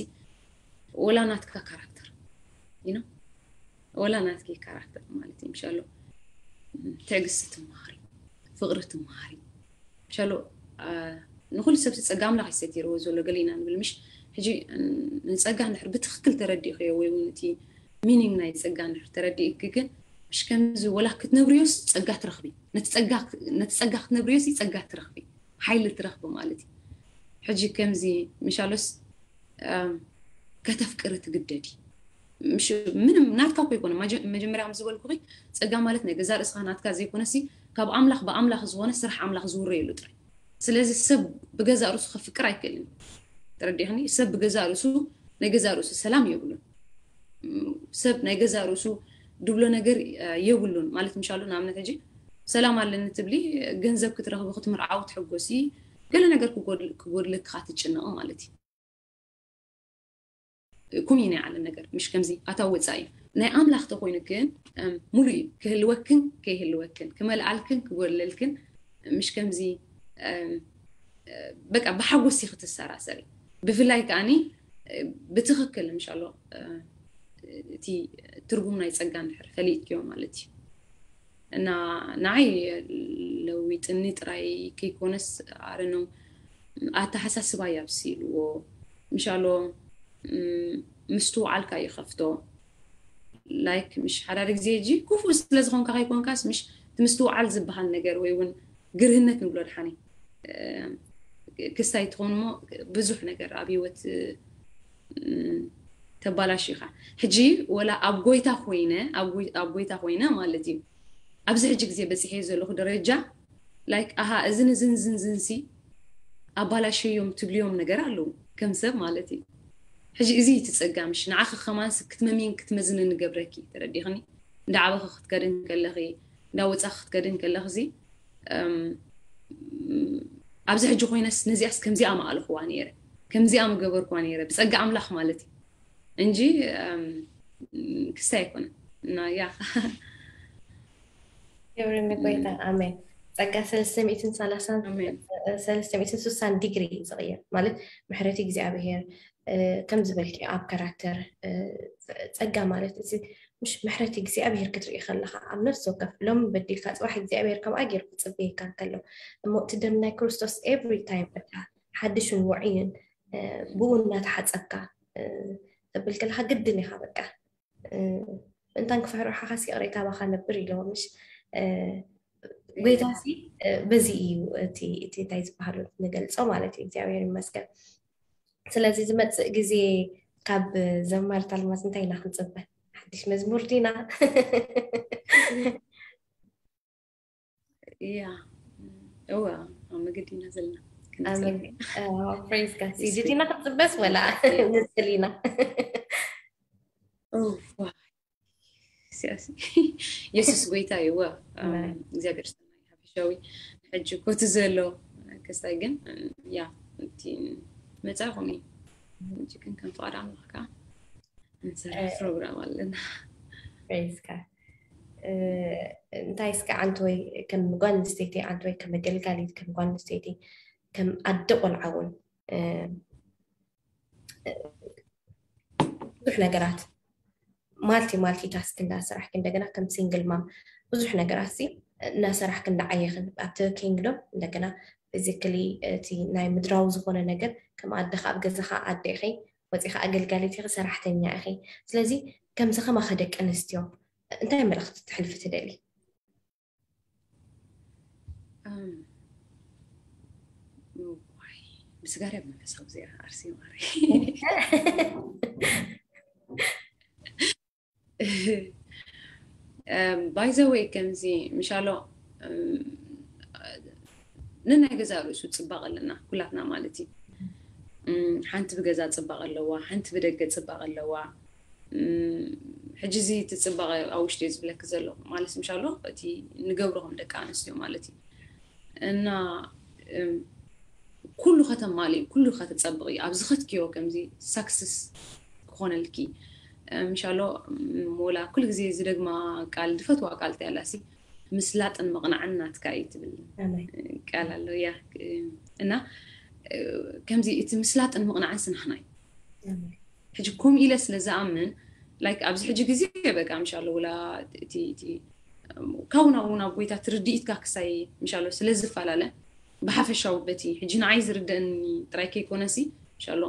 ወላ ናትካ ካራክተር ዩ ወላ ናትኪ ካራክተር ማለት እዩ ምሻሎ ትዕግስቲ ትመሃሪ ፍቅሪ ትመሃሪ ምሻሎ ንኩሉ ሰብ ጸጋ ኣምላኽ ይሰቲርዎ ዘሎ ገሊና ንብል ምሽ ሕጂ ንጸጋ እንድሕር ብትክክል ተረዲእክዮ ወይ እውን እቲ ሚኒንግ ናይ ጸጋ እንድሕር ተረዲእክ ግን ምሽ ከምዚ ወላ ክትነብርዮስ ጸጋ ትረኽቢ ነቲ ጸጋ ክትነብርዮስ ጸጋ ትረኽቢ ሓይሊ ትረኽቢ ማለት እዩ ሕጂ ከምዚ ምሻሎስ ከተፍቅሪ ትግደዲ ምንም ናትካ እኮ ይኮነ መጀመርያ ከም ዝበልኩ ፀጋ ማለት ናይ ገዛ ርእስኻ ናትካ ዘይኮነሲ ካብ ኣምላኽ ብኣምላኽ ዝኾነ ስራሕ ኣምላኽ ዝውረየሉ ጥራይ ስለዚ ሰብ ብገዛ ርእሱ ከፍቅር ኣይክእልን ተረዲኽኒ ሰብ ብገዛ ርእሱ ናይ ገዛ ርእሱ ሰላም የብሉን ሰብ ናይ ገዛ ርእሱ ድብሎ ነገር የብሉን ማለት ምሻሉ ንኣብነት ሕጂ ሰላም ኣለኒ ትብሊ ገንዘብ ክትረኽቢ ክትምርዓዊ ትሕጎሲ ገለ ነገር ክጎድልክኻ ትጭነቕ ማለት እዩ ኩም እዩ ናይ ዓለም ነገር ምሽ ከምዚ ኣታዊ ወፃኢ እዩ ናይ ኣምላኽ ተኮይኑ ግን ሙሉ እዩ ክህልወክን ከይህልወክን ክመልኣልክን ክጎድለልክን ምሽ ከምዚ በቃ ብሓጎስ ክትሰራሰሪ ብፍላይ ከዓኒ ብትክክል ምሻሎ እቲ ትርጉም ናይ ፀጋ እንድሕር ፈሊጥክዮ ማለት እዩ እና ንዓይ ለዊጥኒ ጥራይ ከይኮነስ ኣረኖ ኣተሓሳስባ ያብሲልዎ ምሻሎ ምስትውዓልካ ይኸፍቶ ላይክ ምሽ ሓዳደ ግዜ እጂ ክፉእ ስለ ዝኾንካ ከይኮንካስ ምሽ እቲ ምስትውዓል ዝበሃል ነገር ወይ እውን ግርህነት ንብሎ ድሓኒ ክስታይ ትኾን ሞ ብዙሕ ነገር ኣብ ህይወት ተባላሽ ኢኻ ሕጂ ወላ ኣብ ጎይታ ኮይነ ኣብ ጎይታ ኮይነ ማለት እዩ ኣብዚ ሕጂ ግዜ በፂሐ ዘለኹ ደረጃ ላይክ ኣሃ እዝን እዝን ዝንዝንሲ ኣባላሸዮም ትብልዮም ነገር ኣለዉ ከም ሰብ ማለት እዩ ሕጂ እዚ ትፀጋ ምሽ ንዓኺ ከማንስ ክትመሚን ክትመዝንን ንገብረኪ ተረዲኽኒ እንዳዓበኺ ክትከድን ከለኺ እንዳወፃኺ ክትከድን ከለኺ እዚ ኣብዚ ሕጂ ኮይነስ ነዚኣስ ከምዚኣ ምኣልኽዋ ነይረ ከምዚኣ ምገበርክዋ ነይረ ብፀጋ ኣምላኽ ማለት እዩ እንጂ ክስታይ ኣይኮነን እና ያ ክብሪ ንጎይታ ኣሜን ጸጋ ሰለስተ ሚእትን ሰላሳን ሰለስተ ሚእትን ስሳን ዲግሪ እዩ ዝቕየር ማለት ምሕረት እግዚኣብሄር ከም ዝበልኪ ኣብ ካራክተር ጸጋ ማለት እዚ ምሽ ምሕረት እግዚኣብሄር ክትርኢ ከለኻ ኣብ ነፍሲ ወከፍ ሎም በዲልካ ጽባሕ እግዚኣብሄር ከምኣ ገይሩ ክጽበየካ እንከሎ እሞ እቲ ደም ናይ ክርስቶስ ኤቭሪ ታይም በቃ ሓድሽን ውዕይን ብኡ እናተሓጸብካ ተብል ከለካ ግድን ኢኻ በቃ ምእንታን ክፍሕርሓኻስ ይቕሬታ ባኻ ነብር ኢለዎ ምሽ ጎይታሲ በዚ እዩ እቲ እንታይ ዝበሃሉ ንገልጾ ማለት እዩ እግዚኣብሔር ይመስገን ስለዚ ዝመፅእ ግዜ ካብ ዘማርት ኣልማዝ እንታይ ኢና ክንፅበ ሓድሽ መዝሙር ዲና እያ እዋ ኣብ መገዲ ኢና ዘለና ፕሬዝ ጋድ ሲዲ ዲና ክንፅበስ ወላ ንፅል ኢና ሲያሲ የሱስ ጎይታ ይወ እግዚኣብሔር ሰናይ ሓፈሻዊ ሕጂ ኮቲ ዘሎ ክስታይ ግን ያ እቲ መጻኹም እዩ ሕጂ ግን ከም ፍቓድ ኣምላኽ ከዓ እንሰርሕ ፕሮግራም ኣለና። ሬስካ እንታይ እስከ ዓንተወይ ከም ጓል ኣንስተይቲ ዓንተወይ ከም ኣገልጋሊት ከም ጓል ኣንስተይቲ ከም ኣደ ቆልዓ እውን ብዙሕ ነገራት ማልቲ ማልቲ ታስክ እንዳሰራሕኪ እንደገና ከም ሲንግል ማም ብዙሕ ነገራት ሲ እናሰራሕኪ እንዳዓየኽን ኣብቲ ኪንግዶም እንደገና ፊዚክሊ እቲ ናይ ምድራዊ ዝኾነ ነገር ከም ኣደኻ ኣብ ገዛኻ ኣደ ኢኺ ወፂኻ ኣገልጋሊት ኢኺ ሰራሕተኛ ኢኺ። ስለዚ ከምዚ ከማኸ ደቂ ኣንስትዮ እንታይ መልእኽቲ ትሕልፊ ትደሊ? ብስጋር ኣብ መንፈሳዊ ዜና ኣርሲ ማሪ ባይዘወይ ከምዚ ምሻሎ ንናይ ገዛ ርእሱ ፅባቕ ኣለና ኩላትና ማለት እዩ። ሓንቲ ብገዛ ፅባቕ ኣለዋ፣ ሓንቲ ብደገ ፅባቕ ኣለዋ። ሕጂ እዚ እቲ ፅባቐ ኣብ ውሽጢ ዝብለክ ዘሎ ማለት ምሻሎ እቲ ንገብሮ ከም ደቂ ኣንስትዮ ማለት እዩ እና ኩሉ ከተማሊ ኩሉ ከተፀብቂ ኣብ ዝኸትክዮ ከምዚ ሳክስስ ክኾነልኪ ምሻሎ ወላ ኩሉ ግዜ ዝደግማ ቃል ዝፈትዋ ቃል ተያላሲ ምስላጥን ምቕናዕን ናትካ እዩ ትብል ቃል ኣሎ ያ እና ከምዚ እቲ ምስላጥን ምቕናዕን ስናሕና እዩ። ሕጂ ከምኡ ኢለ ስለ ዝኣምን ላይክ ኣብዚ ሕጂ ግዜ በቃ ምሻሎ ውላ እቲ እቲ ካብኡ ናብኡ ናብ ጎይታ ትርድኢትካ ክሳይ ምሻሎ ስለ ዝፈላለ ብሓፈሻዊ በቲ ሕጂ ንዓይ ዝርደእኒ ጥራይ ከይኮነሲ ምሻሎ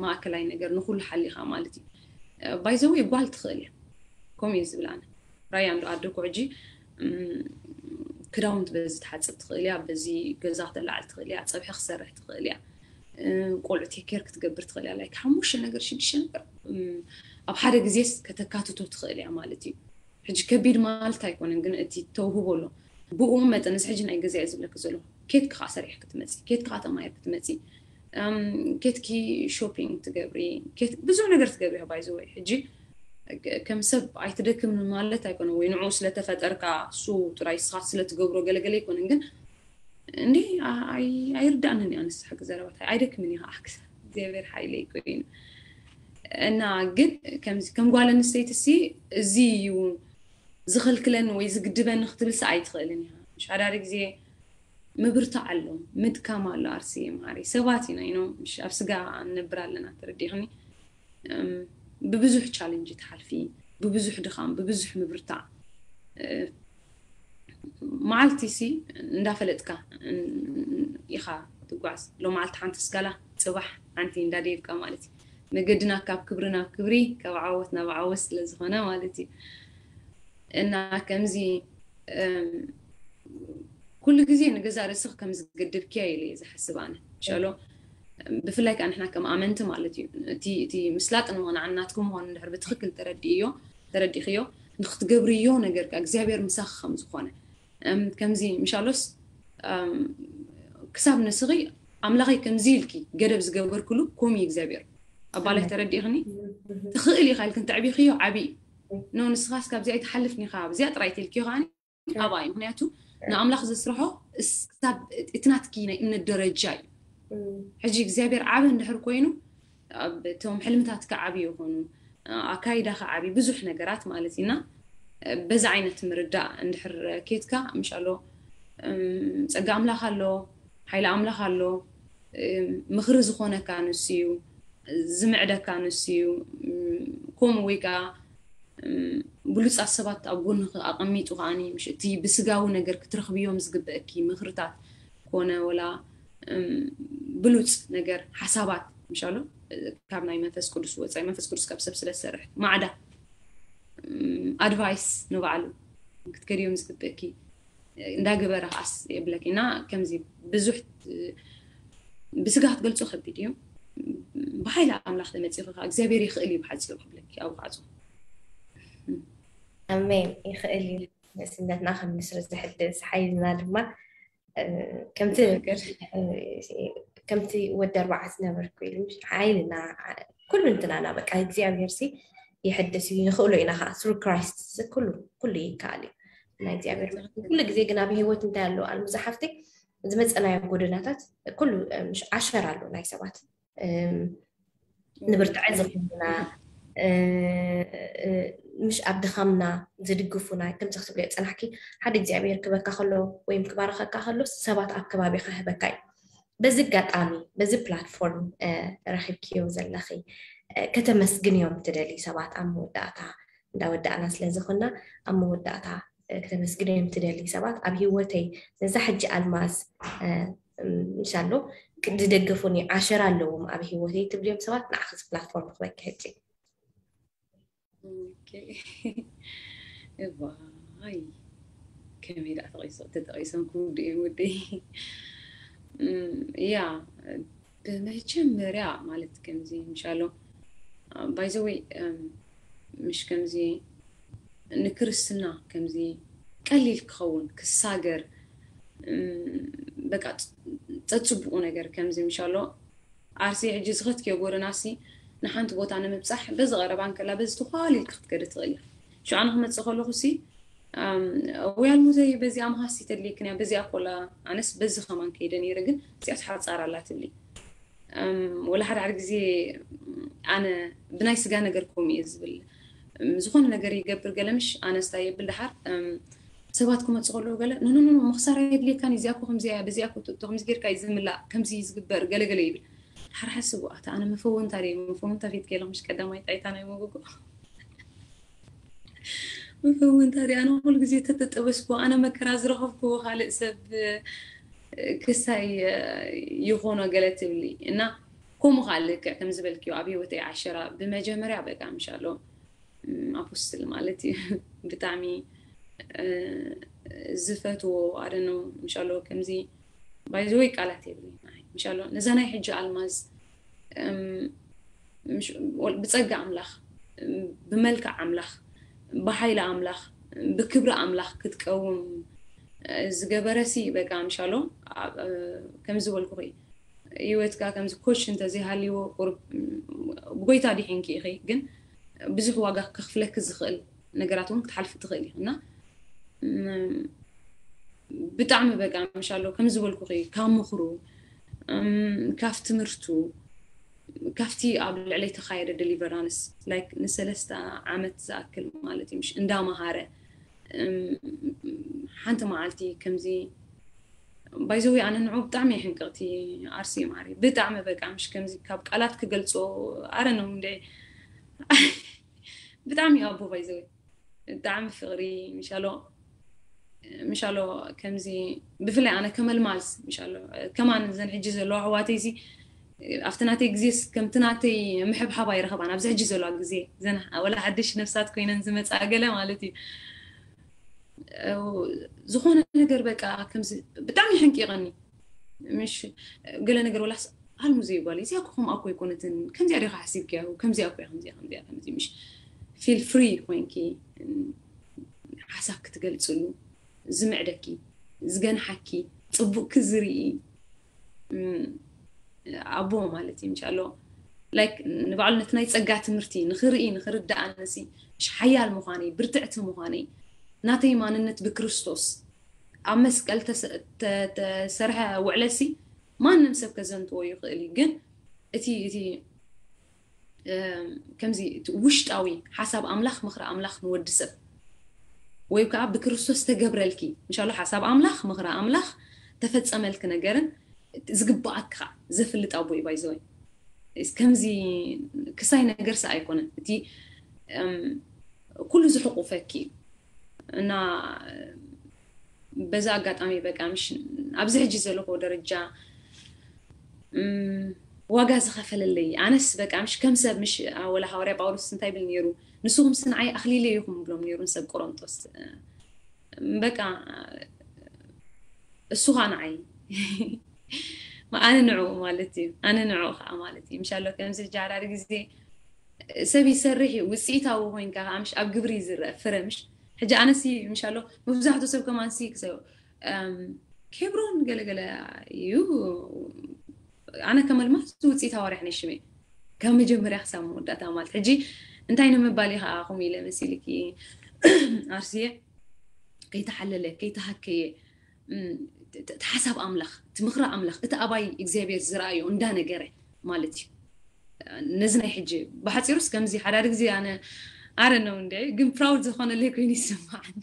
ማእከላይ ነገር ንኩሉ ሓሊኻ ማለት እዩ። ባይዘወይ ጓል ትኽእል እያ ከምኡ እዩ ዝብል ኣነ ራያ እንዶ ኣደኩ ሕጂ ክዳውንቲ በዚ ትሓፅብ ትኽእል እያ፣ በዚ ገዛ ክተላዕል ትኽእል እያ፣ ፀብሒ ክሰርሕ ትኽእል እያ፣ ቆልዑ ቴኬር ክትገብር ትኽእል እያ። ላይክ ሓሙሽተ ነገር ሽዱሽተ ነገር ኣብ ሓደ ግዜስ ከተካትቶ ትኽእል እያ ማለት እዩ። ሕጂ ከቢድ ማለት ኣይኮነን፣ ግን እቲ ተውህቦ ኣሎ ብኡ መጠን እዚ ሕጂ ናይ ገዛ እየ ዝብለክ ዘሎ ኬትክ ከዓ ሰሪሕ ክትመፂ ኬትክ ከዓ ተማሂር ክትመፂ ኬትኪ ሾፒንግ ትገብሪ ብዙሕ ነገር ትገብሪ ባይዘወይ ሕጂ ከም ሰብ ኣይትደክምን ማለት ኣይኮነን ወይ ንዑ ስለተፈጠርካ እሱ ጥራይ ስኻት ስለትገብሮ ገለገለ ኣይኮነን ግን እንዴ ኣይርዳእንን እያ ንስሓ ክዘረባታ ኣይደክምን እየ ከዓ እግዚኣብሔር ሓይለይ ኮይኑ እና ግን ከም ጓል ኣንስተይቲ ሲ እዚ እዩ ዝኽልክለኒ ወይ ዝግድበኒ ክትብል ሲ ኣይትኽእልን እያ ሓዳሪ ግዜ ምብርታዕ ኣሎ ምድካም ኣሎ ኣርሲ ማሪ ሰባት ኢና ይኖ ኣብ ስጋ ንነብር ኣለና ተረዲኽኒ ብብዙሕ ቻለንጅ ትሓልፊ ብብዙሕ ድኻም ብብዙሕ ምብርታዕ መዓልቲ ሲ እንዳፈለጥካ ኢኻ ትጓዝ ሎመዓልቲ ሓንቲ ስጋላ ፅባሕ ሓንቲ እንዳደይብካ ማለት እዩ መገድና ካብ ክብሪ ናብ ክብሪ ካብ ዓወት ናብ ዓወት ስለዝኾነ ማለት እዩ እና ከምዚ ኩሉ ግዜ ንገዛ ርእስኽ ከም ዝገድብክያ ኢለ እየ ዝሓስብ ኣነ ሸሎ ብፍላይ ከዓ ንሕና ከም ኣመንቲ ማለት እዩ እቲ እቲ ምስላጥ ንምቕናዕ ናትኩም ምዃኑ እንድሕር ብትኽክል ተረዲእዮ ተረዲኽዮ ንክትገብርዮ ነገር ከዓ እግዚኣብሔር ምሳኺ ከም ዝኾነ ከምዚ ምሻሎስ ክሳብ ንስኺ ኣምላኸይ ከምዚ ኢልኪ ገደብ ዝገበርክሉ ኮም እግዚኣብሔር ኣባላይ ተረዲእኽኒ ትኽእል ኢኻ ኢልክን ተዕቢኽዮ ዓብዪ ኖ ንስኻስ ካብዚኣ ኣይትሓልፍን ኢኻ ኣብዚኣ ጥራይ ትልክዮ ከዓኒ ኣባይ ምክንያቱ ንኣምላኽ ዘስርሖ ክሳብ እቲ ናትኪ ናይ እምነት ደረጃ እዩ ሕጂ እግዚኣብሔር ዓብ እንድሕር ኮይኑ እቶም ሕልምታትካ ዓብ ይኾኑ ኣካይዳኻ ዓብ ብዙሕ ነገራት ማለት ኢና በዚ ዓይነት ምርዳእ እንድሕር ኬትካ ምሻሎ ፀጋ ኣምላኽ ኣሎ ሓይሊ ኣምላኽ ኣሎ ምኽሪ ዝኾነካ ንሱ እዩ ዝምዕደካ ንሱ እዩ ከምኡ ወይ ከዓ ብሉፃት ሰባት ኣብ ጎንኺ ኣቐሚጡ ከዓኒ ምሽ እቲ ብስጋዊ ነገር ክትረኽብዮም ዝግበአኪ ምኽርታት ኮነ ወላ ብሉፅ ነገር ሓሳባት ምሻሎ ካብ ናይ መንፈስ ቅዱስ ወፃኢ መንፈስ ቅዱስ ካብ ሰብ ስለ ዝሰርሕ ማዕዳ ኣድቫይስ ንባዕሉ ክትከድዮም ዝግበአኪ እንዳገበረ ከዓስ የብለኪ እና ከምዚ ብዙሕ ብስጋ ክትገልፆ ከቢድ እዩ ብሓይሊ ኣምላኽ ተመፂኺ ከዓ እግዚኣብሔር ይኽእል እዩ ብሓፂሩ ክብለኪ ኣብ ካዕፁ ኣሜን ይኽእል እዩ ንእስነትና ከም ንስሪ ዝሕድስ ሓይልና ድማ ከምቲ ከምቲ ወዲ ኣርባዓ ዝነበርኩ ኢሉ ሓይልና ኩሉ እንትናና በቃ እግዚኣብሔር ሲ ይሕድስ እዩ። ንኽእሎ ኢና ከዓ through Christ ኩሉ ኩሉ ይከኣል እዩ። ናይ እግዚኣብሔር መንግስቲ ኩሉ ግዜ ግን ኣብ ህይወት እንታይ ኣሎ ኣልሙዛ ሓፍተይ፣ ዝመፀናዮ ጎደናታት ኩሉ ምሽ ዓሸር ኣሎ ናይ ሰባት ንብርትዐ ዝኾኑና፣ ምሽ ኣብ ድኻምና ዝድግፉና። ከምዚ ክትብልዮ ፀናሕኪ፣ ሓደ እግዚኣብሔር ክበካ ከሎ ወይም ክባረኸካ ከሎ ሰባት ኣብ ከባቢኻ ህበካ እዩ። በዚ ኣጋጣሚ በዚ ፕላትፎርም ረኺብክዮ ዘለኺ ከተመስግንዮም ትደሊ ሰባት ኣብ መወዳእታ እንዳወዳእና ስለ ዝኾንና ኣብ መወዳእታ ከተመስግንዮም ትደሊ ሰባት ኣብ ህይወተይ ነዛ ሕጂ ኣልማዝ ምሻሎ ዝደገፉኒ ዓሸራ ኣለዎም ኣብ ህይወተይ ትብልዮም ሰባት ንዓኺ ፕላትፎርም ክበኪ ሕጂ። እዋይ ከመይ ደኣ ተጠቂሶም ክውድእ እዮም ወደይ። ያ ብመጀመርያ ማለት ከምዚ ምሻሎ ባይዘወይ ምሽ ከምዚ ንክርስትና ከምዚ ቀሊል ክኸውን ክሳገር በቃ ጸጽቡቁ ነገር ከምዚ ምሻሎ ኣርሲ ሕጂ ዝኸትክዮ ጎደናሲ ንሓንቲ ቦታ ንምብጻሕ በዚ ቀረባ እንከላ በዚ ተኳሊልካ ክትከደ ትኽእል ኢኻ። ሽዑ ኣነ ክመጽእ ከለኹ ሲ ወይ ኣልሙዘይ በዚኣ መሃሲ ተድልየክን እያ በዚኣ ኮላ ኣነስ በዚ ከማን ከይደ ነይረ ግን እዚኣ ትሓጻር ኣላ ትብሊ። ወላ ሓደ ሓደ ግዜ ኣነ ብናይ ስጋ ነገር ከምኡ እየ ዝብል። ዝኾነ ነገር ይገብር ገለ ምሽ ኣነስታ የብል ድሓር ሰባት ክመፁ ከለዉ ገለ ኖኖኖ መክሳር የድልየካን እዚኣ ኮ ከምዚ እያ በዚኣ ኮ ትእቶ ከምዚ ጌርካ እዩ ዝምላእ ከምዚ እዩ ዝግበር ገለ ገለ ይብል። ድሓር ሓስቡ ኣታ ኣነ መፈወንታ ድየ መፈወንታ ፊት ከይለ ምሽ ቀዳማይ ጣይታ ናይ መጎጎ መፈወንታ ድየ ኣነ ኩሉ ግዜ ተተጠበስኩ ኣነ መከራ ዝረኸብኩ ካልእ ሰብ ክሳይ ይኾኖ ገለ ትብሊ እና ከምኡ ከዓ ልክዕ ከም ዝበልክዮ ኣብ ህይወተይ ዓሸራ ብመጀመርያ በቃ ምሻሎ ኣፖስትል ማለት እዩ ብጣዕሚ ዝፈትዎ ኣደኖ ምሻሎ ከምዚ ባይዘወይ ቃላት የብለይ ምሻሎ ነዛ ናይ ሕጂ ኣልማዝ ብፀጋ ኣምላኽ ብመልክዕ ኣምላኽ ብሓይሊ ኣምላኽ ብክብሪ ኣምላኽ ክትቀውም ዝገበረሲ በቃ ምሻሎ ከም ዝበልኩኺ ህይወትካ ከምዚ ኮች እንተዘይሃልይዎ ቁሩብ ብጎይታ ዲሒንኪ ኢኺ ግን ብዙሕ ዋጋ ከኽፍለኪ ዝኽእል ነገራት እውን ክትሓልፊ ትኽእል ኢኺ እና ብጣዕሚ በቃ ምሻሎ ከም ዝበልኩኺ ካብ ምኽሩ ካብ ትምህርቱ ካብቲ ኣብ ልዕለይ ተኻየደ ደሊቨራንስ ላይክ ንሰለስተ ዓመት ዝኣክል ማለት እዩ ምሽ እንዳመሃረ ሓንቲ መዓልቲ ከምዚ ባይዘዊ ኣነ ንዑ ብጣዕሚ ሕንቅቕቲ ኣርሲ ማሪ ብጣዕሚ በቃ ምሽ ከምዚ ካብ ቃላት ክገልፆ ኣረ ነው እንደ ብጣዕሚ ኣቦ ባይዘዊ ብጣዕሚ ፍቕሪ ምሻሎ ምሻሎ ከምዚ ብፍላይ ኣነ ከመልማዝ ምሻሎ ከማን ዘን ሕጂ ዘለዋ ኣሕዋተይ እዚ ኣብቲ ናተይ ግዜ ከምቲ ናተይ ምሕብሓብ ኣይረኸባን ኣብዚ ሕጂ ዘለዋ ግዜ ዘን ወላ ሓድሽ ነፍሳት ኮይነን ዝመፃ ገለ ማለት እዩ ዝኾነ ነገር በቃ ከምዚ ብጣዕሚ ሕንቂቐኒ ምሽ ገለ ነገር ወላስ ኣልሙ ዘይጓል እዚኣ ኮ ከምኣ ኮ ኣይኮነትን ከምዚኣ ዲኻ ሓሲብክያ ከምዚኣ ኮ ከምዚኣ ከምዚኣ ከምዚ ምሽ ፊል ፍሪ ኮይንኪ ሓሳብ ክትገልፅሉ ዝምዕደኪ ዝገንሓኪ ፅቡቅኪ ዝርኢ ኣቦ ማለት እዩ ምሻሎ ላይክ ንባዕሉ ነቲ ናይ ፀጋ ትምህርቲ ንክርኢ ንክርዳእ ኣነሲ ምሽ ሓያል ምዃነይ ብርትዕቲ ምዃነይ ናተይ ማንነት ብክርስቶስ ኣብ መስቀል ተሰርሐ ውዕለሲ ማንም ሰብ ከዘንትዎ ይኽእል እዩ ግን እቲ እቲ ከምዚ ውሽጣዊ ሓሳብ ኣምላኽ ምኽሪ ኣምላኽ ንወዲ ሰብ ወይ ከዓ ብክርስቶስ ተገብረልኪ ምሻሎ ሓሳብ ኣምላኽ ምኽሪ ኣምላኽ ተፈፀመልኪ ነገርን ዝግባኣካ ዘፍልጥ ኣቦ እዩ ባይዘወይ ከምዚ ክሳይ ነገር ሰ ኣይኮነን እቲ ኩሉ ዝሕቁፈኪ እዩ እና በዛ ኣጋጣሚ በቃ ምሽ ኣብዚ ሕጂ ዘለኹ ደረጃ ዋጋ ዝኸፈለለይ ኣነስ በቃ ምሽ ከም ሰብ ምሽ ወላ ሃዋርያ ጳውሎስ እንታይ ይብል ነይሩ ንስኹም ስንዓይ ኣኽሊለ ይኹም ብሎም ነይሩ ንሰብ ቆሮንጦስ በቃ እሱ ኸዓ ንዓይ ኣነ ንዑ ማለት እዩ ኣነ ንዑ ከዓ ማለት እዩ ምሻሎ ከምዚ ሕጂ ሓዳሪ ግዜ ሰብ ይሰርሕ እዩ ውፅኢታዊ ኮይንካ ከዓ ምሽ ኣብ ግብሪ እዩ ዝረአ ፍረ ምሽ ሕጂ ኣነሲ ምሻሎ መብዛሕትኡ ሰብ ከማንሲ ክሰ ኬብሮን ገለገለ እዩ ኣነ ከመልማስ ውፅኢት ኣዋርሕ ናይ ሽመይ ካብ መጀመርያ ክሳብ መወዳእታ ማለት ሕጂ እንታይ ንምባል እዩ ከዓ ከምኡ ኢለ መሲልኪ ኣርሲየ? ከይተሓለለ ከይተሃከየ፣ እቲ ሓሳብ ኣምላኽ፣ እቲ ምኽሪ ኣምላኽ፣ እቲ ኣባይ እግዚኣብሔር ዝረኣዮ እንዳነገረ ማለት እዩ። ነዚ ናይ ሕጂ ብሓፂሩስ ከምዚ ሓዳድ ግዜ ኣነ ኣረነው እንደ ግን ፕራውድ ዝኾነለይ ኮይኑ ይስማዓኒ።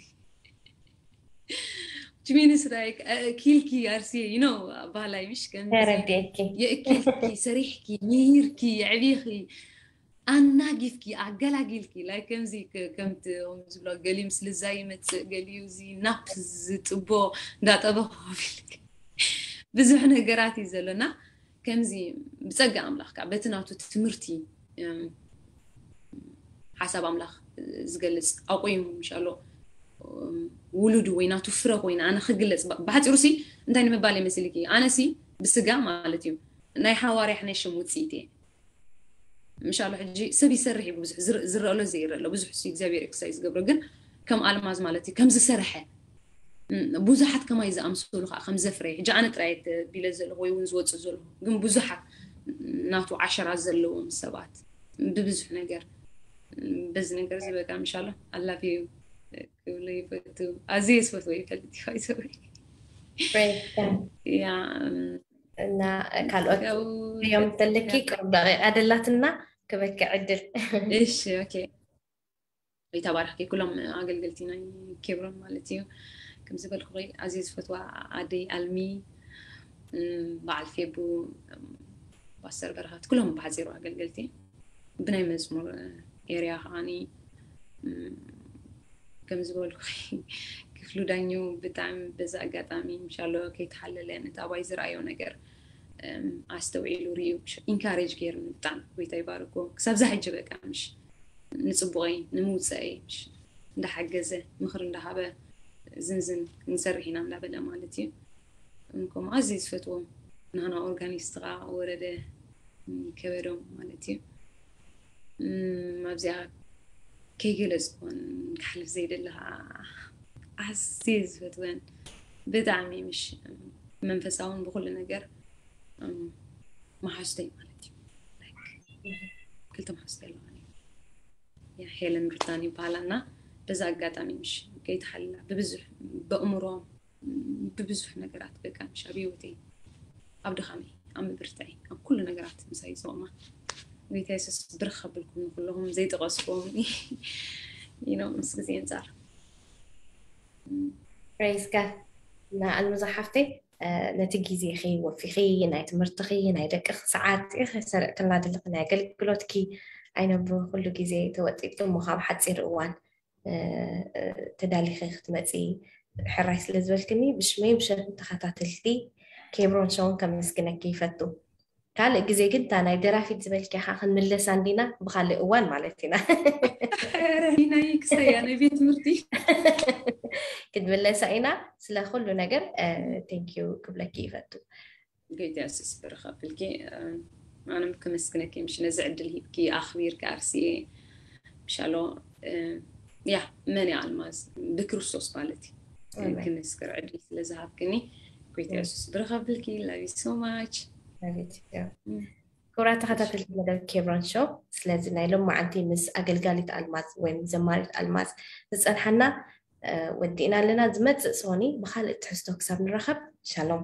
ሚንስ ኪልኪ ኣርሲ ኖ ባህላይ ምሽ ከምዚ ተረዲእኪ የእኪልኪ፣ ሰሪሕኪ፣ ምሂርኪ፣ የዕቢኺ፣ ኣናጊፍኪ፣ ኣገላጊልኪ። ላይ ከምዚ ከምቲ ዝብሎ ገሊኡ ምስ ልዛ ይመፅእ፣ ገሊኡ እዚ ናፕ ዝጥቦ እንዳጠበ ኮፍ ኢልኪ ብዙሕ ነገራት እዩ ዘሎና። ከምዚ ብፀጋ ኣምላኽ ከዓ በቲ ናቱ ትምህርቲ ሓሳብ ኣምላኽ ዝገልፅ ኣቆይሙ ምሻሎ ውሉድ ወይ ናቱ ፍረ ኮይነ ኣነ ክግለፅ ብሓፂሩ ሲ እንታይ ንምባል ይመስልኪ? ኣነ ሲ ብስጋ ማለት እዩ ናይ ሓዋርያ ሕነ ሽም ውፅኢት እየ። ምሻሎ ሕጂ ሰብ ይሰርሕ እዩ ብዙሕ ዝረአሎ ዘይረአሎ ብዙሕ ሲ እግዚኣብሔር ኤክሳይ ዝገብሮ ግን ከም ኣልማዝ ማለት እዩ ከም ዝሰርሐ ብዙሓት ከማይ ዝኣምሰሉ ከዓ ከም ዘፍረየ ሕጂ ኣነ ጥራይ ቢለ ዘለኹ ወይ እውን ዝወፅእ ዘለኹ ግን ብዙሓት ናቱ ዓሸራ ዘለዎም ሰባት ብብዙሕ ነገር በዚ ነገር ዝበቃ ምሻሎ ኣላፊ ክብሎ ይፈቱ። ኣዝየ ዝፈትዎ ይፈልጥ ይኸይሰበይ እና ካልኦት እዮም ዘለኪ ቅሩብ ደቂቃ ደላትና ክበኪ ዕድል እሺ ኦኬ። ይተባረኽኪ ኩሎም ኣገልገልቲ ናይ ኬብሮን ማለት እዩ። ከም ዝበልኩ ኣዝየ ዝፈትዋ ኣደይ ኣልሚ በዓል ፌቡ ፓስተር በረኸት ኩሎም ብሓፂሩ ኣገልገልቲ ብናይ መዝሙር ኤርያ ከዓኒ ከም ዝበልኩ ክፍሉ ዳኘው ብጣዕሚ በዚ ኣጋጣሚ ምሻሎ ከይተሓለለ ነቲ ኣባይ ዝረኣዮ ነገር ኣስተውዒሉ ርእዩ ኢንካሬጅ ገይሩኒ ብጣዕሚ ጎይታ ይባርኮ ክሳብ ዛ ሕጂ በቃ ምሽ ንፅቡቀይ ንምውፀአይ እንዳሓገዘ ምኽሪ እንዳሃበ ዝንዝን ክንሰርሕ ኢና እንዳበለ ማለት እዩ። እንኮም ኣዝየ ዝፈትዎም ናህና ኦርጋኒስት ከዓ ወረደ ከበዶም ማለት እዩ። ኣብዚኣ ከይገለፅኩን ክሓልፍ ዘይደለ ከዓ ኣዝየ ዝፈትወን ብጣዕሚ ምሽ መንፈሳውን ብኩሉ ነገር መሓዝተይ ማለት እዩ። ክልተ መሓዝተይ ኣለዋኒ ሄለን ብሪታን ይበሃላና። በዛ ኣጋጣሚ ምሽ ከይተሓልላ ብብዙሕ በእምሮም ብብዙሕ ነገራት በቃ ምሽ ኣብ ህይወተይ ኣብ ድኻመይ ኣብ ምብርትዐይ ኣብ ኩሉ ነገራት ምሳይ ዝቆማ ጎይታ የሱስ ብርኽ ከብልኩም ንኩለኹም ዘይጠቀስኩም ምስ ግዜ ኣንፃር ፕሬዝ ጋድ እና ኣልምዛ ሓፍተይ ነቲ ግዜኺ ወፊኺ ናይ ትምህርትኺ ናይ ደቅኺ ሰዓት ኢኺ ሰሪቕክልና ዘለኺ ናይ ኣገልግሎትኪ ኣይነብሩ ኩሉ ግዜ ተወጢጥኪ እሞ ካብ ሓፂር እዋን ተዳሊኺ ክትመፂ ሕራይ ስለ ዝበልክኒ ብሽመይ ብሸም ተኸታተልቲ ኬብሮን ሸውን ከመስግነኪ ይፈቱ። ካልእ ግዜ ግን እታ ናይ ደራፊት ዝበልኪ ካ ክንምለሳ እንዲና ብካልእ እዋን ማለት ኢና ናይ ክሰያ ናይ ቤት ትምህርቲ ክትምለሳ ኢና። ስለ ኩሉ ነገር ቴንኪዩ ክብለኪ ይፈቱ። ጎይታ የሱስ ብርኸብልኪ ኣነም ክመስግነኪ ምሽ ነዚ ዕድል ሂብኪ ኣኽቢርኪ ኣርሲኤ ምሻሎ ያ መን ኣልማዝ ብክርስቶስ ማለት እዩ ክምስክር ዕድል ስለ ዝሃብክኒ ጎይታ የሱስ ብርኸብልኪ love you so much። ክቡራት ተኸታተልቲ መደብ ኬብሮን ሾው ስለዚ ናይ ሎማዓንቲ ምስ ኣገልጋሊት ኣልማዝ ወይም ዘማሪት ኣልማዝ ዝፀንሓና ወዲእና ኣለና። ዝመፅእ ሶኒ ብካልእ ትሕዝቶ ክሳብ ንራኸብ ሻሎም።